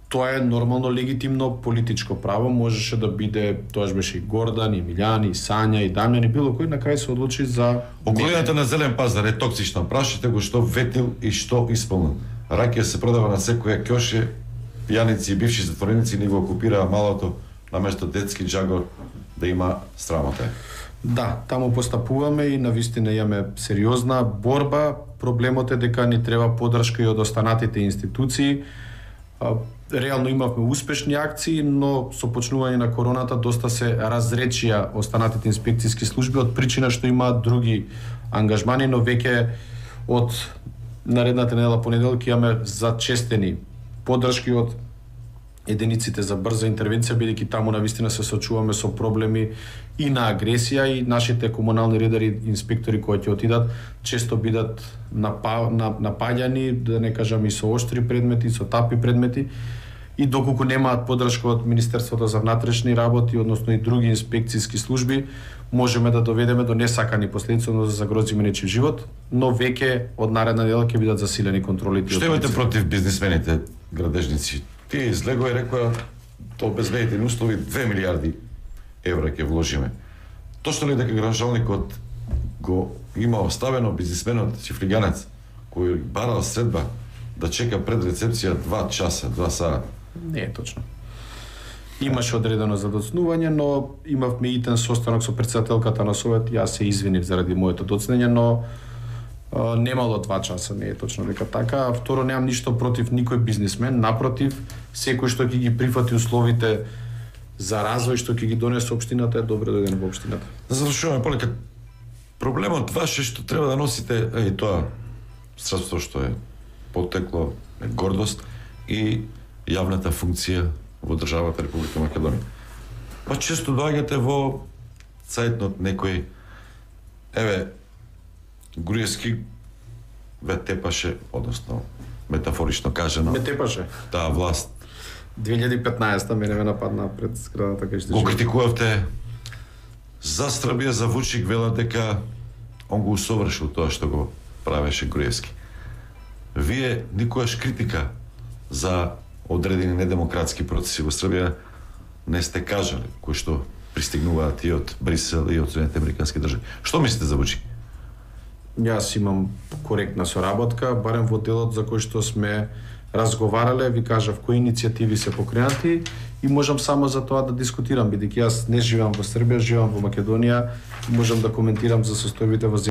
Тоа е нормално легитимно политичко право, можеше да биде, тоаш беше и Гордан, и Милјан, и Сања, и Дамјан, и било кој, на крај се одлучи за околината на Зелен пазар е токсична. Прашите го што ветил и што исполнил. Ракија се продава на секоја ќоше, пијаници и бивши затвореници ни го окупираа малото наместо детски џагор да има срамота. Да, таму постапуваме и навистина имаме сериозна борба. Проблемот е дека ни треба поддршка и од останатите институции. Реално имавме успешни акции, но со почнување на короната доста се разречија останатите инспекцијски служби од причина што имаат други ангажмани, но веќе од наредната недела понеделки имаме зачестени поддршки од единиците за брза интервенција, бидејќи таму навистина се соочуваме со проблеми и на агресија и нашите комунални редари, инспектори кои ќе отидат, често бидат напа, напаѓани, да не кажам и со оштри предмети, со тапи предмети. и доколку немаат поддршка од Министерството за внатрешни работи, односно и други инспекцијски служби, можеме да доведеме до несакани последици, односно да загрозиме нечив живот, но веќе од наредна недела ќе бидат засилени контролите. Што имате против бизнисмените, градежници? Тие излегоа и рекоа до обезбедени услови две милиарди евра ќе вложиме. Точно ли дека градоначалникот го има оставено бизнисменот чифлиганец кој барал средба да чека пред рецепција два часа, два сата? Не е точно. Имаше одредено задоцнување, но имавме итен состанок со претседателката на Совет, јас се извинив заради моето доцнење, но а, немало два часа, не е точно дека така. А второ, немам ништо против никој бизнисмен, напротив, секој што ќе ги прифати условите за развој што ќе ги донесе општината е добро дојден во општината. Да завршуваме полека. Проблемот ваш е што треба да носите, е тоа средство што е потекло, е гордост и јавната функција во државата Република Македонија. Па често доаѓате во цајтнот некој, еве, Груевски ве тепаше, односно, метафорично кажано. Ме тепаше. Таа власт. две илјади и петнаесета мене ме нападна пред зградата кај што го критикувавте за Србија, за Вучик, велат дека он го усовршил тоа што го правеше Груевски. Вие никогаш критика за одредени недемократски процеси во Србија не сте кажали, кои што пристигнуваат и од Брисел и од Соединените американски држави. Што мислите за Вучик? Јас имам коректна соработка, барем во делот за кој што сме разговарале, ви кажав кои иницијативи се покренати и можам само за тоа да дискутирам, бидејќи јас не живеам во Србија, живеам во Македонија и можам да коментирам за состојбите во земјата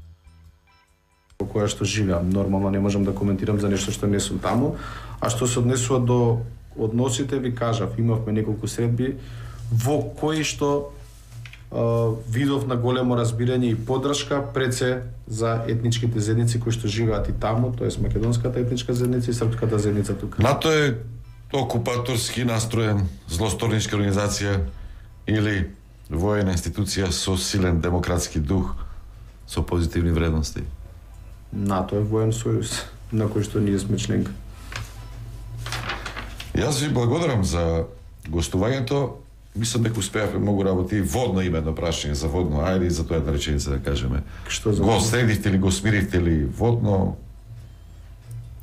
во која што живеам. Нормално не можам да коментирам за нешто што не сум таму, а што се однесува до односите, ви кажав, имавме неколку средби во кои што Uh, видов на големо разбирање и поддршка пред се за етничките заедници кои што живеат и таму, тоест македонската етничка заедница и српската заедница тука. НАТО е окупаторски настроен, злосторничка организација или воена институција со силен демократски дух, со позитивни вредности? НАТО е воен сојуз на кој што ние сме членка. Јас ви благодарам за гостувањето. Мислам дека успеавме многу работи. Водно има едно прашање за водно. Ајде и за тоа една реченица да кажеме. Што за го средивте ли, го смиривте ли водно?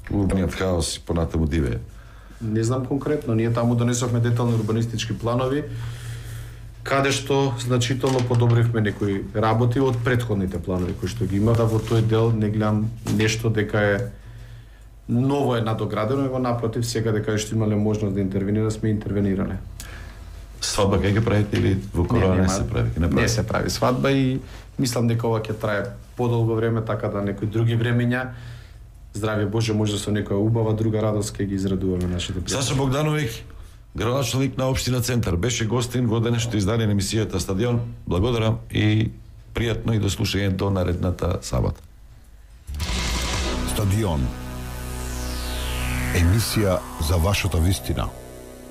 Урбаниот хаос и понатаму дивее. Не знам конкретно. Ние таму донесовме детални урбанистички планови, каде што значително подобривме некои работи од претходните планови кои што ги има. Да во тој дел не гледам нешто дека е ново е надоградено, его напротив, сега дека што имале можност да интервенира, сме интервенирале. Свадба кај ќе правите или во корона не, не се прави? Не, прави? Не се прави свадба и мислам дека ова ќе трае подолго време, така да некои други времења, здравје Боже, може со некоја убава друга радост ќе ги израдуваме нашите пријатели. Саша Богдановиќ, градоначалник на општина Центар, беше гостин во денешното издание на емисијата Стадион. Благодарам и пријатно и до слушање до наредната сабота. Стадион. Емисија за вашата вистина.